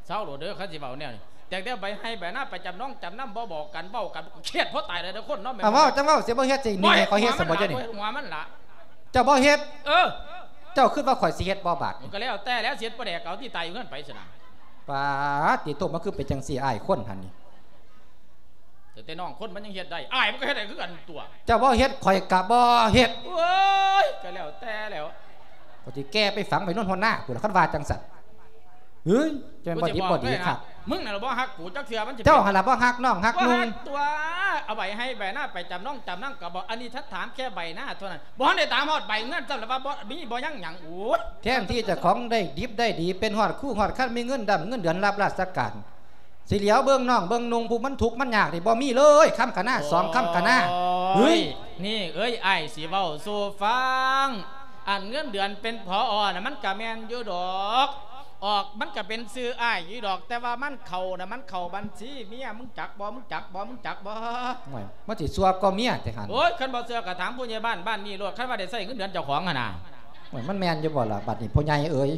ເຊົາໂລດເດີ ຄັນຊິເວົ້າແນວນີ້. ແຕ່ງແຕ່ໃບໄຮ່ໃບນາໄປຈຳນອງຈຳນຳ ບໍ່ບອກກັນ ເວົ້າກັນ ຄຽດພໍຕາຍແລ້ວເດີຄົນເນາະ. ເອົາ ເວົ້າ ຈັ່ງເວົ້າ ຊິບໍ່ເຮັດຊິໜີໃຫ້ຂ້ອຍເຮັດຊັ້ນບໍ່? ເຈົ້ານີ້ ເຈົ້າບໍ່ເຮັດ. ເອີ ເຈົ້າຄິດວ່າຂ້ອຍຊິເຮັດບໍ່ບາດ? ມັນກໍແລ້ວແຕ່ແລ້ວ ເສຍບໍ່ແດກເອົາທີ່ຕາຍຢູ່ເຮືອນໄປຊັ້ນນະ. ປາດຕິໂທ ມັນຄືເປັນຈັ່ງຊີ້ ອ້າຍຄົນຫັ້ນນີ້. ແຕ່ ແຕ່ນ້ອງຄົນມັນຍັງເຮັດໄດ້ ອ້າຍມັນກໍເຮັດໄດ້ຄືກັນຕົວະ. ເຈົ້າບໍ່ເຮັດ ຂ້ອຍກໍບໍ່ເຮັດ. ໂອ້ຍ ກໍແລ້ວແຕ່ແລ້ວ ກໍຊິແກ່ໄປຝັງໄວ້ໂນນຫົວໜ້າພຸ້ນລະ ຄັນວ່າຈັ່ງຊັ້ນ. ເຮີ້ຍ ຈະແມ່ນບໍ່ດີບໍ່ດີຄັກ. ມຶງນັ້ນລະບໍ່ຮັກກູຈັກເທື່ອ ມັນຊິ ເຈົ້າຫັ້ນລະບໍ່ຮັກນ້ອງຮັກນຸ່ງຕົວະ. ເອົາໃບໄຮ່ໃບນາໄປຈຳນອງຈຳນຳກໍບໍ່ ອັນນີ້ທັດຖາມແຄ່ໃບນາເທົ່ານັ້ນ ບໍ່ທັນໄດ້ຖາມຮອດໃບເງິນຊ້ຳລະວ່າບໍ່ມີບໍ່ຍັງຫຍັງ. ໂອ້ຍ ແທນທີ່ເຈົ້າຂອງໄດ້ດິບໄດ້ດີ ເປັນຮອດຄູຮອດຄັນ ມີເງິນດຳເງິນເດືອນ ຮັບລາຊະການ ຊິຫຼຽວເບິ່ງນ້ອງເບິ່ງນຸ່ງ ຜູ້ມັນທຸກມັນຍາກນີ້ ບໍ່ມີເລີຍ ຄຳກະນາ ສອງຄຳກະນາ. ໂອ້ຍ ເຮີ້ຍ ນີ້ເອີຍ ອ້າຍຊິເວົ້າສູ່ຟັງ ອັນເງິນເດືອນເປັນ ຜອ ນະ ມັນກະແມ່ນຢູ່ດອກ ອອກມັນກະເປັນຊື່ອ້າຍຢູ່ດອກ ແຕ່ວ່າມັນເຂົ້ານະ ມັນເຂົ້າບັນຊີເມຍ ມຶງຈັກບໍ່? ມຶງຈັກບໍ່? ມຶງຈັກບໍ່? ໂອ້ຍ ມັນຊິຊົ່ວກວ່າເມຍແທ້ຫັ້ນ. ໂອ້ຍ ຄັນບໍ່ເຊື່ອກະຖາມຜູ້ໃຫຍ່ບ້ານບ້ານນີ້ໂລດ ຄັນວ່າໄດ້ໃຊ້ເງິນເດືອນເຈົ້າຂອງຫັ້ນນະ. ໂອ້ຍ ມັນແມ່ນຢູ່ບໍ່ລະ ບັດນີ້ພໍ່ໃຫຍ່ເອີຍ?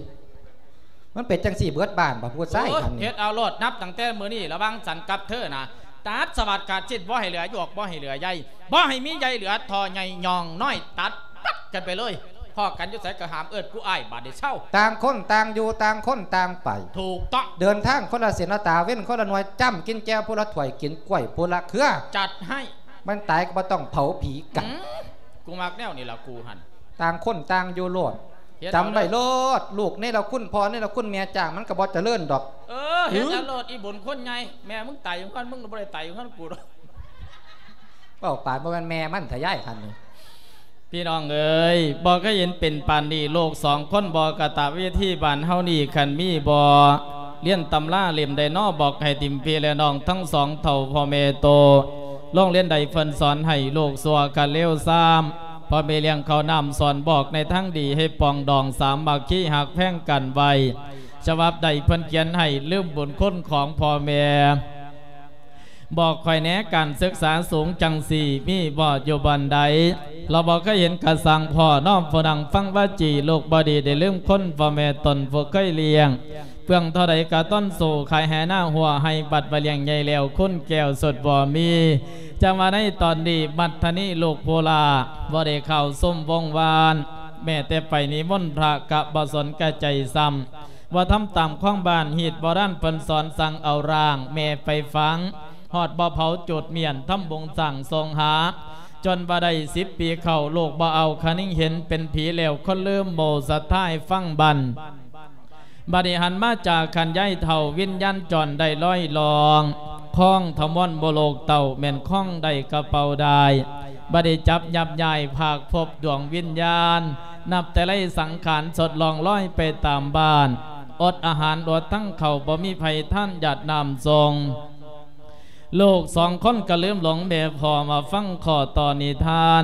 ມັນເປັນຈັ່ງຊີ້ເບິດບ້ານບໍ່ ຜູ້ຊາຍ ໂອ້ຍ ຫັ້ນນີ້. ເຮັດເອົາໂລດ ນັບຕັ້ງແຕ່ມື້ນີ້ ລະຫວ່າງສັນກັບເທີນະ ຕັດສະຫວັດຂາດສິ້ນ ບໍ່ໃຫ້ເຫຼືອຢອກ ບໍ່ໃຫ້ເຫຼືອໃຍ ບໍ່ໃຫ້ມີໃຍເຫຼືອທໍ່ໃຫຍ່ຍ່ອງນ້ອຍ ຕັດປັດກັນໄປເລີຍ. ພໍ້ກັນຢູ່ໃສກໍຫ້າມເອີ້ນກູອ້າຍ ບາດນີ້ເຊົາ. ຕ່າງຄົນຕ່າງຢູ່ ຕ່າງຄົນຕ່າງໄປ. ຖືກຕ້ອງ. ເດີນທາງຄົນລະເສັ້ນລະຕາ ເວັ້ນຄົນລະໜ່ວຍ ຈ້ຳກິນແຈ່ວຜູ້ລະຖ້ວຍ ກິນກ້ວຍຜູ້ລະເຄືອ. ຈັດໃຫ້. ມັນຕາຍກໍບໍ່ຕ້ອງເຜົາຜີກັນ. ອືມ ກູມັກແນວນີ້ລະກູຫັ້ນ. ຕ່າງຄົນຕ່າງຢູ່ໂລດ. ເຮັດເອົາ ຈຳໄວ້ໂລດ ລູກເນລະຄຸນພໍ່ເນລະຄຸນແມ່ຈ້າງ ມັນກໍບໍ່ຈະເລີນດອກ. ເອີ ເຮັດເອົາໂລດ ອີບຸນຄົນໃຫຍ່ ແມ່ມຶງຕາຍຢູ່ເຮືອນ ມຶງບໍ່ໄດ້ຕາຍຢູ່ເຮືອນກູດອກ. ເວົ້າປານບໍ່ແມ່ນແມ່ມັນທະຍາຍຫັ້ນນີ້. ພີ່ນ້ອງເອີຍ ບໍ່ເຄີຍເຫັນເປັນປານນີ້ ລູກສອງຄົນບໍ່ກະຕະເວທີ ບ້ານເຮົານີ້ຄັນມີບໍ່ ລຽນຕຳລາເຫຼັ້ມໃດນໍ ບອກໃຫ້ຖິ້ມພີ່ແລະນ້ອງທັງສອງເຖົ້າພໍ່ແມ່ໂຕ. ໂລງຮຽນໃດເພິ່ນສອນໃຫ້ລູກຊົ່ວກະເລວຊາມ ພໍ່ແມ່ລ້ຽງເຂົ້ານ້ຳສອນບອກໃນທາງດີ ໃຫ້ປອງດອງສາມັກຄີຮັກແພງກັນໄວ້. ສະບັບໃດເພິ່ນຂຽນໃຫ້ລືມບຸນຄຸນຂອງພໍ່ແມ່. ບອກຂ້ອຍແດ່ ການສຶກສາສູງຈັ່ງຊີ້ມີບໍ່ ຢູ່ບ່ອນໃດ? ລາວບໍ່ເຄີຍເຫັນກະຊ່າງພໍ້ເນາະ ຜູ້ນັ່ງຟັງວາຈີ ລູກບໍ່ດີໄດ້ລືມຄຸນພໍ່ແມ່ຕົນຜູ້ເຄີຍລ້ຽງ ເປືອງເທົ່າໃດກະຕ້ອນສູ້ ຂາຍໄຮ່ນາຮົ້ວໄຮ່ ບັດວ່າລ້ຽງໃຫຍ່ແລ້ວ ຄຸນແກ້ວສຸດບໍ່ມີ. ຈະວ່າໃນຕອນນີ້ ບັດທະນີ້ລູກຜູ້ຫຼ້າ ບໍ່ໄດ້ເຂົ້າຊຸມວົງວານ ແມ້ແຕ່ໄປນິມົນພະກະບໍ່ສົນກະໃຈຊ້ຳ ວ່າທຳຕາມຂອງບ້ານ ຮີດໂບລານເພິ່ນສອນ ສັ່ງເອົາຮ່າງແມ່ໄປຝັງ ຮອດບໍ່ເຜົາຈູດມ້ຽນ ທຳບຸນສ້າງສົງຫາ ຈົນວ່າໄດ້ສິບປີເຂົ້າ ລູກບໍ່ເອົາຄະນິງເຫັນເປັນຜີແລ້ວ ຄົນລືມໝູ່ສັດທາໃຫ້ຟັງບັນ ບັດນີ້ຫັນມາຈາກຂັ້ນຍາຍເຖົ້າ ວິນຍານຈອນໄດ້ລອຍລ່ອງ ຄອງທະມວນບໍ່ໂລກເຕົ້າ ແມ່ນຄອງໄດ້ກະເປົາດາຍ ບໍ່ໄດ້ຈັບຫຍັບຍ້າຍ ພາກພົບດວງວິນຍານ ນັບແຕ່ໄລສັງຂານ ສົດລ່ອງລອຍໄປຕາມບ້ານ ອົດອາຫານອົດທັງເຂົ້າ ບໍ່ມີໃຜທານຢາດນ້ຳຊົງ ລູກສອງຄົນກະລືມຫຼົງແມ່ພໍ່ ມາຟັງຂໍ້ຕໍ່ນິທານ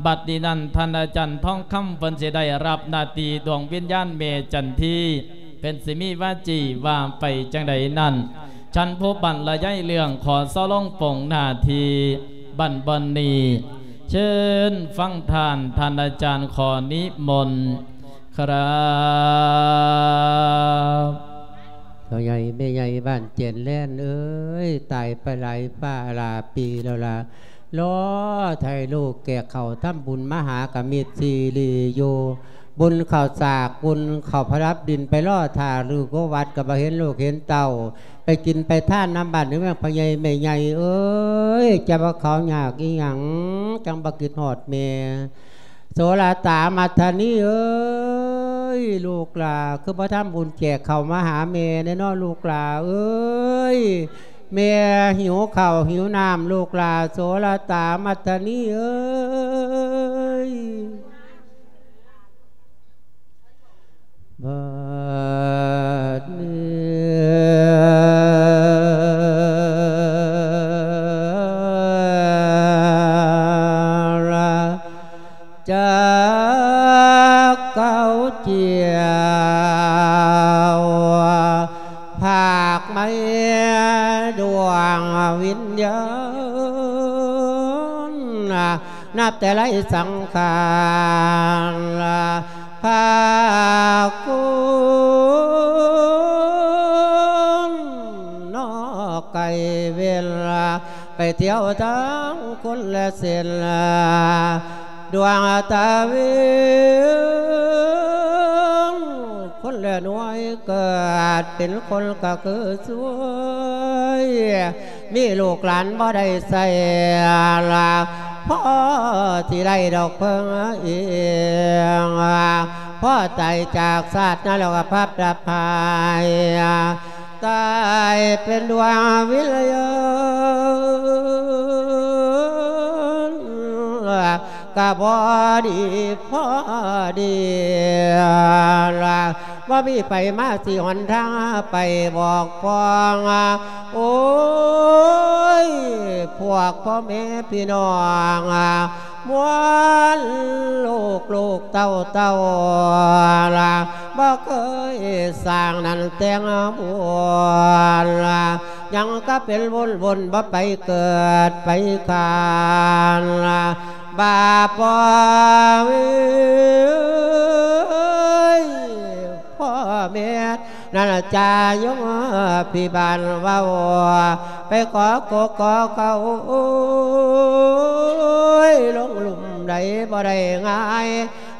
ບັດນີ້ນັ້ນທ່ານອາຈານທອງຄຳ ເພິ່ນຊິໄດ້ຮັບໜ້າທີ່ດວງວິນຍານແມ່ຈັນທີ ເພິ່ນຊິມີວາຈີວ່າໄປຈັ່ງໃດນັ້ນ ທ່ານຜູ້ບັນລະຍາຍເລື່ອງ ຂໍເຊົາລົງປົງໜ້າທີ່ບັນບ່ອນນີ້ ເຊີນຟັງທ່ານ ທ່ານອາຈານຂໍນິມົນ ຄະຮັບ ພໍ່ໃຫຍ່ແມ່ໃຫຍ່ບ້ານແຈນແລນເອີຍ ຕາຍໄປຫຼາຍຟ້າຫຼາຍປີແລ້ວລະ ລໍຖ້າໃຫ້ລູກແກ່ເຂົ້າທຳບຸນມາຫາກະມິດຊີລີຢູ່ ບຸນເຂົ້າສາກ ບຸນເຂົ້າພະລັບດິນ ໄປລໍຖ້າລູກຢູ່ວັດ ກະບໍ່ເຫັນລູກເຫັນເຕົ້າ ໄປກິນໄປທານນຳບ້ານນຳເມືອງ ພໍ່ໃຫຍ່ແມ່ໃຫຍ່ເອີຍ ຈະວ່າເຂົາຍາກອີ່ຫຍັງ ຈັ່ງບໍ່ຄິດຮອດແມ່ ໂສລະຕາມັດທະນີເອີຍ ລູກຫຼ້າ ຄືບໍ່ທຳບຸນແຈກເຂົ້າມາຫາແມ່ແດ່ເນາະ ລູກຫຼ້າເອີຍ ແມ່ຫິວເຂົ້າຫິວນ້ຳ ລູກຫຼ້າ ໂສລະຕາມັດທະນີເອີຍ. ບັດນີ້ ຈັກເອົາຈຽວ ພາກໄມ້ດວງວິນຍານ ນັບແຕ່ໄລສັງຂານ ພາກຄົນນອກໄກເວນ ໄປທ່ຽວທາງຄົນລະເສັ້ນ ດວງຕາເວັນ ຄົນລະໜ່ວຍ ເກີດເປັນຄົນກະຄືຊ່ວຍ ມີລູກຫຼານບໍ່ໄດ້ໃຊ້ລະ ພໍຊິໄດ້ດອກເພິ່ງອີງ ພໍຕາຍຈາກຊາດນະລົກພັບດັບໄພ ຕາຍເປັນດວງວິນຍານ ກະພໍດີພໍດີລະ ບໍ່ມີໃຜມາຊີ້ຫົນທາງໄປບອກປ້ອງ ໂອ້ຍ ພວກພໍ່ແມ່ພີ່ນ້ອງ ມວນລູກລູກເຕົ້າເຕົ້າລະ ບໍ່ເຄີຍສ້າງນັ້ນແຕ່ງບຸນລະ ຍັງກະເປັນວົນວົນ ບໍ່ໄປເກີດໄປຄານລະ ບາບບໍ່ເວີຍ ພໍ່ແມ່ ນັ້ນລະຈາຍົງພີ່ບ້ານເວົ້າ ໄປຂໍກົກຂໍເຂົ້າ ໂອ້ຍ ລົງລຸ່ມໃດບໍ່ໄດ້ງ່າຍ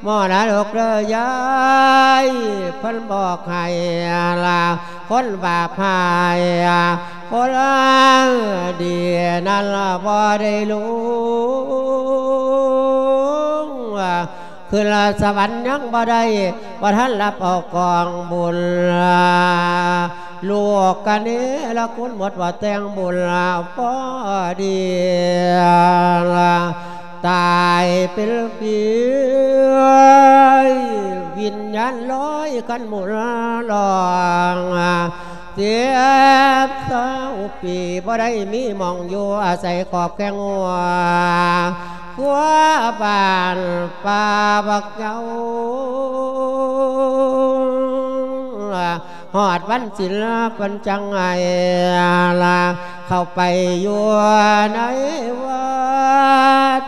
ໝໍນະລົກເດີຍາຍ ເພິ່ນບອກໃຫ້ລະ ຄົນບາບຮ້າຍ ຄົນດີນັ້ນລະບໍ່ໄດ້ລົງ ຂຶ້ນສະຫວັນຍັງບໍ່ໄດ້ ບໍ່ທັນຮັບເອົາກອງບຸນ ລູກກະເນລະຄຸນໝົດວ່າແຕ່ງບຸນພໍດີ ຕາຍເປັນຜີ ວິນຍານລອຍກັນໝູນລອງ ສິບຊາວປີບໍ່ໄດ້ມີໝ່ອງຢູ່ອາໄສຂອບແຄງຫົວ ຄົວບ້ານປ່າບັກເຍົາ ຮອດວັນສິນເພິ່ນຈັ່ງໃຫ້ລະ ເຂົ້າໄປຢູ່ໃນວັດ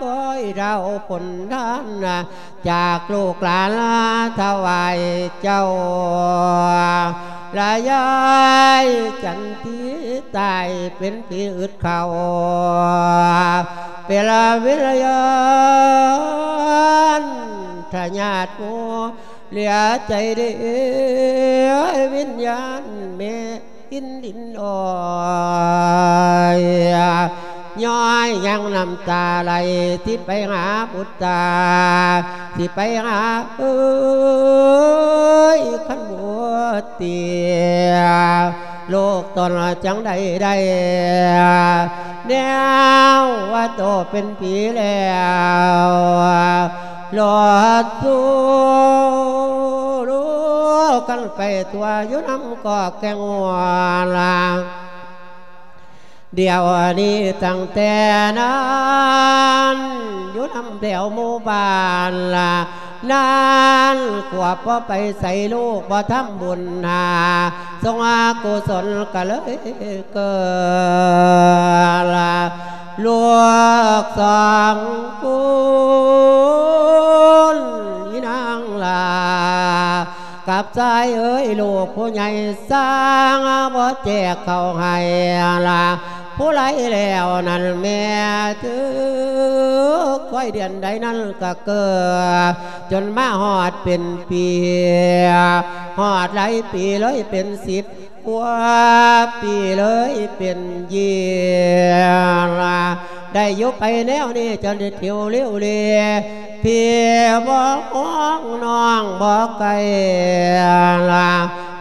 ໂອ້ຍ ເຮົາຜົນທານຈາກລູກຫຼານຖວາຍເຈົ້າ ລະຍາຍຈັນທີຕາຍເປັນຜີອຶດເຂົ້າ ເປັນວິນຍານທະຍາດໝູ່ ເຫຼືອໃຈເດ້ ວິນຍານແມ່ ກິນດິນອ້ອຍ ຍ້ອຍຍັງນ້ຳຕາໄຫຼ ທີ່ໄປຫາບຸດຕາ ທີ່ໄປຫາ ເອີຍ ຄັນບໍ່ເຕີຍ ລູກຕົນຈັ່ງໃດໄດ້ ແນວວ່າໂຕເປັນຜີແລ້ວ ລອດສູ່ລູກກັນໄປທົ່ວຢູ່ນຳກອກແກ້ງຫົວລະ ດຽວນີ້ຕັ້ງແຕ່ນັ້ນ ຢູ່ນຳແຖວໝູ່ບ້ານລະ ນັ້ນຂວບບໍ່ໄປໃສ ລູກບໍ່ທຳບຸນຫາ ສົງອາກຸສົນກະເລີຍເກີດລະ ລູກສອງຄົນ ອີນາງຫຼ້າ ກັບຊາຍເອີຍ ລູກຜູ້ໃຫຍ່ສ້າງບໍ່ແຈກເຂົ້າໃຫ້ລະ ຜູ້ໄລແລ້ວນັ້ນແມ່ເທີ ຄ່ອຍເດືອນໃດນັ້ນກະເກີດ ຈົນມາຮອດເປັນປີ ຮອດຫຼາຍປີເລີຍເປັນສິບກວ່າປີເລີຍເປັນເຢຍລະ ໄດ້ຢູ່ໄປແນວນີ້ ຈະໄດ້ເທີວເລວເລ ພີ່ບໍ່ຮ້ອງນ້ອງບໍ່ໄກລະ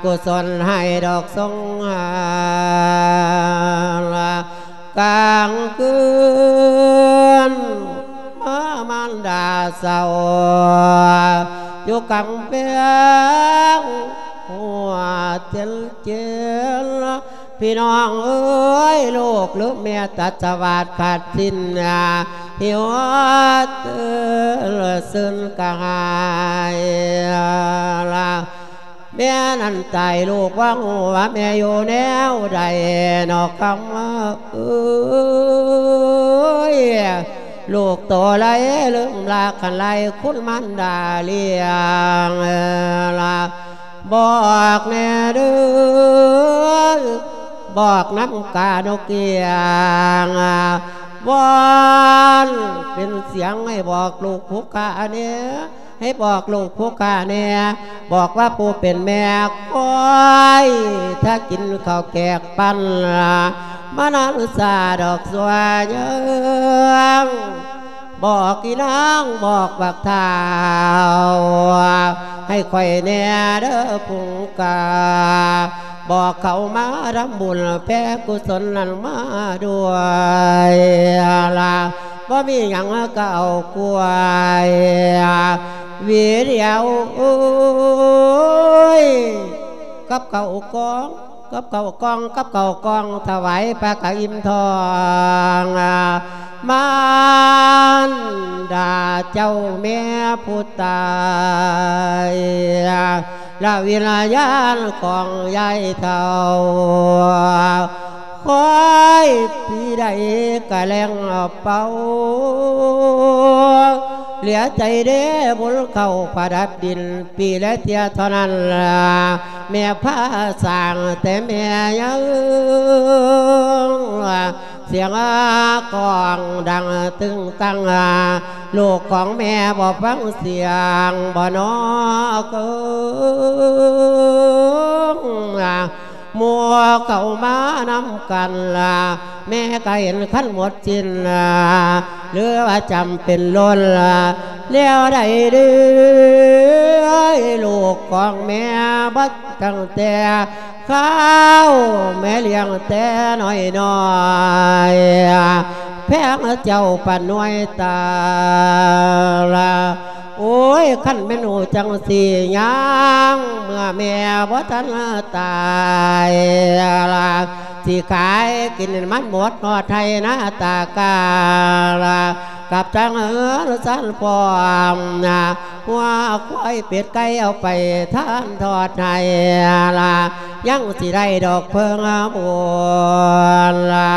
ກຸສົນໃຫ້ດອກຊົງຫາລະ ກາງຄືນມາມານດາເສົ້າ ຢູ່ກຳແພງຫົວເຈັນເຈັນ ພີ່ນ້ອງເອີຍ ລູກລືມແມ່ຕັດສະຫວາດຂາດສິ້ນ ຫິວເຕີນຊຶ້ນກະຫາຍລະ ແມ່ນັ້ນຕາຍລູກວ່າຮູ້ວ່າແມ່ຢູ່ແນວໃດ ນອກຄຳເອີຍ ລູກໂຕໄລລືມລາຄັນໄລຄຸນມານດາລ້ຽງລະ ບອກແດ່ເດີ ບອກນຳການົກກຽງ ວອນເປັນສຽງໃຫ້ບອກລູກຜູ້ຂ້າແດ່ ໃຫ້ບອກລູກຜູ້ຂ້າແດ່ ບອກວ່າຜູ້ເປັນແມ່ຄອຍຖ້າກິນເຂົ້າແກກປັ້ນ ມານານສາດອກຊົ່ວເຍີງ ບອກອີນາງ ບອກບັກທ້າວ ໃຫ້ຂ້ອຍແດ່ເດີພຸງກາ ບອກເຂົາມາທຳບຸນແຜ່ກຸສົນນັ້ນມາດ້ວຍລະ ບໍ່ມີຫຍັງກະເອົາກ້ວຍ ຫວີດຽວ ໂອ້ຍ ກັບເຂົ້າກ່ອງ ກັບເຂົ້າກ່ອງ ກັບເຂົ້າກ່ອງ ຖວາຍພະກະອີ່ມທ້ອງ ມານດາເຈົ້າແມ່ຜູ້ຕາຍ ລະວິນຍານຂອງຍາຍເຖົ້າ ຄອຍປີໃດກະແລ່ງເປົ່າ ເຫຼືອໃຈເດ້ບຸນເຂົ້າປະດັບດິນ ປີລະເທື່ອເທົ່ານັ້ນລະ ແມ່ພາສ້າງແຕ່ແມ່ຍັງ ສຽງກ້ອງດັງຕຶງຕັງ ລູກຂອງແມ່ບໍ່ຟັງສຽງບໍ່ນອ ເກີງ ໝູ່ເຂົ້າມານຳກັນລະ ແມ່ກະເຫັນຄັນໝົດສິ້ນລະ ຫຼືວ່າຈຳເປັນລົ້ນລະ ແນວໃດເດີ ລູກຂອງແມ່ບໍ່ຕັ້ງແຕ່ ຂ້າວແມ່ລ້ຽງແຕ່ນ້ອຍໆ ແພງເຈົ້າປານໜ່ວຍຕາລະ ໂອ້ຍ ຄັນແມ່ນຮູ້ຈັ່ງຊີ້ ຍາງເມື່ອແມ່ບໍ່ທັນຕາຍລະ ຊິຂາຍກິນມັນໝົດຮອດໄຮ່ນາຕາກາລະ ກັບທັງເຮືອນຊານພ້ອມນະ ງົວຄວາຍເປັດໄກ່ເອົາໄປທານທອດໃຫ້ລະ ຍັງຊິໄດ້ດອກເພິ່ງບຸນລະ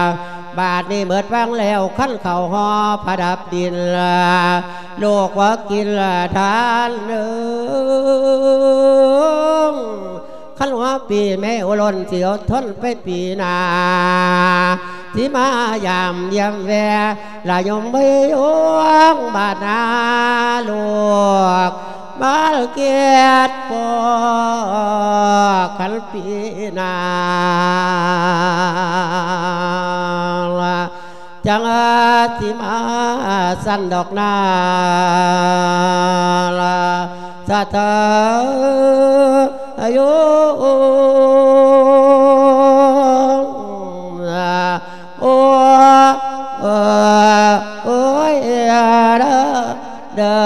ບາດນີ້ໝົດວັງແລ້ວ ຄັນເຂົ້າຫໍ່ປະດັບດິນ ລູກບໍ່ກິນທານເອີງ ຄັນຫົວປີແມ່ອຸລົນ ຊິອົດທົນໄປປີໜ້າ ຊິມາຢາມຢ້ຽມແວ່ ລະຍົມເອີຍໂອງ ບາດໜ້າລູກ ມາເກດພໍກັນປີໜ້າ ຈັ່ງຊິມາຊັ້ນດອກນາ ສາທຸ ໂອ ໂອ ໂອຍ ເດີ ເດີ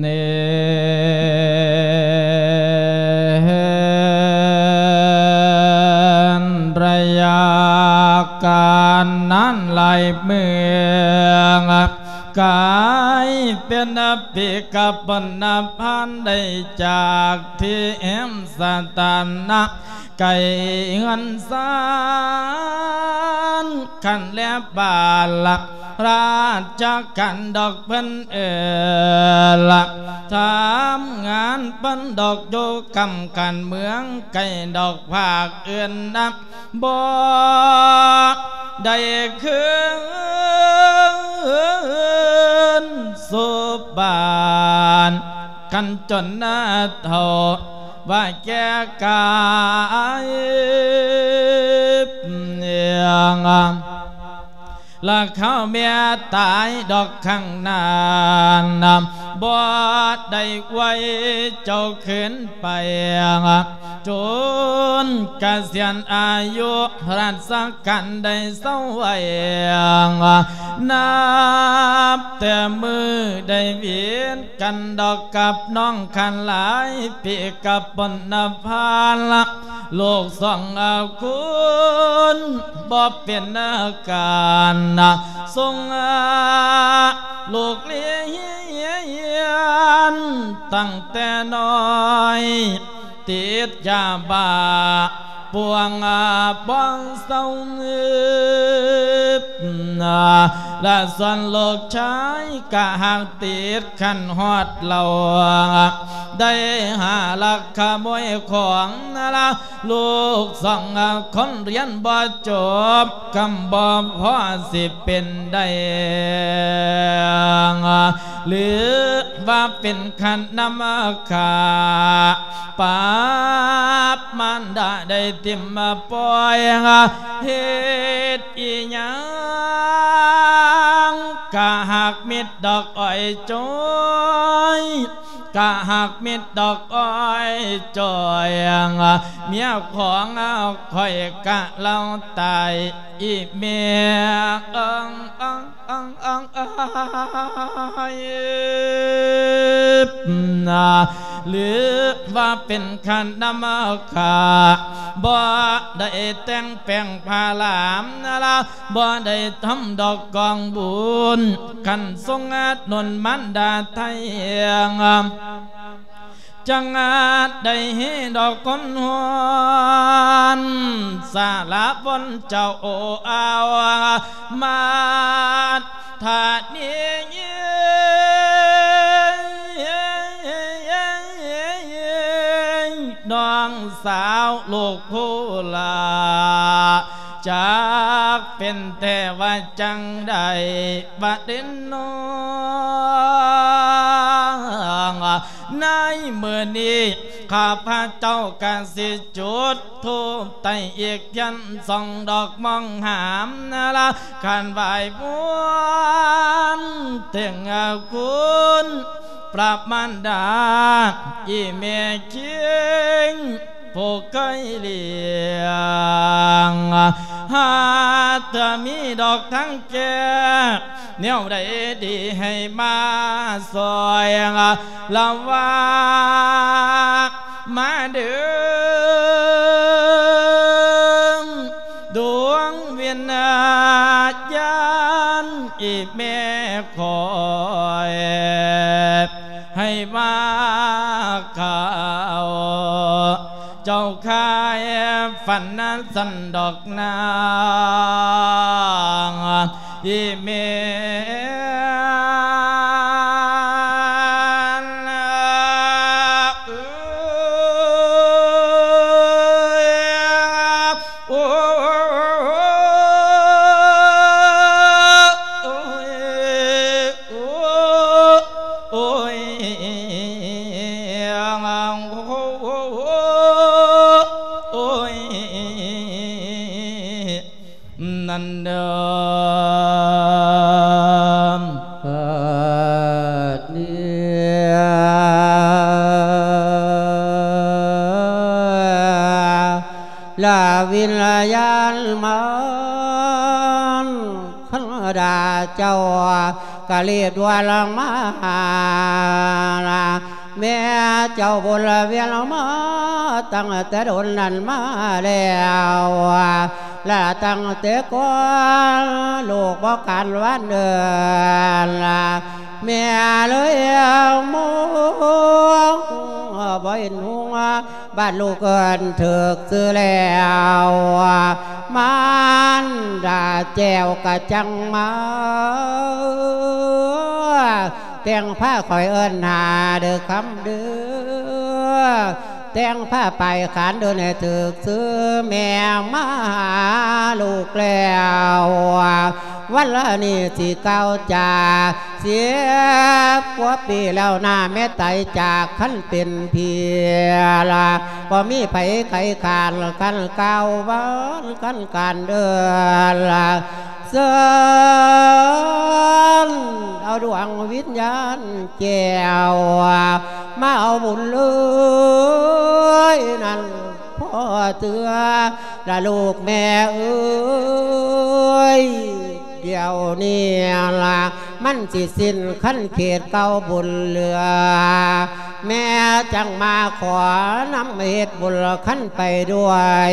ເນນ ໄລຍະການນັ້ນ ຫຼາຍເມືອງ ກາຍເປັນປິກະພົນນະພັນ ໄດ້ຈາກທີ່ແຮມສະຖານະ ໄກເຮືອນຊານ ຄັນແລບ້ານລະ ລາຊະການດອກເພິ່ນເອີລະ ທຳງານເພິ່ນດອກຢູ່ກຳກັນເມືອງໄກດອກພາກອື່ນນະ ບໍ່ໄດ້ຄືນສູ່ບ້ານ ຄັນຈົນເຖົ້າວ່າແກ່ກາຍ ລະຄາວເມຍຕາຍດອກຂ້າງໜ້ານະ ບໍ່ໄດ້ໄວເຈົ້າຄືນໄປ ຈົນກະສຽນອາຍຸ ລາຊະການໄດ້ເຊົາໄວ້ ນັບແຕ່ມື້ໄດ້ວຽນກັນດອກກັບນ້ອງຄັນຫຼາຍປີກັບປົນນະພາລະ ລູກສອງຄົນບໍ່ເປັນການ ສົ່ງລູກຮຽນຕັ້ງແຕ່ນ້ອຍ ຕິດຢາບ້າປ່ວງບໍ່ເຊົາ ລະສ່ວນລູກຊາຍກະຫາກຕິດຂັ້ນຮອດເຫຼົ້າ ໄດ້ຫາລັກຂະໂມຍຂອງລະ ລູກສອງຄົນຮຽນບໍ່ຈົບ ກຳບໍ່ພໍຊິເປັນໄດ້ ຫຼືວ່າເປັນຂັ້ນນຳຂາ ປາບມານດາໄດ້ຖິ້ມປ່ອຍ ເຮັດອີ່ຫຍັງກະຫາກມິດດອກອ້ອຍຈ້ອຍ ກະຫາກມິດດອກອ້ອຍຈ້ອຍ ເມຍຂອງຂ້ອຍກະລາວຕາຍ ອີ່ແມ່ເອີງເອີງເອີງເອີງເອີງ ຫຼືວ່າເປັນຂັ້ນນຳຂາ ບໍ່ໄດ້ແຕ່ງແປງຜ້າລາມນະລະ ບໍ່ໄດ້ທຳດອກກອງບຸນ ຄັນຊົງອານົນມານດາໄທ ຈັ່ງອາດໄດ້ເຮັດດອກຄົນຮ້ອນ ສາລະບົນເຈົ້າອ້າວ ມາທານີ ນ້ອງສາວລູກຜູ້ຫຼ້າ ຈັກເປັນແທ້ວ່າຈັ່ງໃດ ບັດເດນນ້ອງ ໃນມື້ນີ້ ຂ້າພະເຈົ້າກະຊິຈຸດທູບໄຕ້ອີກທຽນສອງດອກ ມອງຫາມນະລະ ຄັນໄຫວ້ວອນເຖິງຄຸນ ພະມານດາ ອີ່ແມ່ຄິງ ຜູ້ເຄີຍລ້ຽງ ຫາກເທື່ອມີດອກທາງແກ້ ແນວໃດດີໃຫ້ມາຊ່ອຍ ລະວ່າມາເດີ ດວງວິນຍານ ອີ່ແມ່ຂ້ອຍ ໃຫ້ມາເຂົ້າ ຝັນນັ້ນສັນດອກນາງອີແມ່ນ. ນັ້ນເດີ ເກີດເນຍ ລະວິນຍານມັນ ຄັນດາເຈົ້າກະເລດວນມາ ແມ່ເຈົ້າວົນລະວຽນມາຕັ້ງແຕ່ດົນນັ້ນມາແລ້ວ ລະຕັ້ງແຕ່ກ່ອນລູກບໍ່ການວານເດີນ ແມ່ເລີຍມອງບໍ່ເຫັນຫົງ ບາດລູກເອີ້ນຖືກຊື່ແລ້ວ ມານດາແກ້ວກະຈັ່ງມາ ແຕ່ງພາຂ້ອຍເອີ້ນຫາເດີຄຳເດີ ແຕ່ງພາໄປຂານເດີໃຫ້ຖືກຊື່ ແມ່ມາຫາລູກແລ້ວ ວັນລະນີ້ຊິກ່າວຈາ ສິບກວ່າປີແລ້ວນາ ແມ່ໄຕຈາກຄັນເປັນເພຍລະ ບໍ່ມີໃຜໄຂຄານ ຄັນກ່າວຫວານ ຄັນການເດີນລະ ເຊີນເອົາດວງວິນຍານແກ້ວ ມາເອົາບຸນເລີຍນັ້ນພໍ່ເທື່ອ ລະລູກແມ່ເອີຍ ດຽວນີ້ລະ ມັນຊິສິ້ນຄັນເຂດເກົ່າບຸນເຫຼືອ ແມ່ຈັ່ງມາຂໍນຳເຮັດບຸນຄັນໄປດ້ວຍ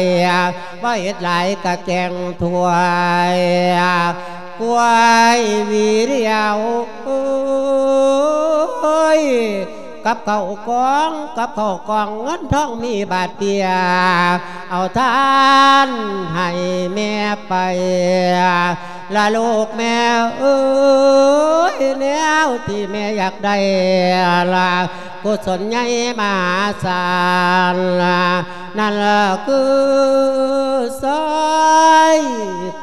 ບໍ່ເຮັດຫຼາຍກະແກງຖ້ວຍ ກວຍວີດຽວ ໂອ້ຍ ກັບເຂົ້າກອງ ກັບເຂົ້າກອງ ເງິນທອງມີບາດເບຍ ເອົາທານໃຫ້ແມ່ໄປ ລະລູກແມ່ເອີຍ ແນວທີ່ແມ່ຢາກໄດ້ລະ ກຸສົນໃຫຍ່ມະຫາສານ ນັ້ນລະຄືຊອຍ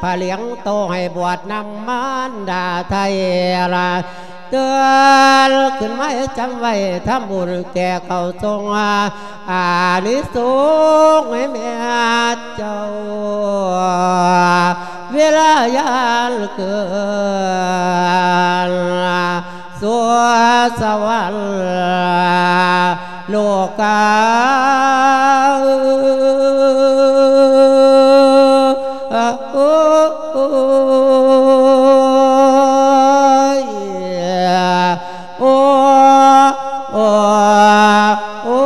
ພະຫຼຽງໂຕໃຫ້ບວດນຳມານດາໄທລະ ເຕືອນຂຶ້ນມາໃຫ້ຈຳໄວ້ ທຳບຸນແກ່ເຂົາຊົງ ອານິສົງໃຫ້ແມ່ເຈົ້າ ເວລາຍານເກີນ ສູ່ສະຫວັນໂລກາ ໂອ້ຍ ໂອ້ ໂອ້ ໂອ້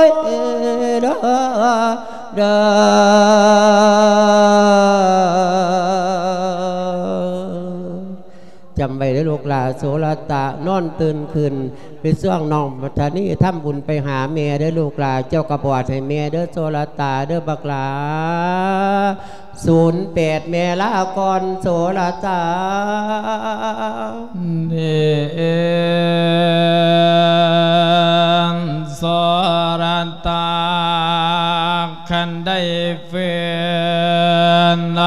ຍ ເດີ ເດີ. ຈຳໄວ້ເດີລູກຫຼ້າ ໂສລະຕະ ນອນຕື່ນຂຶ້ນ ໄປຊ່ວງນ້ອງມັດທະນີທຳບຸນໄປຫາແມ່ເດີລູກຫຼ້າ ເຈົ້າກະບວດໃຫ້ແມ່ເດີ ໂສລະຕະເດີບັກຫຼ້າ ສູນແປດ ແມ່ລາກ່ອນ ໂສລະຕະ ເນນ ໂສລະຕະ ຄັນໄດ້ ເພິ່ນ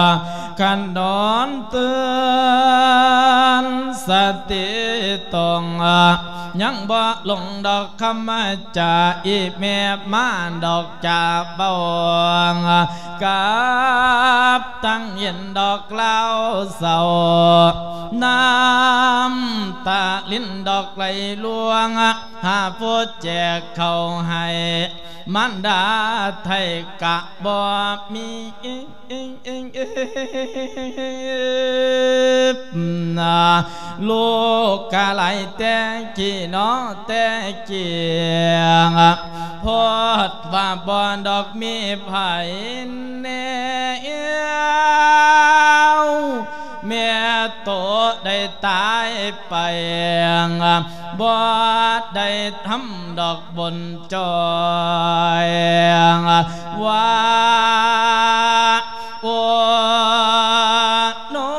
ຄັນນອນຕື່ນສະຕິຕົງ ຍັງບໍ່ລົງດອກຄຳຈາ ອີແມ່ມາດອກຈາເບົາ ກັບຕັ້ງເຢັນດອກລາວເສົ້າ ນ້ຳຕາລິນດອກໄຫຼລວງ ຫາຜູ້ແຈກເຂົ້າໃຫ້ ມານດາໄທກະບໍ່ມີ ລູກກະຫຼາຍແຕ່ກີ້ເນາະແຕ່ກີ້ ໂພດວ່າບໍ່ດອກມີໃຜແນວ ແມ່ໂຕ ໄດ້ຕາຍໄປ ບໍ່ໄດ້ທຳດອກບຸນຈ່ອຍ ວ່າໂອ ນ້ອ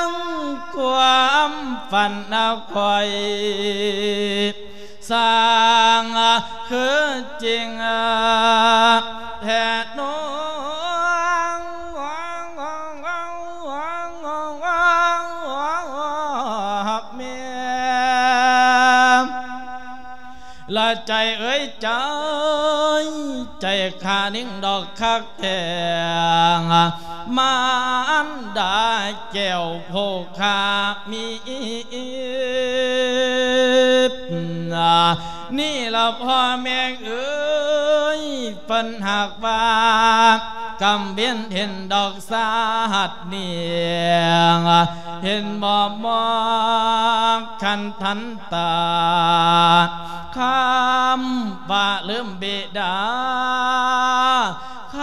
ງ ຄວາມຝັນຂ້ອຍ ຊ່າງຄືຈິງແທ້ນ້ອງ ແມ່ ລະໃຈເອີຍໃຈ ໃຈຂ້ານິ່ງດອກຄັກແທ້ ມານດາແກ້ວໂພຄາມີ ນີ້ລະພໍ່ແມ່ເອີຍ ເພິ່ນຫາກວ່າກຳເວັນເຫັນດອກຊາດນີ້ ເຫັນບໍ່ມອງຄັນທັນຕາ ຄຳວ່າລືມບິດາ ຄ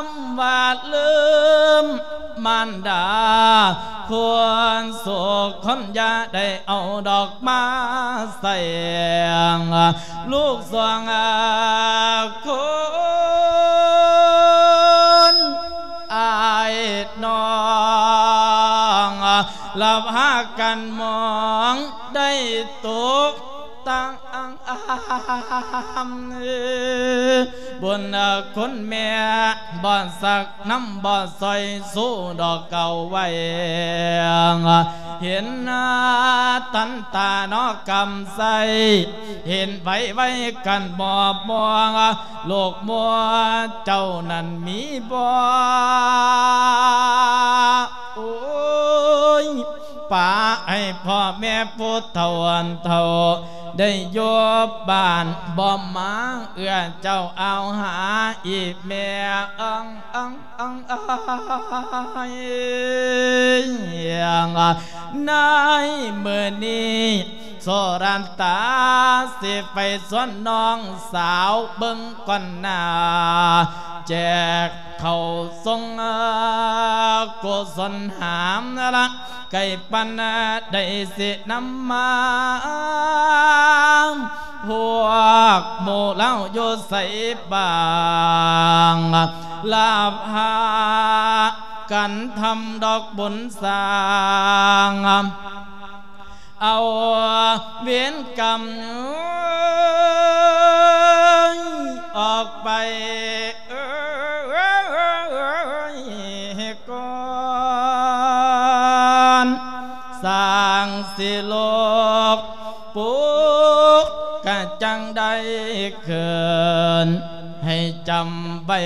ຳວ່າລືມມານດາ ຄົນໂສກຄົນຢາໄດ້ເອົາດອກມາໃສ່ ລູກສອງຄົນອ້າຍນ້ອງ ລະພາກັນມອງໄດ້ຕົກ ຕ່າງອາມ ບຸນຄຸນແມ່ບໍ່ສັກນຳບໍ່ຊ່ອຍສູ້ດອກເກົ່າໄວ້ ເຫັນທັນຕານອກກຳໄຊ ເຫັນໄວໄວກັນມອບມອງ ລູກມົວເຈົ້ານັ້ນມີບໍ່ ໂອ້ຍ ປະໃຫ້ພໍ່ແມ່ຜູ້ເຖົ້າອັນເຖົ້າ ໄດ້ຢູ່ບ້ານບໍ່ມາເອື້ອເຈົ້າອາວຫາອີກແມ່ ອັງ ອັງ ອັງ ອາຍ ໃນມື້ນີ້ໂສລັນຕາ ຊິໄປຊວນນ້ອງສາວເບິ່ງກ່ອນໜ້າ ແຈກ ເຂົ້າຊົງກຸສົນຫາມລະ ໄກ່ປັນໄດ້ຊິນຳມາ ພວກໝູ່ລາວຢູ່ໃສບ້າງ ລາພາກັນທຳດອກບຸນສ້າງ ເອົາເວນກຳອອກໄປກ່ອນ ສ້າງຊິໂລກປຸກກະຈັ່ງໄດ້ຄືນໃຫ້ຈຳໄວ້.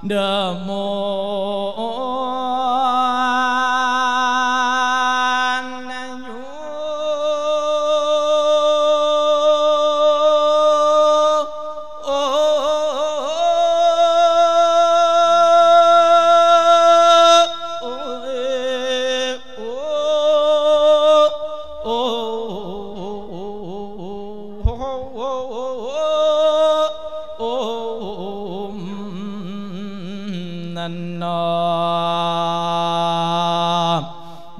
ເດີໝູ່ນະຢູ່ ໂອ ໂອ ໂອ ໂອ ໂອ ນັ້ນເນາະ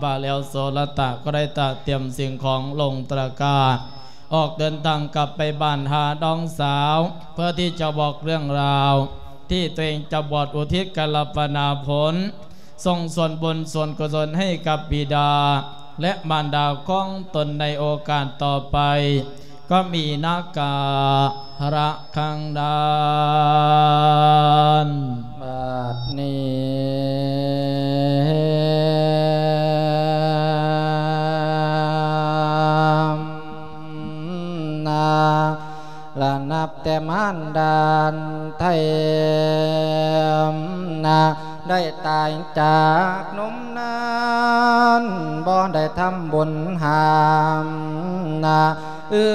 ວ່າແລ້ວໂສລະຕະກໍໄດ້ຕະຕຽມສິ່ງຂອງລົງຕະກະ ອອກເດີນທາງກັບໄປບ້ານຫານ້ອງສາວ ເພື່ອທີ່ຈະບອກເລື່ອງລາວທີ່ຕົວເອງຈະບວດ ອຸທິດກາລະປະນາຜົນ ສົ່ງສ່ວນບຸນສ່ວນກຸສົນໃຫ້ກັບບິດາ ແລະ ມານດາຂອງຕົນໃນໂອກາດຕໍ່ໄປ ກໍມີນາກາລະຄັງນານ ບາດນີ້ນາ ລະນັບແຕ່ມານດານໄທນາ ໄດ້ຕາຍຈາກນົມນັ້ນ ບໍ່ໄດ້ທຳບຸນຫານາ ເອີ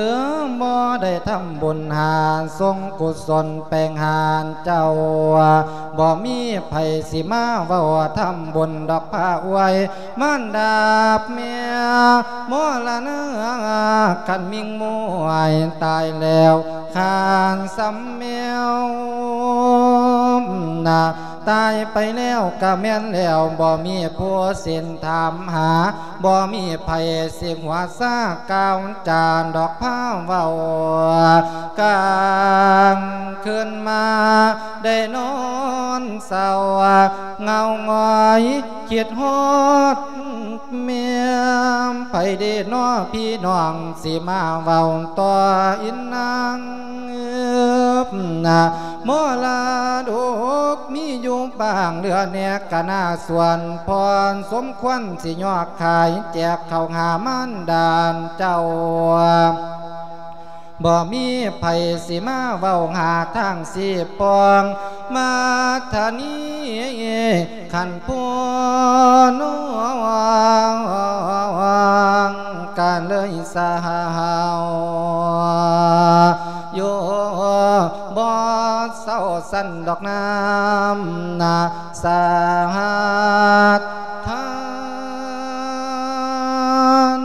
ບໍ່ໄດ້ທຳບຸນຫາ ສົ່ງກຸສົນແປງຫານເຈົ້າ ບໍ່ມີໃຜຊິມາເວົ້າທຳບຸນດອກພາອວຍ ມານດາແມ່ມໍລະນາ ຄັນມິງມວຍຕາຍແລ້ວ ຄານສຳແມວ ນະ ຕາຍໄປແລ້ວກະແມ່ນແລ້ວ ບໍ່ມີຜູ້ສິນຖາມຫາ ບໍ່ມີໃຜຊິຫົວຊາກ່າວຈາດອກພາເວົ້າ ກາງຄືນມາໄດ້ນອນເສົ້າ ເຫງົາຫງອຍຄິດຮອດແມ່ ໃຜເດນໍພີ່ນ້ອງ ຊິມາເວົ້າຕໍ່ອີນາງ ນະ ມໍລະດົກມີຢູ່ບ້າງເຫຼືອແດ່ກະໜ້າສວນ ພໍສົມຄວນຊິຍອກຂາຍແຈກເຂົ້າຫາມານດາເຈົ້າ ບໍ່ມີໃຜຊິມາເວົ້າຫາທາງຊີ້ປ່ອງ ມາທານີ ຄັນຜູ້ນ້ອງກະເລີຍສາວ ຢູ່ບໍ່ເຊົາຊັ້ນດອກນາມນາສາຫັດທານ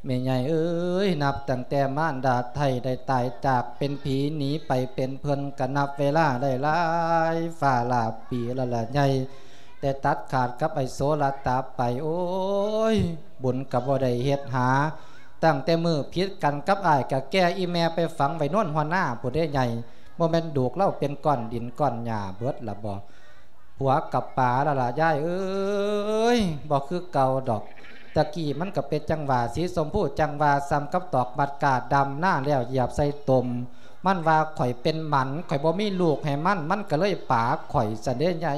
ແມ່ໃຫຍ່ເອີຍ ນັບຕັ້ງແຕ່ມານດາໄທໄດ້ຕາຍຈາກເປັນຜີໜີໄປເປັນເພິ່ນ ກະນັບເວລາໄດ້ຫຼາຍຟ້າຫຼາຍປີແລ້ວລະໃຫຍ່ ແຕ່ຕັດຂາດກັບໄອ້ໂສລະຕາໄປ ໂອ້ຍ ບຸນກະບໍ່ໄດ້ເຮັດຫາ ຕັ້ງແຕ່ມື້ຜິດກັນກັບອ້າຍ ກະແກ່ອີ່ແມ່ໄປຝັງໄວ້ໂນນຫົວນາພຸ້ນເດ້ໃຫຍ່ ບໍ່ແມ່ນດູກລາວເປັນກ້ອນດິນກ້ອນຫຍ້າເບິດລະບໍ? ຜົວກະປາລະລະຍາຍເອີຍ ບໍ່ຄືເກົ່າດອກ ຕະກີ້ມັນກະເປັນຈັ່ງຫວ່າ ສີຊົມພູຈັ່ງຫວ່າ ສ່ຳກັບຕອກບັດກ້າດຳນາແລ້ວຢຽບໃສ່ຕົມ ມັນວ່າຂ້ອຍເປັນໝັນ ຂ້ອຍບໍ່ມີລູກໃຫ້ມັນ ມັນກະເລີຍປາຂ້ອຍຊັ້ນເດ້ໃຫຍ່.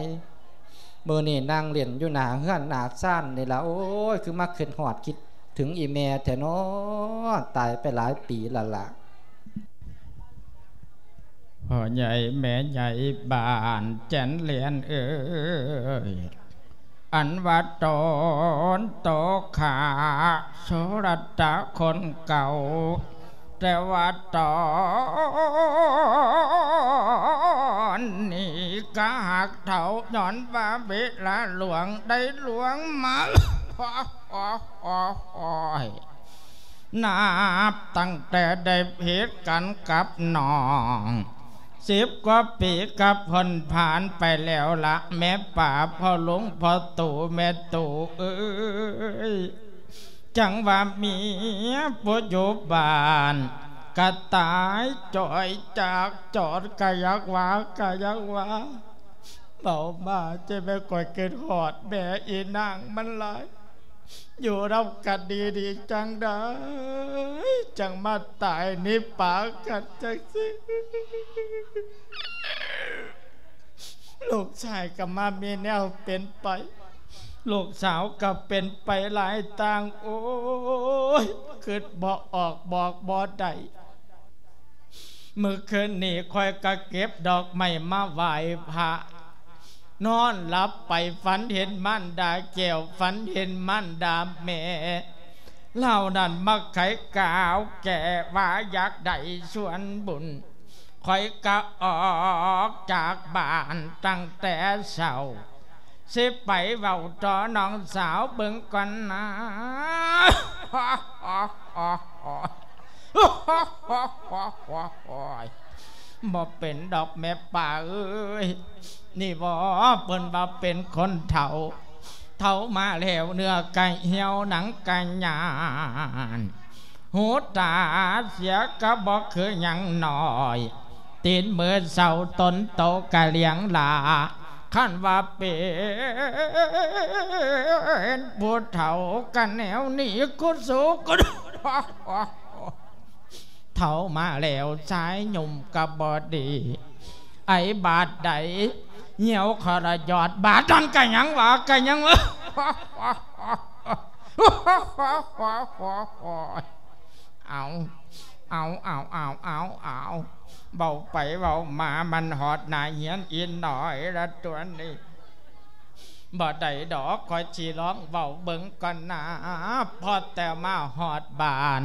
ມື້ນີ້ນັ່ງຫຼິ້ນຢູ່ໜ້າເຮືອນໜ້າຊານນີ້ລະ ໂອ້ຍ ຄືມາຄິດຮອດຄິດເຖິງອີ່ແມ່ແທ້ນໍ ຕາຍໄປຫຼາຍປີລະລະ. ພໍ່ໃຫຍ່ແມ່ໃຫຍ່ບ້ານແຈນແລນເອີຍ ອັນວ່າຕອນໂຕຂ້າໂສລະຕະຄົນເກົ່າ ແຕ່ວ່າຕອນນີ້ກະຮັກເຖົ້າ ຍ້ອນວ່າເວລາລ່ວງໄດ້ລ່ວງມາ ໂອ້ຍ ນັບຕັ້ງແຕ່ໄດ້ຜິດກັນກັບນ້ອງ ສິບກວ່າປີກະພົ້ນຜ່ານໄປແລ້ວລະ ແມ່ປ້າ ພໍ່ລຸງ ພໍ່ຕູ້ ແມ່ຕູ້ເອີຍ ຈັ່ງວ່າເມຍຜູ້ຢູ່ບ້ານກະຕາຍຈ່ອຍຈາກຈອນ ກະຢາກວ່າ ກະຢາກວ່າ ເວົ້າມາຈັ່ງແມ່ນຂ້ອຍຄິດຮອດແມ່ອີນາງມັນຫຼາຍ ຢູ່ນຳກັນດີໆ ຈັ່ງໃດຈັ່ງມາຕາຍໜີປາກັນຈັ່ງຊີ້ ລູກຊາຍກະມາມີແນວເປັນໄປ ລູກສາວກະເປັນໄປຫຼາຍຕ່າງ ໂອ້ຍ ຄິດບໍ່ອອກບອກບໍ່ໄດ້. ມື້ຄືນນີ້ຂ້ອຍກະເກັບດອກໄມ້ມາໄຫວ້ພະ ນອນຫຼັບໄປຝັນເຫັນມານດາແກ້ວ ຝັນເຫັນມານດາແມ່ ລາວນັ້ນມາໄຂກາວແກ່ວ່າຢາກໄດ້ສ່ວນບຸນ ຂ້ອຍກະອອກຈາກບ້ານຕັ້ງແຕ່ເຊົ້າ ຊິໄປເວົ້າຕໍ່ນ້ອງສາວເບິ່ງກ່ອນນາ ບໍ່ເປັນດອກແມ່ປ້າເອີຍ ນີ້ບໍ ເພິ່ນວ່າເປັນຄົນເຖົ້າ ເຖົ້າມາແລ້ວເນື້ອກະຫ່ຽວໜັງກະຍານ ຫູຕາເສຍກະບໍ່ຄືຫຍັງນ້ອຍ ຕີນມືເຊົາຕົ້ນໂຕກະລ້ຽງຫຼ້າ ຄັນວ່າເປັນຜູ້ເຖົ້າກະແນວນີ້ ກູສູ້ກູ ເຖົ້າມາແລ້ວສາຍຍົມກະບໍ່ດີ ໄອບາດໃດ ຍ່ຽວຂໍລະຢອດ ບາດນັ້ນກະຍັງວ່າ ກະຍັງວ່າ ເອົາ ເອົາ ເອົາ ເອົາ ເອົາ ເອົາ ເວົ້າໄປເວົ້າມາ ມັນຮອດໜ້າເຮືອນອີນ້ອຍລະຕົວນີ້ ບໍ່ໄດ້ດອກ ຂ້ອຍຊິລອງເວົ້າເບິ່ງກ່ອນນາ ພໍແຕ່ມາຮອດບ້ານ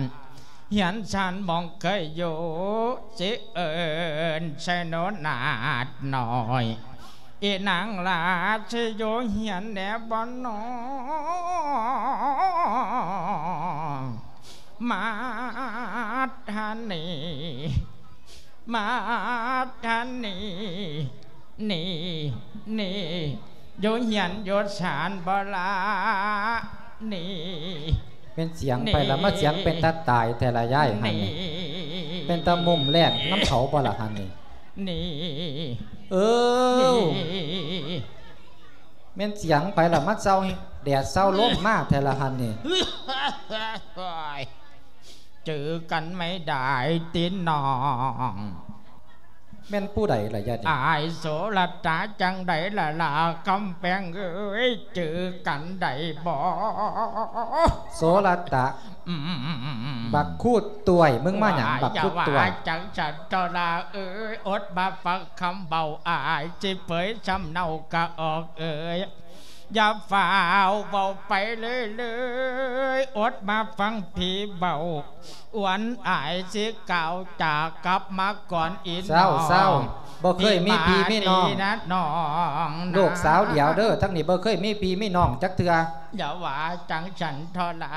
ຮຽນຊານໝ່ອງເຄີຍຢູ່ ຊິເອີ້ນໃສ່ໂນນາດນ້ອຍ ອີນາງຫຼ້າຊິຢູ່ຮຽນແດ່ບໍ່ນໍ ມາດທານີ ມາດທານີ ນີ້ ນີ້ ຢູ່ຮຽນຢູ່ຊານບໍ່ລະ ນີ້ ແມ່ນສຽງໃຜລະ ນີ້ ມາສຽງເປັນຕາຕາຍແທ້ລະຍາຍຫັ້ນນີ້ ນີ້ ເປັນຕາມຸມແລ່ນນຳເຂົາບໍ່ລະຫັ້ນນີ້ ນີ້ ເອີ ນີ້ ແມ່ນສຽງໃຜລະ ມາເຊົາແດດເຊົາລົມມາແທ້ລະຫັ້ນນີ້ ເຈີກັນໄມ່ໄດ້ຕິນ້ອງ ແມ່ນຜູ້ໃດລະຍາດນີ້? ອ້າຍໂສລະຕາ ຈັ່ງໃດລະລາຄຳແພງເອີຍ ເຈີກັນໄດ້ບໍ່? ໂສລະຕາ ອືມ ບັກຄູດຕ່ວຍ ມຶງມາຫຍັງ ບັກຄູດຕ່ວຍ? ຢ່າວ່າຈັ່ງຊັ້ນເຖາະລາເອີຍ ອົດມາຟັງຄຳເວົ້າ ອ້າຍຊິເຜີຍສຳເນົາກະອອກເອີຍ ຢ່າຟ້າວເວົ້າໄປເລີຍໆ ອົດມາຟັງພີ່ເວົ້າ ອວນອາຍຊິກ່າວຈາກັບມາກ່ອນອີນ້ອງ ເຊົາ ເຊົາ ບໍ່ເຄີຍມີພີ່ມີນ້ອງ ພີ່ມາດີນະນ້ອງນະ ລູກສາວດຽວເດີ ທັງນີ້ບໍ່ເຄີຍມີພີ່ມີນ້ອງຈັກເທື່ອ ຢ່າວ່າຈັ່ງຊັ້ນເຖາະລະ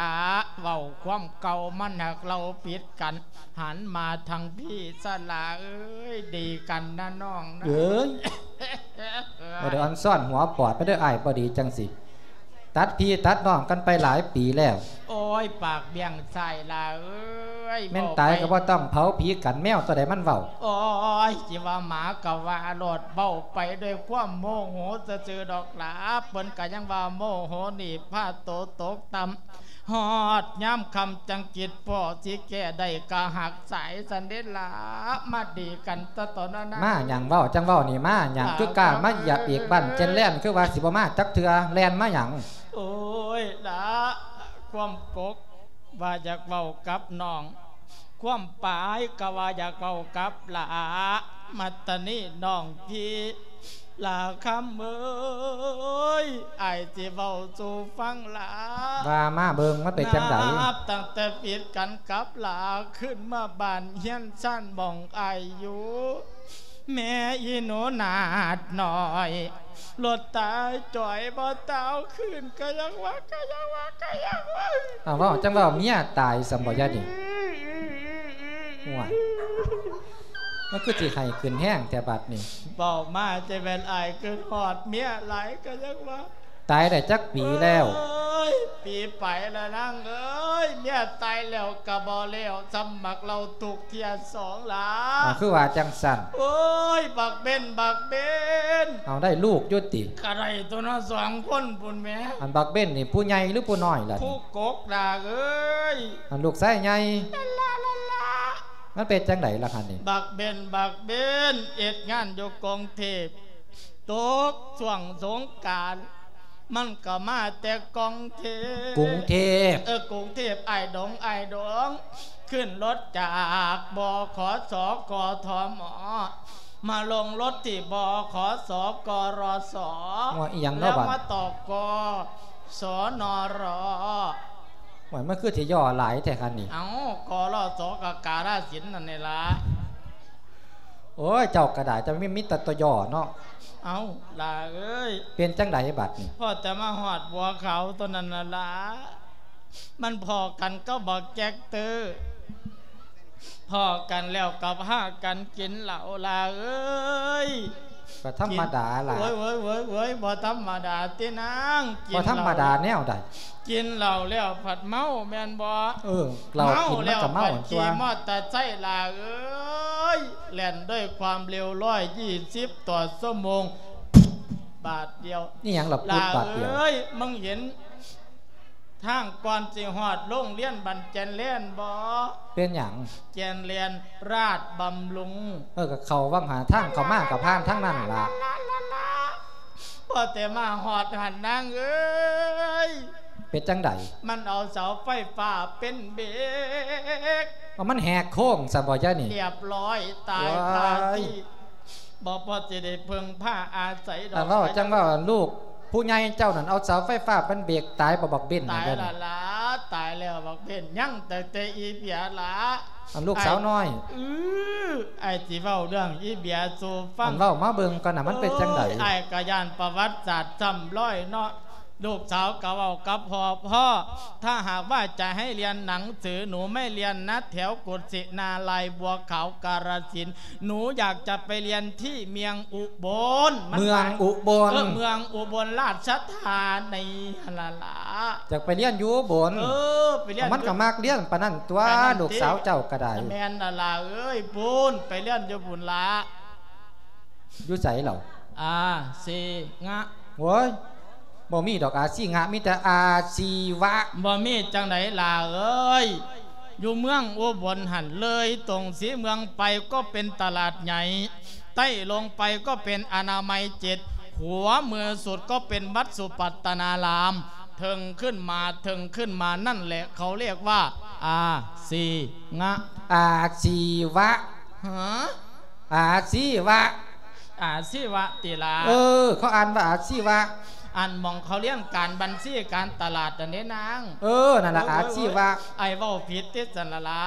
ເວົ້າຄວາມເກົ່າມັນຫາກເລົ່າຜິດກັນ ຫັນມາທາງພີ່ຊະລະເອີຍ ດີກັນນະນ້ອງນະ ເອີຍ ບໍ່ໄດ້ອ່ອນຊ້ອນຫົວປອດໄປເດີ ອ້າຍບໍ່ດີຈັ່ງຊີ້ ຕັດພີ່ຕັດນ້ອງກັນໄປຫຼາຍປີແລ້ວ ໂອ້ຍ ປາກບ້ຽງຊາຍລະເອີຍ ແມ່ນຕາຍກໍບໍ່ຕ້ອງເຜົາຜີກັນ ແມວຕົວໃດມັນເວົ້າ ໂອ້ຍ ຊິວ່າໝາກໍວ່າໂລດ ເວົ້າໄປດ້ວຍຄວາມໂມໂຫຊື່ໆດອກລະ ເພິ່ນກໍຍັງວ່າໂມໂຫນີ້ພາໂຕຕົກຕ່ຳ ຮອດຍາມຄ່ຳຈັ່ງຄິດພໍ້ ຊິແກ້ໄດ້ກະຫັກສາຍຊັ້ນເດລະ ມາດີກັນຕະຕອນນັ້ນນະ ມາຫຍັງເວົ້າຈັ່ງເວົ້ານີ້ ມາຫຍັງຄືກ້າມາຢາກເອກບ້ານເຈັນແລ່ນ ຄືວ່າຊິບໍ່ມາຈັກເທື່ອ ແລ່ນມາຫຍັງ? ໂອ້ຍລະ ຄວາມກົກວ່າຢາກເວົ້າກັບນ້ອງ ຄວາມປາຍກໍວ່າຢາກເວົ້າກັບຫຼ້າ ມາຕານີ້ນ້ອງພີ່ ຫຼ້າຄຳເອີຍ ອ້າຍຊິເວົ້າສູ່ຟັງຫຼ້າ ວ່າມາເບິ່ງມັນເປັນຈັ່ງໃດ? ນັບຕັ້ງແຕ່ຜິດກັນກັບຫຼ້າ ຂຶ້ນມາບ້ານເຮືອນຊານໝ່ອງອ້າຍຢູ່ ແມ່ອີໜູນາດນ້ອຍ ລົດຕາຍຈ່ອຍບໍ່ຕາວຄືນ ກະຍັງວ່າ ກະຍັງວ່າ ກະຍັງວ່າ ອ້າວ ເວົ້າຈັ່ງເວົ້າ ເມຍຕາຍຊັ້ນບໍ່ຍາດນີ້? ໂອ້ຍ ມັນຄືຊິໄຫ້ຂຶ້ນແຮງແທ້ບາດນີ້ ເວົ້າມາຈະແມ່ນອ້າຍຄຶດຮອດເມຍຫຼາຍ ກະຍັງວ່າ ຕາຍໄດ້ຈັກປີແລ້ວ? ເອີຍ ປີໄປລະນາງເອີຍ ເມຍຕາຍແລ້ວກະບໍ່ແລ້ວ ສ່ຳບັກເຫຼົ້າທຸກເທື່ອສອງລະ ອ້າວ ຄືວ່າຈັ່ງຊັ້ນ? ໂອ້ຍ ບັກເບັນ ບັກເບັນ ເອົາ ໄດ້ລູກຢູ່ຕິ? ກະໄດ້ຕົວເນາະ ສອງຄົນພຸ້ນແໝ່ ອັນບັກເບັນນີ້ຜູ້ໃຫຍ່ຫຼືຜູ້ນ້ອຍລະ? ຜູ້ກົກລະເອີຍ ອັນລູກຊາຍໃຫຍ່ ລະລະລະລະ ມັນເປັນຈັ່ງໃດລະຄັນນີ້? ບັກເບັນ ບັກເບັນ ເຮັດງານຢູ່ກົງເທບ ຕົກຊ່ວງສົງການ ມັນກໍມາແຕ່ກົງເທບ ກຸງເທບ ເອີ ກຸງເທບ ອ້າຍດົງ ອ້າຍດົງ ຂຶ້ນລົດຈາກ ບຂສ ກທມ ມາລົງລົດທີ່ ບຂສ ກຣສ ວ່າອີ່ຫຍັງເນາະ ແລ້ວມາຕໍ່ ກສນຣ ໂອ້ຍ ມັນຄືຊິຍໍ້ຫຼາຍແທ້ຄັນນີ້? ເອົ້າ ກຣສ ກະກາລະສິນນັ້ນແຫຼະລະ. ໂອ້ຍ ເຈົ້າກະດາຍ ເຈົ້າມີ ມີແຕ່ຕົວຍໍ້ເນາະ. ເອົ້າ ຫຼ້າເອີຍ ເປັນຈັ່ງໃດບາດນີ້? ພໍ້ແຕ່ມາຮອດບົວຂາວເທົ່ານັ້ນລະຫຼ້າ ມັນພໍ້ກັນກັບບັກແຈັກເຕີ ພໍ້ກັນແລ້ວກໍພາກັນກິນເຫຼົ້າຫຼ້າເອີຍ. ກໍທຳມະດາລະ. ໂອ້ຍ ໂອ້ຍ ໂອ້ຍ ບໍ່ທຳມະດາຕິນາງ ກິນ ບໍ່ທຳມະດາແນວໃດ? ກິນເຫຼົ້າແລ້ວພັດເມົາແມ່ນບໍ່? ເອີ ເຫຼົ້າກິນມັນກໍເມົາຕົວະ. ຂີ່ມໍເຕີໄຊຫຼ້າເອີຍ ແລ່ນດ້ວຍຄວາມເລັວຮ້ອຍຍີ່ສິບຕໍ່ຊົ່ວໂມງ ບາດດຽວ. ອີ່ຫຍັງລະ ປຸດບາດດຽວ? ຫຼ້າເອີຍ ມຶງເຫັນທາງກ່ອນຊິຮອດໂຮງຮຽນບ້ານແຈນແລນບໍ່? ເປັນຫຍັງ? ແຈນແລນລາດບຳລຸງ. ເອີ ກໍເຂົ້າວັງຫາ ທາງເຂົ້າມາກໍຜ່ານທາງນັ້ນລະ. ພໍ້ແຕ່ມາຮອດຫັ້ນນາງເອີຍ. ເປັນຈັ່ງໃດ? ມັນເອົາເສົາໄຟຟ້າເປັນເບຣກ. ເອົາ ມັນແຫກໂຄ້ງຊັ້ນບໍ່ຍາຍນີ້? ຮຽບຮ້ອຍ ຕາຍຄາທີ່. ບໍ່ພໍຊິໄດ້ເພິ່ງພາອາໄສດອກ. ອັນເວົ້າຈັ່ງເວົ້າ ອັນລູກຜູ້ໃຫຍ່ເຈົ້ານັ້ນເອົາເສົາໄຟຟ້າເປັນເບຣກ ຕາຍບໍ່ບັກເບັນ? ຕາຍລະລະ. ຕາຍແລ້ວບັກເພັນ ຍັງແຕ່ ແຕ່ອີເບຍລະ ອັນລູກສາວນ້ອຍ ອ້າຍ ອື ອ້າຍຊິເວົ້າເລື່ອງອີເບຍສູ່ຟັງ ອັນເວົ້າມາເບິ່ງກ່ອນນະ ມັນເປັນຈັ່ງໃດ? ເອີຍ ອ້າຍກໍຢ້ານປະຫວັດສາດຊ້ຳລອຍເນາະ ລູກສາວກໍເວົ້າກັບພໍ່ ພໍ່ ຖ້າຫາກວ່າຈະໃຫ້ຮຽນໜັງສື ໜູໄມ່ຮຽນນະ ແຖວກຸສິນາລາຍ ບົວຂາວ ກາລະສິນ ໜູຢາກຈະໄປຮຽນທີ່ເມືອງອຸບົນ ມັນ ເມືອງອຸບົນ ເອີ ເມືອງອຸບົນລາຊະທານີຫັ້ນລະລະ ຢາກໄປຮຽນຢູ່ອຸບົນ ເອີ ໄປຮຽນ ມັນກໍມັກຮຽນປານນັ້ນຕົວະ ປານນັ້ນຕິ ລູກສາວເຈົ້າກໍໄດ້ ແມ່ນລະລະເອີຍ ພຸ້ນ ໄປຮຽນຢູ່ພຸ້ນລະ ຢູ່ໃສເຫຼົ່າ? ອາຊີງະ ໂອ້ຍ ບໍ່ມີດອກອາຊີງະ ມີແຕ່ອາຊີວະ ບໍ່ມີຈັ່ງໃດຫຼ້າເອີຍ ຢູ່ເມືອງອຸບົນຫັ້ນ ເລີຍຕົງສີເມືອງໄປກໍເປັນຕະຫຼາດໃຫຍ່ ໃຕ້ລົງໄປກໍເປັນອະນາໄມເຈັດ ຂວາມືສຸດກໍເປັນວັດສຸປັດຕະນາລາມ ເທິງຂຶ້ນມາ ເທິງຂຶ້ນມານັ້ນແຫຼະ ເຂົາຮຽກວ່າອາຊີງະ ອາຊີວະ ຫາ? ອາຊີວະ ອາຊີວະຕິລະ ເອີ ເຂົາອ່ານວ່າອາຊີວະ ອັນໝ່ອງເຂົາຮຽນການບັນຊີການຕະຫຼາດຫັ້ນເດ້ນາງ ເອີ ນັ້ນລະ ໂອ້ຍ ອາຊີວະ ໂອ້ຍ ອ້າຍເວົ້າຜິດຕິຊັ້ນລະລະ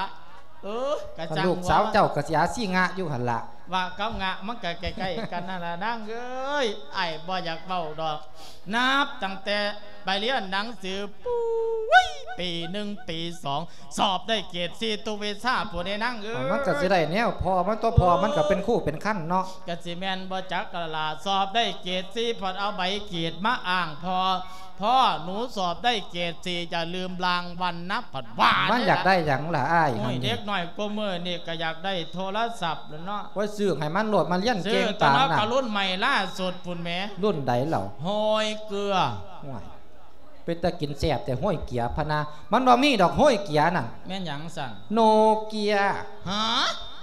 ເອີ ກະຈັ່ງ ລູກສາວເຈົ້າກໍຊິອາຊີງະຢູ່ຫັ້ນລະ ວະກັບງະມັນກໍໃກ້ໆກັນຫັ້ນລະນາງເອີຍ ອ້າຍບໍ່ຢາກເວົ້າດອກ ນັບຕັ້ງແຕ່ໄປຮຽນໜັງສື ປຸ້ຍ ປີໜຶ່ງ ປີສອງ ສອບໄດ້ເກຣດສີ່ທຸກວິຊາພຸ້ນເດ້ນາງເອີຍ ມັນກໍຊິໄດ້ແນວພໍ່ມັນຕົວະ ພໍ່ມັນກໍເປັນຄູເປັນຄັນເນາະ ກໍຊິແມ່ນບໍ່ຈັກລະລະ ສອບໄດ້ເກຣດສີ່ ເພິ່ນເອົາໃບເກຣດມາອ້າງພໍ່ ພໍ່ ໜູສອບໄດ້ເກຣດສີ່ ຢ່າລືມລາງວັນນະ ເພິ່ນວ່າ ມັນຢາກໄດ້ຫຍັງລະອ້າຍ? ໂອ້ຍ ຫັ້ນນີ້ ເດັກນ້ອຍກວ່າມື້ນີ້ກໍຢາກໄດ້ໂທລະສັບແລ້ວເນາະ ໂອ້ຍ ຊື້ໃຫ້ມັນໂລດ ມັນຮຽນເກັ່ງປານນັ້ນ ກະລຸ້ນໃໝ່ລ່າສຸດພຸ້ນແໝ ລຸ້ນໃດເຫຼົ່າ? ໂຮຍເກືອ ໂອ້ຍ ເປັນຕາກິນແຊບແທ້ ໂຮຍເກືອພະນາ ມັນບໍ່ມີດອກໂຮຍເກືອນັ້ນ ແມ່ນຫຍັງຊັ້ນ? ໂນເກຍ ຫາ?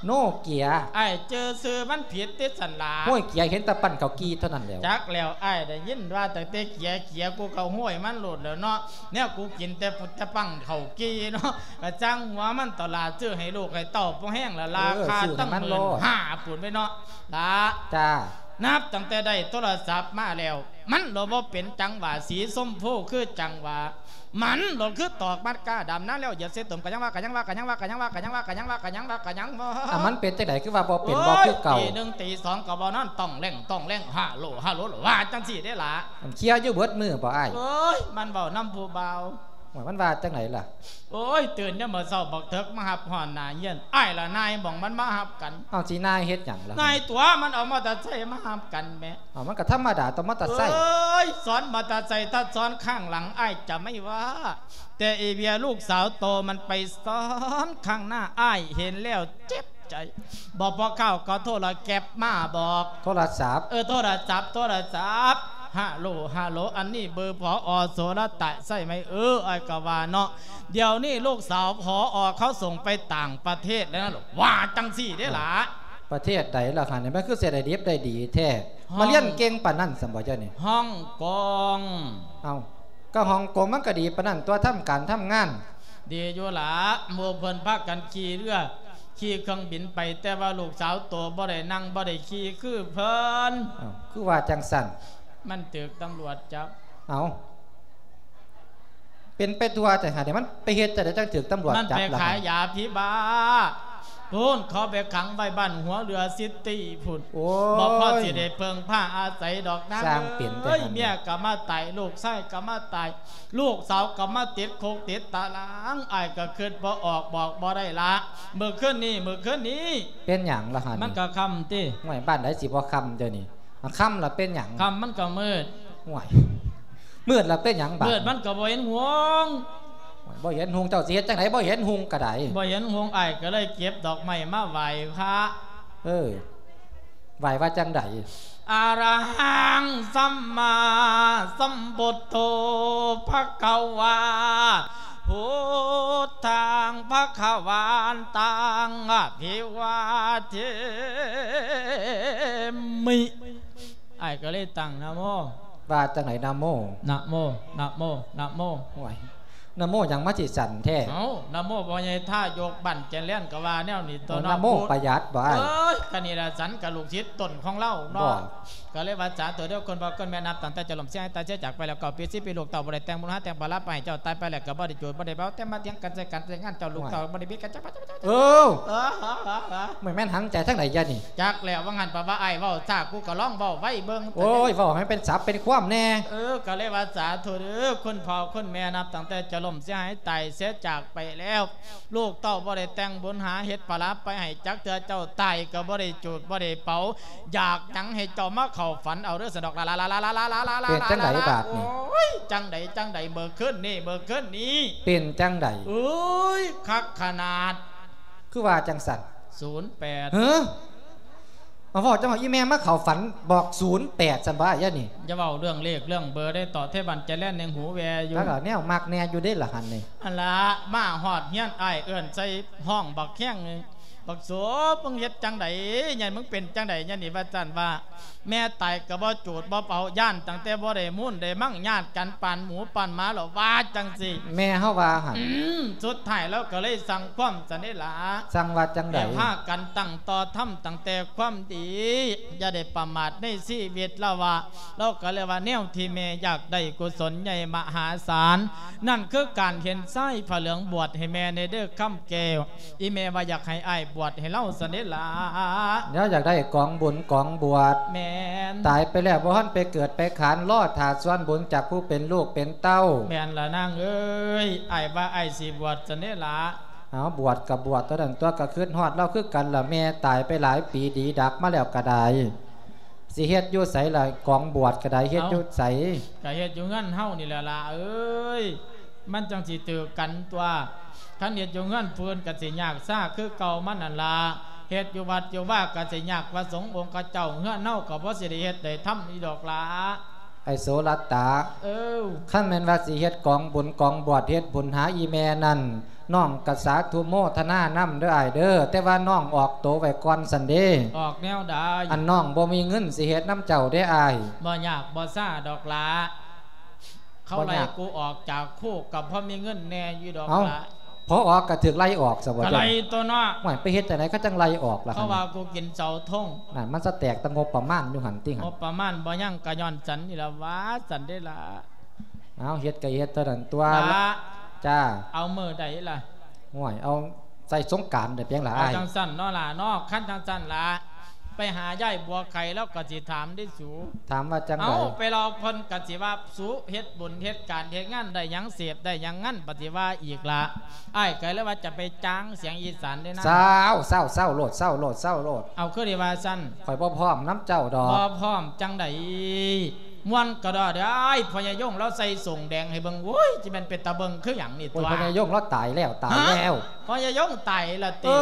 ໂນເກຍ ອ້າຍຈື່ຊື່ມັນຜິດຕິຊັ້ນລະ ໂຮຍເກືອເຫັນແຕ່ປັ້ນເຂົ້າກີ່ເທົ່ານັ້ນແຫຼ້ວ ຈັກແລ້ວ ອ້າຍໄດ້ຍິນວ່າຕັ້ງແຕ່ເກຍ ເກຍ ກູກໍໂຮຍມັນໂລດແລ້ວເນາະ ແນວກູກິນແຕ່ປຸດແຕ່ປັ້ນເຂົ້າກີ່ເນາະ ກະຈັ່ງຫົວມັນຕົວະລະ ຊື້ໃຫ້ລູກໃຫ້ເຕົ້າພໍແຮງລະລາຄາ ເອີ ຊື້ໃຫ້ມັນໂລດ ຕັ້ງໝື່ນຫ້າພຸ້ນໄປເນາະ ລະ ຈ້າ ນັບຕັ້ງແຕ່ໄດ້ໂທລະສັບມາແລ້ວ ມັນໂລດບໍ່ເປັນຈັງຫວະ ສີຊົມພູຄືຈັງຫວະ ມັນໂລດຄືຕອກມັດກ້າດຳນາແລ້ວ ຢາເສດຕົມ ກະຍັງວ່າ ກະຍັງວ່າ ກະຍັງວ່າ ກະຍັງວ່າ ກະຍັງວ່າ ອະ ມັນເປັນຈັ່ງໃດ ຄືວ່າບໍ່ເປັນ ໂອ້ຍ ບໍ່ຄືເກົ່າ ຕີໜຶ່ງຕີສອງກໍບໍ່ນອນ ຕ້ອງແລ່ງ ຕ້ອງແລ່ງ ຮາໂຫຼ ຮາໂຫຼ ວ່າຈັ່ງຊີ້ເດ້ລະ ມັນເຄຍຢູ່ເບິດມື້ບໍ່ອ້າຍ? ໂອ້ຍ ມັນເວົ້ານຳຜູ້ບ່າວ ໂອ້ຍ ມັນວ່າຈັ່ງໃດລະ? ໂອ້ຍ ຕື່ນຍາມມື້ເຊົ້າບັກເຖິກມາຮັບຮອດໜ້າເຮືອນ ອ້າຍລະນາຍໝ່ອງມັນມາຮັບກັນ ເອົາ ຊິນາຍເຮັດຫຍັງລະ? ນາຍຕົວະ ມັນເອົາມໍເຕີໄຊມາຮັບກັນແໝ ເອົາ ມັນກໍທຳມະດາຕົວະ ມໍເຕີໄຊ ເອີຍ ຊ້ອນມໍເຕີໄຊ ຖ້າຊ້ອນຂ້າງຫຼັງ ອ້າຍຈະໄມ່ວ່າ ແຕ່ອີເບຍລູກສາວໂຕມັນໄປຊ້ອນຂ້າງໜ້າ ອ້າຍເຫັນແລ້ວເຈັບໃຈ ບໍ່ພໍຄາວກໍໂທລະແກັບມາບອກ ໂທລະສັບ ເອີ ໂທລະສັບ ໂທລະສັບ ຮາໂຫຼ ຮາໂຫຼ ອັນນີ້ເບີ ຜອ ໂສລະຕະ ໃຊ່ໄໝ? ເອີ ອ້າຍກໍວ່າເນາະ ດຽວນີ້ລູກສາວ ຜອ ເຂົາສົ່ງໄປຕ່າງປະເທດແລ້ວນະ ວ່າຈັ່ງຊີ້ເດ້ລະ ປະເທດໃດລະຄະນີ້ ມັນຄືຊິໄດ້ດິບໄດ້ດີແທ້ ຮອງ ມາຮຽນເກັ່ງປານນັ້ນຊັ້ນບໍ່ເຈົ້ານີ້? ຮອງກົງ ເອົ້າ ກໍຮອງກົງມັນກໍດີປານນັ້ນຕົວະ ທຳການທຳງານ ດີຢູ່ລະ ໝູ່ເພິ່ນພາກັນຂີ່ເຮືອ ຂີ່ເຄື່ອງບິນໄປ ແຕ່ວ່າລູກສາວໂຕບໍ່ໄດ້ນັ່ງ ບໍ່ໄດ້ຂີ່ຄືເພິ່ນ ເອົ້າ ຄືວ່າຈັ່ງຊັ້ນ? ມັນຖືກຕຳຫຼວດຈັບ ເອົ້າ ເປັນໄປທົ່ວແທ້ຫາ ມັນໄປເຮັດຈັ່ງໃດຈັ່ງຖືກຕຳຫຼວດຈັບລະ? ມັນໄປຂາຍຢາຜີບ້າ ພຸ້ນ ເຂົາໄປຂັງໄວ້ບ້ານຫົວເຮືອຊິຕີພຸ້ນ ໂອ້ຍ ບໍ່ພໍຊິໄດ້ເພິ່ງພາອາໄສດອກນາງ ຊ່າງເປັນແທ້ ເອີຍ ຫັ້ນ ເມຍກໍມາຕາຍ ລູກຊາຍກໍມາຕາຍ ລູກສາວກໍມາຕິດຄຸກຕິດຕາລາງ ອ້າຍກໍຄິດບໍ່ອອກບອກບໍ່ໄດ້ລະ ມື້ຄືນນີ້ ມື້ຄືນນີ້ ເປັນຫຍັງລະຫັ້ນ? ມັນກໍຄ່ຳຕິ ຫ້ວຍ ບ້ານໃດຊິບໍ່ຄ່ຳດຽວນີ້ ອາ ຄ່ຳລະເປັນຫຍັງ? ຄ່ຳມັນກໍມືດ ຫ້ວຍ ມືດລະເປັນຫຍັງບາດ? ມືດມັນກໍບໍ່ເຫັນຮຸ່ງ ໂອ້ຍ ບໍ່ເຫັນຮຸ່ງ ເຈົ້າຊິເຮັດຈັ່ງໃດ ບໍ່ເຫັນຮຸ່ງກໍໄດ້ ບໍ່ເຫັນຮຸ່ງ ອ້າຍກໍເລີຍເກັບດອກໄມ້ມາໄຫວ້ພະ ເອີ ໄຫວ້ວ່າຈັ່ງໃດ? ອະລະຫັງ ສຳມາສຳພຸດໂທ ພະຄະວາ ພຸດທັງ ພະຄະວັນຕັງ ອະພິວາເທມິ ອ້າຍກໍເລີຍຕັ້ງນະໂມ ວ່າຈັ່ງໃດນະໂມ? ນະໂມ ນະໂມ ນະໂມ ໂອ້ຍ ນະໂມຫຍັງມາຊິສັ່ນແທ້? ເອົ້າ ນະໂມພໍ່ໃຫຍ່ທາຍົກບ້ານແຈແລນກໍວ່າແນວນີ້ຕົວເນາະ. ນະໂມປະຢັດບໍ່ອ້າຍ? ເອີຍ ກະນີ້ລະ ສັນກະລູກສິດຕົນຂອງລາວເນາະ. ບໍ່ ກໍເລີຍວ່າ ສາທຸເດີ້ ຄົນພໍ່ຄົນແມ່ ນັບຕັ້ງແຕ່ເຈົ້າລົ້ມເສຍຫາຍຕາຍເສຍຈາກໄປແລ້ວ ເກົ້າປີ ສິບປີ ລູກເຕົ້າບໍ່ໄດ້ແຕ່ງບຸນຫາແຕ່ງພະລາ ໄປໃຫ້ເຈົ້າຕາຍໄປແລ້ວ ກໍບໍ່ໄດ້ຈູດບໍ່ໄດ້ເປົ່າ ແຕ່ມາຖຽງກັນໃສ່ກັນແຕ່ງງານ ເຈົ້າລູກເຕົ້າບໍ່ໄດ້ມີກັນຈັກ ເອີ ບໍ່ແມ່ນຫັນໃຈທາງໃດຢານີ້? ຈັກແລ້ວ ວ່າຫັ້ນ ເພາະວ່າອ້າຍເວົ້າຊ້າ ກູກໍລອງເວົ້າໄວເບິ່ງ. ໂອ້ຍ ເວົ້າໃຫ້ເປັນສັບເປັນຄວາມແດ່. ເອີ ກໍເລີຍວ່າ ສາທຸເດີ້ ຄົນພໍ່ຄົນແມ່ ນັບຕັ້ງແຕ່ເຈົ້າລົ້ມເສຍຫາຍຕາຍເສຍຈາກໄປແລ້ວ ລູກເຕົ້າບໍ່ໄດ້ແຕ່ງບຸນຫາເຮັດພະລາໄປໃຫ້ຈັກເທື່ອ ເຈົ້າຕາຍກໍບໍ່ໄດ້ຈູດບໍ່ໄດ້ເປົ່າ ຢາກຫຍັງໃຫ້ເຈົ້າມາເຂົ້າຝັນເອົາເດີ້ ສະດອກ ລາ ລາ ລາ. ເປັນຈັ່ງໃດບາດນີ້? ໂອ້ຍ ຈັ່ງໃດ ຈັ່ງໃດ ເມື່ອຄືນນີ້ ເມື່ອຄືນນີ້. ເປັນຈັ່ງໃດ? ໂອ້ຍ ຄັກຂະໜາດ. ຄືວ່າຈັ່ງຊັ້ນ? ສູນແປດ. ເຮີ ມາເວົ້າຈັ່ງວ່າ ອີ່ແມ່ມາເຂົ້າຝັນບອກສູນແປດຊັ້ນບໍ່ ຍານີ້? ຢ່າເວົ້າເລື່ອງເລກເລື່ອງເບີເດ້ ເຕາະເທບານຈະແລ່ນແນງຫູແວ່ຢູ່. ແລ້ວກໍແນວມັກແນ່ຢູ່ເດ້ລະຫັ້ນນີ້. ອັນລະ ມາຮອດເຮືອນອ້າຍເອີ້ນໃສ່ຫ້ອງບັກແຮງ ບັກໂສ ມຶງເຮັດຈັ່ງໃດ ຍານີ້ ມຶງເປັນຈັ່ງໃດ ຍານີ້ ວ່າຊັ້ນວ່າ ແມ່ຕາຍກໍບໍ່ຈູດບໍ່ເປົ່າ ຢ້ານຕັ້ງແຕ່ບໍ່ໄດ້ມູນໄດ້ມັງ ຍາດກັນປານໝູປານໝາແລ້ວ ວ່າຈັ່ງຊີ້. ແມ່ເຮົາວ່າຫັ້ນ. ອືມ ສຸດທ້າຍລາວກໍເລີຍສັ່ງຄວາມຊັ້ນເດ້ລະ. ສັ່ງວ່າຈັ່ງໃດ? ໃຫ້ພາກັນຕັ້ງຕໍ່ທຳຕັ້ງແຕ່ຄວາມດີ ຢ່າໄດ້ປະໝາດໃນຊີວິດ ລາວວ່າ. ລາວກໍເລີຍວ່າ ແນວທີ່ແມ່ຢາກໄດ້ກຸສົນໃຫຍ່ມະຫາສານ ນັ້ນຄືການເຫັນຊາຍຜ້າເຫຼືອງບວດໃຫ້ແມ່ແດ່ເດີ້ຄຳແກ້ວ. ອີ່ແມ່ວ່າຢາກໃຫ້ອ້າຍບວດໃຫ້ລາວຊັ້ນເດ້ລະ. ແລ້ວຢາກໄດ້ກອງບຸນກອງບວດ. ແມ່ນ. ຕາຍໄປແລ້ວບໍ່ທັນໄປເກີດໄປຂານ ລໍຖ້າສ່ວນບຸນຈາກຜູ້ເປັນລູກເປັນເຕົ້າ. ແມ່ນລະນາງເອີຍ ອ້າຍວ່າອ້າຍຊິບວດຊັ້ນເດ້ລະ. ເອົາ ບວດກໍບວດເທົ່ານັ້ນຕົວະ ກໍຄິດຮອດລາວຄືກັນລະ ແມ່ຕາຍໄປຫຼາຍປີດີດັກມາແລ້ວກໍໄດ້. ຊິເຮັດຢູ່ໃສລະ ກອງບວດກໍໄດ້ ເຮັດຢູ່ໃສ? ເອົ້າ ກໍເຮັດຢູ່ເຮືອນເຮົານີ້ແຫຼະຫຼ້າເອີຍ ມັນຈັ່ງຊິຖືກກັນຕົວະ. ຄັນເຮັດຢູ່ເຮືອນຜູ້ອື່ນກໍຊິຍາກຊາຄືເກົ່າມັນຫັ້ນລະ ເຮັດຢູ່ວັດຢູ່ວາກໍຊິຍາກພະສົງອົງຂະເຈົ້າ ເຮືອນເຮົາກໍບໍ່ຊິໄດ້ເຮັດໄດ້ທຳອີ່ດອກຫຼ້າ. ໄອ້ໂສລັດຕາ ເອີ ຄັນແມ່ນວ່າຊິເຮັດກອງບຸນກອງບວດ ເຮັດບຸນຫາອີ່ແມ່ນັ້ນ ນ້ອງກະສາທຸໂມທະນານຳເດີອ້າຍເດີ ແຕ່ວ່ານ້ອງອອກໂຕໄວ້ກ່ອນຊັ້ນເດ. ອອກແນວໃດ? ອັນນ້ອງບໍ່ມີເງິນຊິເຮັດນຳເຈົ້າເດອ້າຍ. ບໍ່ຍາກບໍ່ຊາດອກຫຼ້າ ເຂົາໄລ່ ບໍ່ຍາກ ກູອອກຈາກຄູກະພໍມີເງິນແດ່ຢູ່ດອກ ເອົ້າ ຫຼ້າ. ພໍອອກກະຖືກໄລ່ອອກຊະບໍ່? ກະໄລ່ຕົວະເນາະ. ໂອ້ຍ ໄປເຮັດຈັ່ງໃດເຂົາຈັ່ງໄລ່ອອກລະ? ເຂົາວ່າກູກິນເສົາທົງ. ນັ້ນ ມັນສະແຕກແຕ່ງົບປະມານຢູ່ຫັ້ນຕິຫັ້ນ. ງົບປະມານບໍ່ຍັງກະຍ້ອນສັນນີ້ລະ ວ່າສັນເດລະ. ເອົາ ເຮັດກໍເຮັດເທົ່ານັ້ນຕົວະ. ລະ ຈ້າ ເອົາມື້ໃດລະ? ໂອ້ຍ ເອົາໃສ່ສົງການເດີ ເປັນຫຍັງລະອ້າຍ? ເອົາຈັ່ງຊັ້ນເນາະຫຼ້າເນາະ ຄັນຈັ່ງຊັ້ນລະ ໄປຫາຍາຍບົວໄຂ່ ລາວກໍຊິຖາມເດ້ສູ. ຖາມວ່າຈັ່ງໃດ? ເອົາ ໄປລອບເພິ່ນກໍຊິວ່າ ສູເຮັດບຸນເຮັດການເຮັດງານໄດ້ຫຍັງ ເສບໄດ້ຫຍັງ ງານປະຕິວ່າອີກລະ. ອ້າຍກໍເລີຍວ່າຈະໄປຈ້າງສຽງອີສານເດ້ນະ. ເຊົາ ເຊົາ ເຊົາໂລດ ເຊົາໂລດ ເຊົາໂລດ. ເອົາ ຄືໄດ້ວ່າຊັ້ນ? ຂ້ອຍບໍ່ພ້ອມນຳເຈົ້າດອກ. ບໍ່ພ້ອມຈັ່ງໃດ? ມ່ວນກະດອເດີອ້າຍ ພໍ່ໃຫຍ່ຍົງລາວໃສ່ໂສ້ງແດງໃຫ້ເບິ່ງ ໂອ້ຍ ຊິແມ່ນເປັນຕາເບິ່ງຄືຫຍັງນີ້ຕົວະ. ໂອ້ຍ ພໍ່ໃຫຍ່ຍົງລາວຕາຍແລ້ວ ຕາຍແລ້ວ. ຮະ? ພໍ່ໃຫຍ່ຍົງຕາຍລະຕິ? ເອີ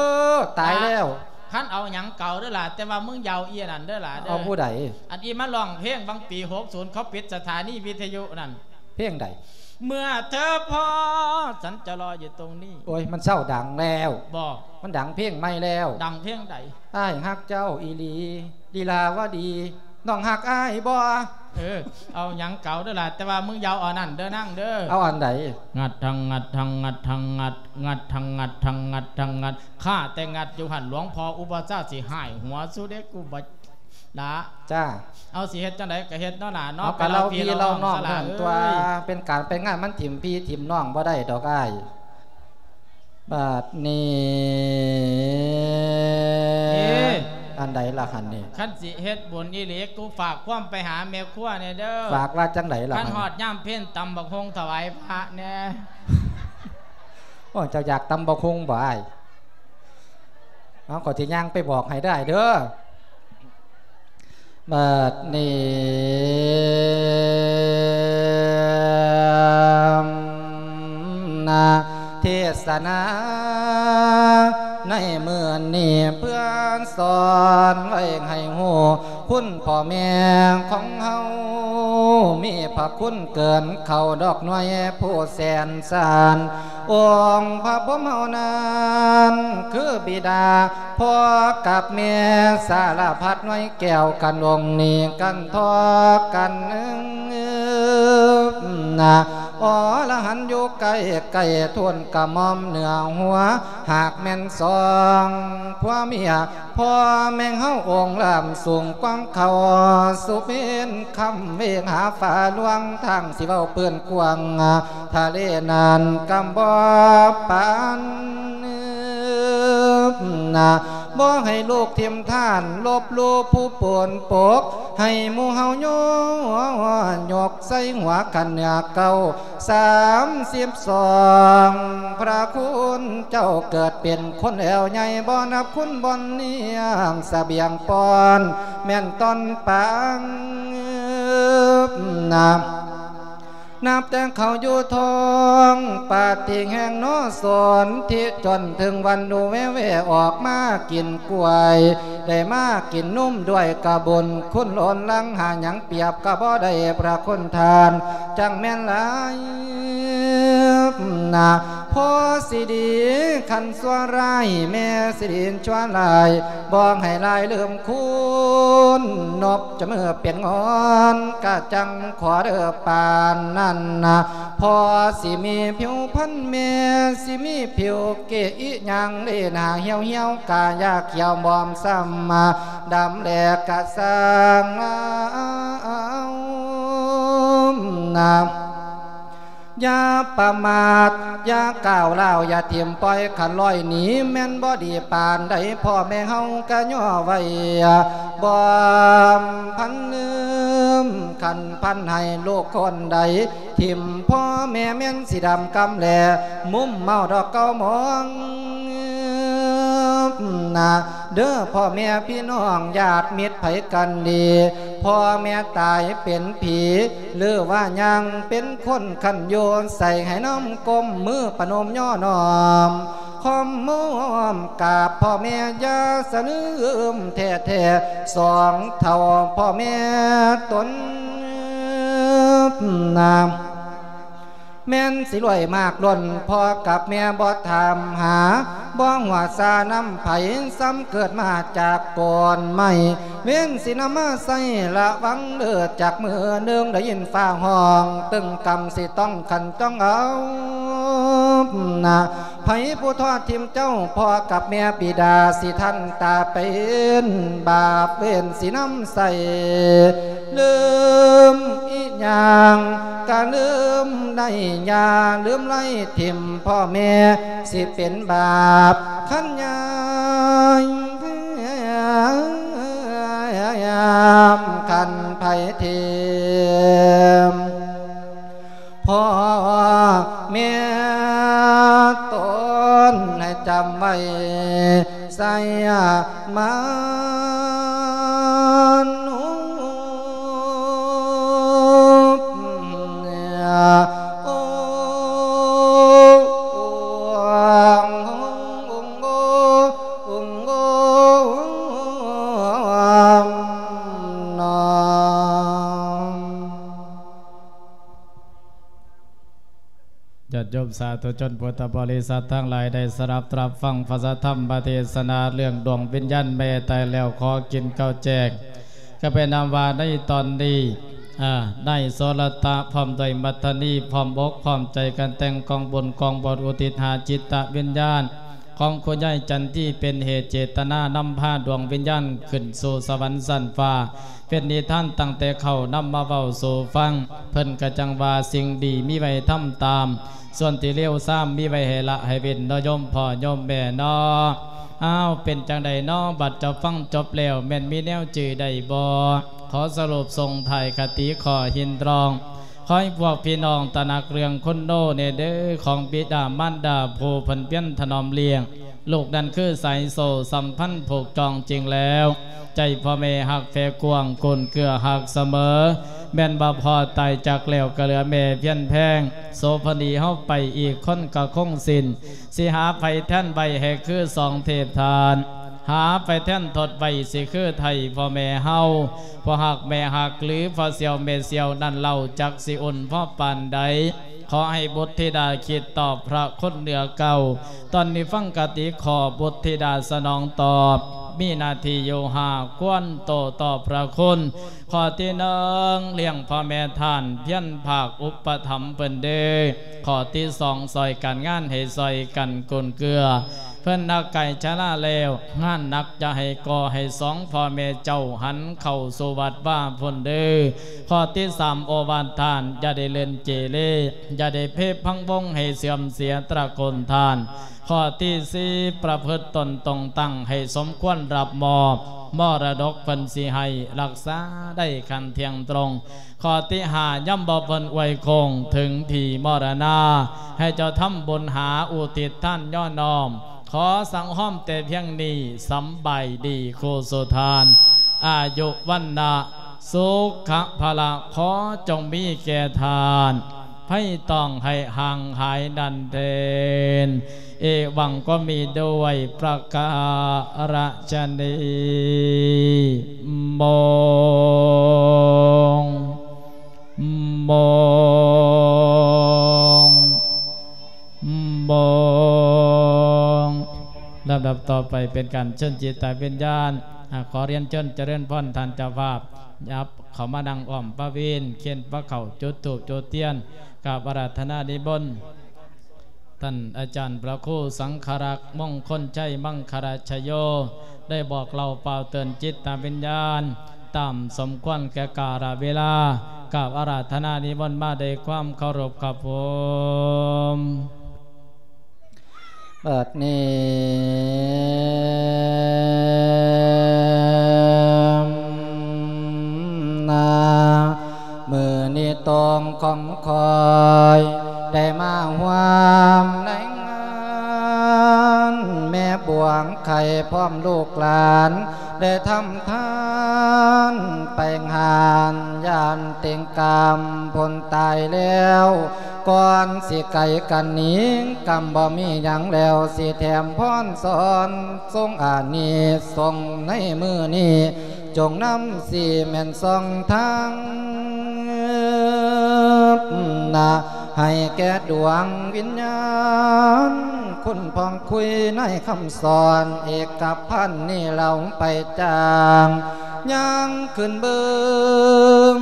ຕາຍແລ້ວ. ຄັນເອົາຫຍັງເກົ່າເດີຫຼ້າ ແຕ່ວ່າມຶງຢ່າເອົາອີ່ອັນນັ້ນເດີຫຼ້າເດີ. ເອົາຜູ້ໃດ? ອັນອີ່ມາຮ້ອງເພງຫວ່າງປີຫົກສູນ ເຂົາປິດສະຖານີວິທະຍຸນັ້ນ. ເພງໃດ? ເມື່ອເທີພໍ້ ສັນຈະລໍຢູ່ຕົງນີ້. ໂອ້ຍ ມັນເຊົາດັງແລ້ວ. ບໍ່ ມັນດັງເພງໃໝ່ແລ້ວ. ດັງເພງໃດ? ອ້າຍຮັກເຈົ້າອີ່ຫຼີ ລີລາວະດີ ນ້ອງຮັກອ້າຍບໍ່? ເອີ ເອົາຫຍັງເກົ່າເດີຫຼ້າ ແຕ່ວ່າມຶງຢ່າເອົາອັນນັ້ນເດີນາງເດີ. ເອົາອັນໃດ? ງັດທັງງັດທັງງັດທັງງັດ ງັດທັງງັດທັງງັດທັງງັດ ຂ້າແຕ່ງັດຢູ່ຫັ້ນ ຫຼວງພໍ່ອຸປະຊາຊິຫາຍຫົວສູເດ້ ກູບໍ່ລະ. ຈ້າ ເອົາ ຊິເຮັດຈັ່ງໃດກໍເຮັດເນາະຫຼ້າເນາະ. ເອົາ ໄປເລົ່າພີ່ເລົ່ານ້ອງ ເລົ່າພີ່ເລົ່ານ້ອງຊັ້ນລະ ເອີຍ ເປັນການໄປງານມັນຖິ້ມພີ່ຖິ້ມນ້ອງບໍ່ໄດ້ດອກອ້າຍ. ບາດນີ້ ເອີ ອັນໃດລະຫັ້ນນີ້? ຄັນຊິເຮັດບຸນອີ່ຫຼີ ກູຝາກຄວາມໄປຫາແມ່ຄົວແດ່ເດີ. ຝາກວ່າຈັ່ງໃດລະ? ຄັນຮອດຍາມເພັນ ຕຳບັກຫຸ່ງຖວາຍພະແດ່. ໂອ້ ເຈົ້າຢາກຕຳບັກຫຸ່ງບໍ່ອ້າຍ? ເອົາ ຂ້ອຍຊິຍ່າງໄປບອກໃຫ້ເດີອ້າຍເດີ. ບາດນີ້ ນະ ເທດສະນາໃນມື້ນີ້ ເພື່ອສອນໄວ້ໃຫ້ຮູ້ ຄຸນພໍ່ແມ່ຂອງເຮົາ ມີພະຄຸນເກີນເທົ່າດອກໜ່ວຍຜູ້ແສນສານ ອົງພະພົມເຮົານັ້ນຄືບິດາ ພໍ່ກັບແມ່ສາລະພັດໜ່ວຍແກ້ວກັນ ອົງນີ້ກັນທອກກັນ ນະ ອໍລະຫະ ນຢູ່ໃກ້ໆ ທູນກະໝ່ອມເໜືອຫົວ ຫາກແມ່ນສອງຜົວເມຍ ພໍ່ແມ່ເຮົາອົງລ້ຳສູງກວ່າເຂົາ ສຸເປັນຄຳເວງຫາຟ້າຫຼວງ ທາງຊິເວົ້າເປື້ອນກວ້າງ ທະເລນັ້ນກຳບໍ່ປານນາ ບໍ່ໃຫ້ລູກຖິ້ມທ່ານ ລົບຫຼູ່ຜູ້ປົນປົກ ໃຫ້ໝູ່ເຮົາໂຍ ຍົກໃສ່ຫົວຂັ້ນເໜືອເກົ້າ ສາມສິບສອງ ພະຄຸນເຈົ້າເກີດເປັນຄົນແລ້ວໃຫຍ່ ບໍ່ນັບຄຸນບ່ອນລ້ຽງສະບຽງປ້ອນ ແມ່ນຕອນປາງນາ ນັບແຕ່ເຂົາຢູ່ທ້ອງປາຕິແຫ່ງໜໍ່ສົນທິ ຈົນເຖິງວັນໜູແວ່ໆອອກມາກິນກ້ວຍ ໄດ້ມາກິນນົມດ້ວຍກະບຸນ ຄຸນລົ້ນຫຼັງຫາຫຍັງປຽບກະບໍ່ໄດ້ ພະຄຸນທ່ານຈັ່ງແມ່ນຫຼາຍນາ ພໍ່ສີດີຄັນຊົ່ວຮ້າຍ ແມ່ສີດີຊົ່ວຫຼາຍ ບໍ່ໃຫ້ຫຼາຍລືມຄຸນ ນົບຈະມືເປັນງອນ ກະຈັ່ງຂໍເດີປານນັ້ນນາ ພໍ່ຊິມີຜິວພັນ ແມ່ຊິມີຜິວເກະ ອີຫຍັງເລໜ້າຫ່ຽວໆ ກະຢາກຂຽວບອມຊ້ຳ ດຳແລກະຊ່າງເອົານາ ຢ່າປະໝາດ ຢ່າກ້າວລ້າວ ຢ່າຖິ້ມປ່ອຍ ຄັນລອຍໜີແມ່ນບໍ່ດີປານໃດ ພໍ່ແມ່ເຮົາກະຍໍໄວ້ ບອມພັນລືມ ຄັນພັນໃຫ້ລູກຄົນໃດ ຖິ້ມພໍ່ແມ່ແມ່ນຊິດຳກຳແລ ມຸມເມົາດອກເກົ່າມອງ ນາ ເດີພໍ່ແມ່ພີ່ນ້ອງ ຍາດມິດໃຜກັນດີ ພໍ່ແມ່ຕາຍເປັນຜີ ຫຼືວ່າຍັງເປັນຄົນ ຄັນຢູ່ໃສໃຫ້ນ້ອມກົ້ມມືປະນົມຍໍ້ນ້ອມ ຄອມໂຮມກາບພໍ່ແມ່ ຢ່າສະລືມແທ້ໆ ສອງເຖົ້າພໍ່ແມ່ຕົນນາ ແມ່ນຊິລວຍມາກລົ້ນ ພໍ່ກັບແມ່ບໍ່ຖາມຫາ ບໍ່ຫົວຊານຳໃຜ ຊ້ຳເກີດມາຈາກໂກນໄມ້ ເວນຊິນຳມາໃຊ້ລະວັງເດີ ຈັກມື້ໜຶ່ງໄດ້ຍິນຟ້າຮ້ອງ ຕຶງກຳຊິຕ້ອງຂັນຈ້ອງເອົານາ ໃຜຜູ້ທອດຖິ້ມເຈົ້າ ພໍ່ກັບແມ່ບິດາ ຊິທັນຕາເປັນບາບ ເວນຊິນຳໃສ່ ລືມອີຫຍັງກະລືມໄດ້ ຢ່າລືມໄລ່ຖິ້ມພໍ່ແມ່ ຊິເປັນບາບຄັນຍາມ ຄັນໃຜຖິ້ມ ພໍ່ແມ່ຕົນໃຫ້ຈຳໄວ້ ໄຊຍະມານຸ ໂອ ຍາດໂຍມສາທຸຊົນພຸດທະບໍລິສັດທັງຫຼາຍ ໄດ້ສະດັບຮັບຟັງພະສະທຳມະເທດສະນາເລື່ອງດວງວິນຍານແມ່ຕາຍແລ້ວຂໍກິນເຂົ້າແຈກ ກໍເປັນນຳວ່າໃນຕອນນີ້ ອາ ນາຍໂສລະຕະ ພ້ອມດ້ວຍມັດທະນີ ພ້ອມອົກພ້ອມໃຈກັນແຕ່ງກອງບຸນກອງບົນ ອຸທິດຫາຈິດຕະວິນຍານ ຂອງຄຸນຍາຍຈັນທີເປັນເຫດເຈດຕະນານຳພາດວງວິນຍານຂຶ້ນສູ່ສະຫວັນຊັ້ນຟ້າ ເປັນນິທານຕັ້ງແຕ່ເຄົ້ານຳມາເວົ້າສູ່ຟັງ ເພິ່ນກະຈັ່ງວ່າສິ່ງດີມີໄວ້ທຳຕາມ ສ່ວນທີ່ເລວຊາມມີໄວ້ໃຫ້ລະໃຫ້ເວັ້ນເນາະໂຍມພໍ່ໂຍມແມ່ເນາະ. ອ້າວ ເປັນຈັ່ງໃດເນາະ ບັດເຈົ້າຟັງຈົບແລ້ວແມ່ນມີແນວຈື່ໄດ້ບໍ່? ຂໍສະຫຼຸບສົ່ງທ້າຍຄະຕິຂໍ້ຮິນດອງ ຂໍໃຫ້ພວກພີ່ນ້ອງຕະໜັກເລື່ອງຄຸນໂນແດ່ເດີ ຂອງບິດາມານດາຜູ້ເພິ່ນພຽນຖະໜອມລ້ຽງ ລູກນັ້ນຄືສາຍໂສ້ສຳພັນຜູກຈອງຈິງແລ້ວ ໃຈພໍ່ແມ່ຮັກແຜ່ກວ້າງ ກຸນເກື້ອຮັກສະເໝີ ແມ່ນວ່າພໍ່ຕາຍຈາກແລ້ວກໍເຫຼືອແມ່ພຽນແພງ ໂສພະນີເຮົາໄປອີກຄົນກໍຄົງສິ້ນ ຊິຫາໃຜແທນໄວ້ໃຫ້ຄືສອງເທບທ່ານ ຫາໃຜແທນທົດໄວ້ຊິຄືໄທພໍ່ແມ່ເຮົາ ພໍ່ຮັກແມ່ຮັກ ຫຼືພໍ່ສ່ຽວແມ່ສ່ຽວນັ້ນເລົ່າ ຈັກຊິອຸ່ນພໍປານໃດ ຂໍໃຫ້ບຸດທິດາຄິດຕອບພະຄຸນເໜືອເກົ່າ ຕອນນີ້ຟັງຄະຕິຂໍ້ ບຸດທິດາສະໜອງຕອບ ມີໜ້າທີ່ຢູ່ຫ້າ ຄວນໂຕ້ຕອບພະຄຸນ ຂໍ້ທີໜຶ່ງ ລ້ຽງພໍ່ແມ່ທ່ານ ພຽນພາກອຸປະຖຳເພິ່ນເດີ້. ຂໍ້ທີສອງ ຊ່ອຍການງານໃຫ້ຊ່ອຍກັນກຸນເກື້ອ ເພິ່ນນະໄກຊະລາແລ້ວ ງານໜັກຢ່າໃຫ້ກໍ່ໃຫ້ສອງພໍ່ແມ່ເຈົ້າຫັນເຂົ້າສູ່ວັດວາພຸ້ນເດີ້. ຂໍ້ທີສາມ ໂອວາດທ່ານ ຢ່າໄດ້ເລ່ນເກເລ ຢ່າໄດ້ເພພັງວົງໃຫ້ເສື່ອມເສຍຕະໂກນທ່ານ. ຂໍ້ທີສີ່ ປະພຶດຕົນຕົງຕັ້ງໃຫ້ສົມຄວນຮັບມອບ ມໍລະດົກເພິ່ນຊິໃຫ້ ຮັກສາໄດ້ຂັ້ນທ່ຽງຕົງ. ຂໍ້ທີຫ້າ ຍາມບໍ່ເພິ່ນອວຍໂຄ້ງເຖິງທີ່ມໍລະນາ ໃຫ້ເຈົ້າທຳບຸນຫາອຸທິດທານຍໍນ້ອມ ຂໍສັງຫອມແຕ່ພຽງນີ້ ສຳບາຍດີຄູ່ສູ່ທ່ານ ອາຍຸວັນນະສຸຂະພະລະ ຂໍຈົ່ງມີແກ່ທ່ານ ໄພຕ້ອງໃຫ້ຫ່າງຫາຍນັ້ນເທີນ. ເອວັງກໍມີດ້ວຍປະກາລະຊະນີ ໂມງ ໂມງ ໂມງ. ລຳດັບຕໍ່ໄປເປັນການເຊີນຈິດຕະວິນຍານ. ອາ ຂໍຮຽນເຊີນຈະເລີນພອນທ່ານເຈົ້າພາບ ຫຍັບເຂົ້າມານັ່ງອ້ອມປະເວນ ຂຽນພະເຂົ້າ ຈຸດທູບ ຈຸດທຽນ ກາບອາລາທະນານິມົນ. ທ່ານອາຈານພະຄູສັງຄະລັກ ມົງຄົນໄຊ ມັງຄະລະຊະໂຍ ໄດ້ບອກເລົ່າປ່າວເຕືອນຈິດຕະວິນຍານ ຕາມສົມຄວນແກ່ກາລະເວລາ. ກາບອາລາທະນານິມົນມາດ້ວຍຄວາມເຄົາລົບຄັບຜົມ. ບັດນີ້ນາ ມື້ນີ້ຕົງຂອງຂ້ອຍ ໄດ້ມາຮ່ວມໃນງານແມ່ບວງໄຂ່ ພ້ອມລູກຫຼານ ໄດ້ທຳທານໄປງານ ຢ້ານເຕັງກາມພົ້ນຕາຍແລ້ວ ກ່ອນຊິໄກກັນໜີ ກຳບໍ່ມີຫຍັງແລ້ວ ຊິແຖມພອນສອນ ຊົງອານິສົງໃນມື້ນີ້ ຈົ່ງນຳສີແມ່ນສ່ອງທາງນະ ໃຫ້ແກ່ດວງວິນຍານ ຄຸນຜ່ອງຄຸຍໃນຄຳສອນເອກະພັນນີ້ ເລົ່າໄປຈາງຍ່າງຂຶ້ນເບິ່ງ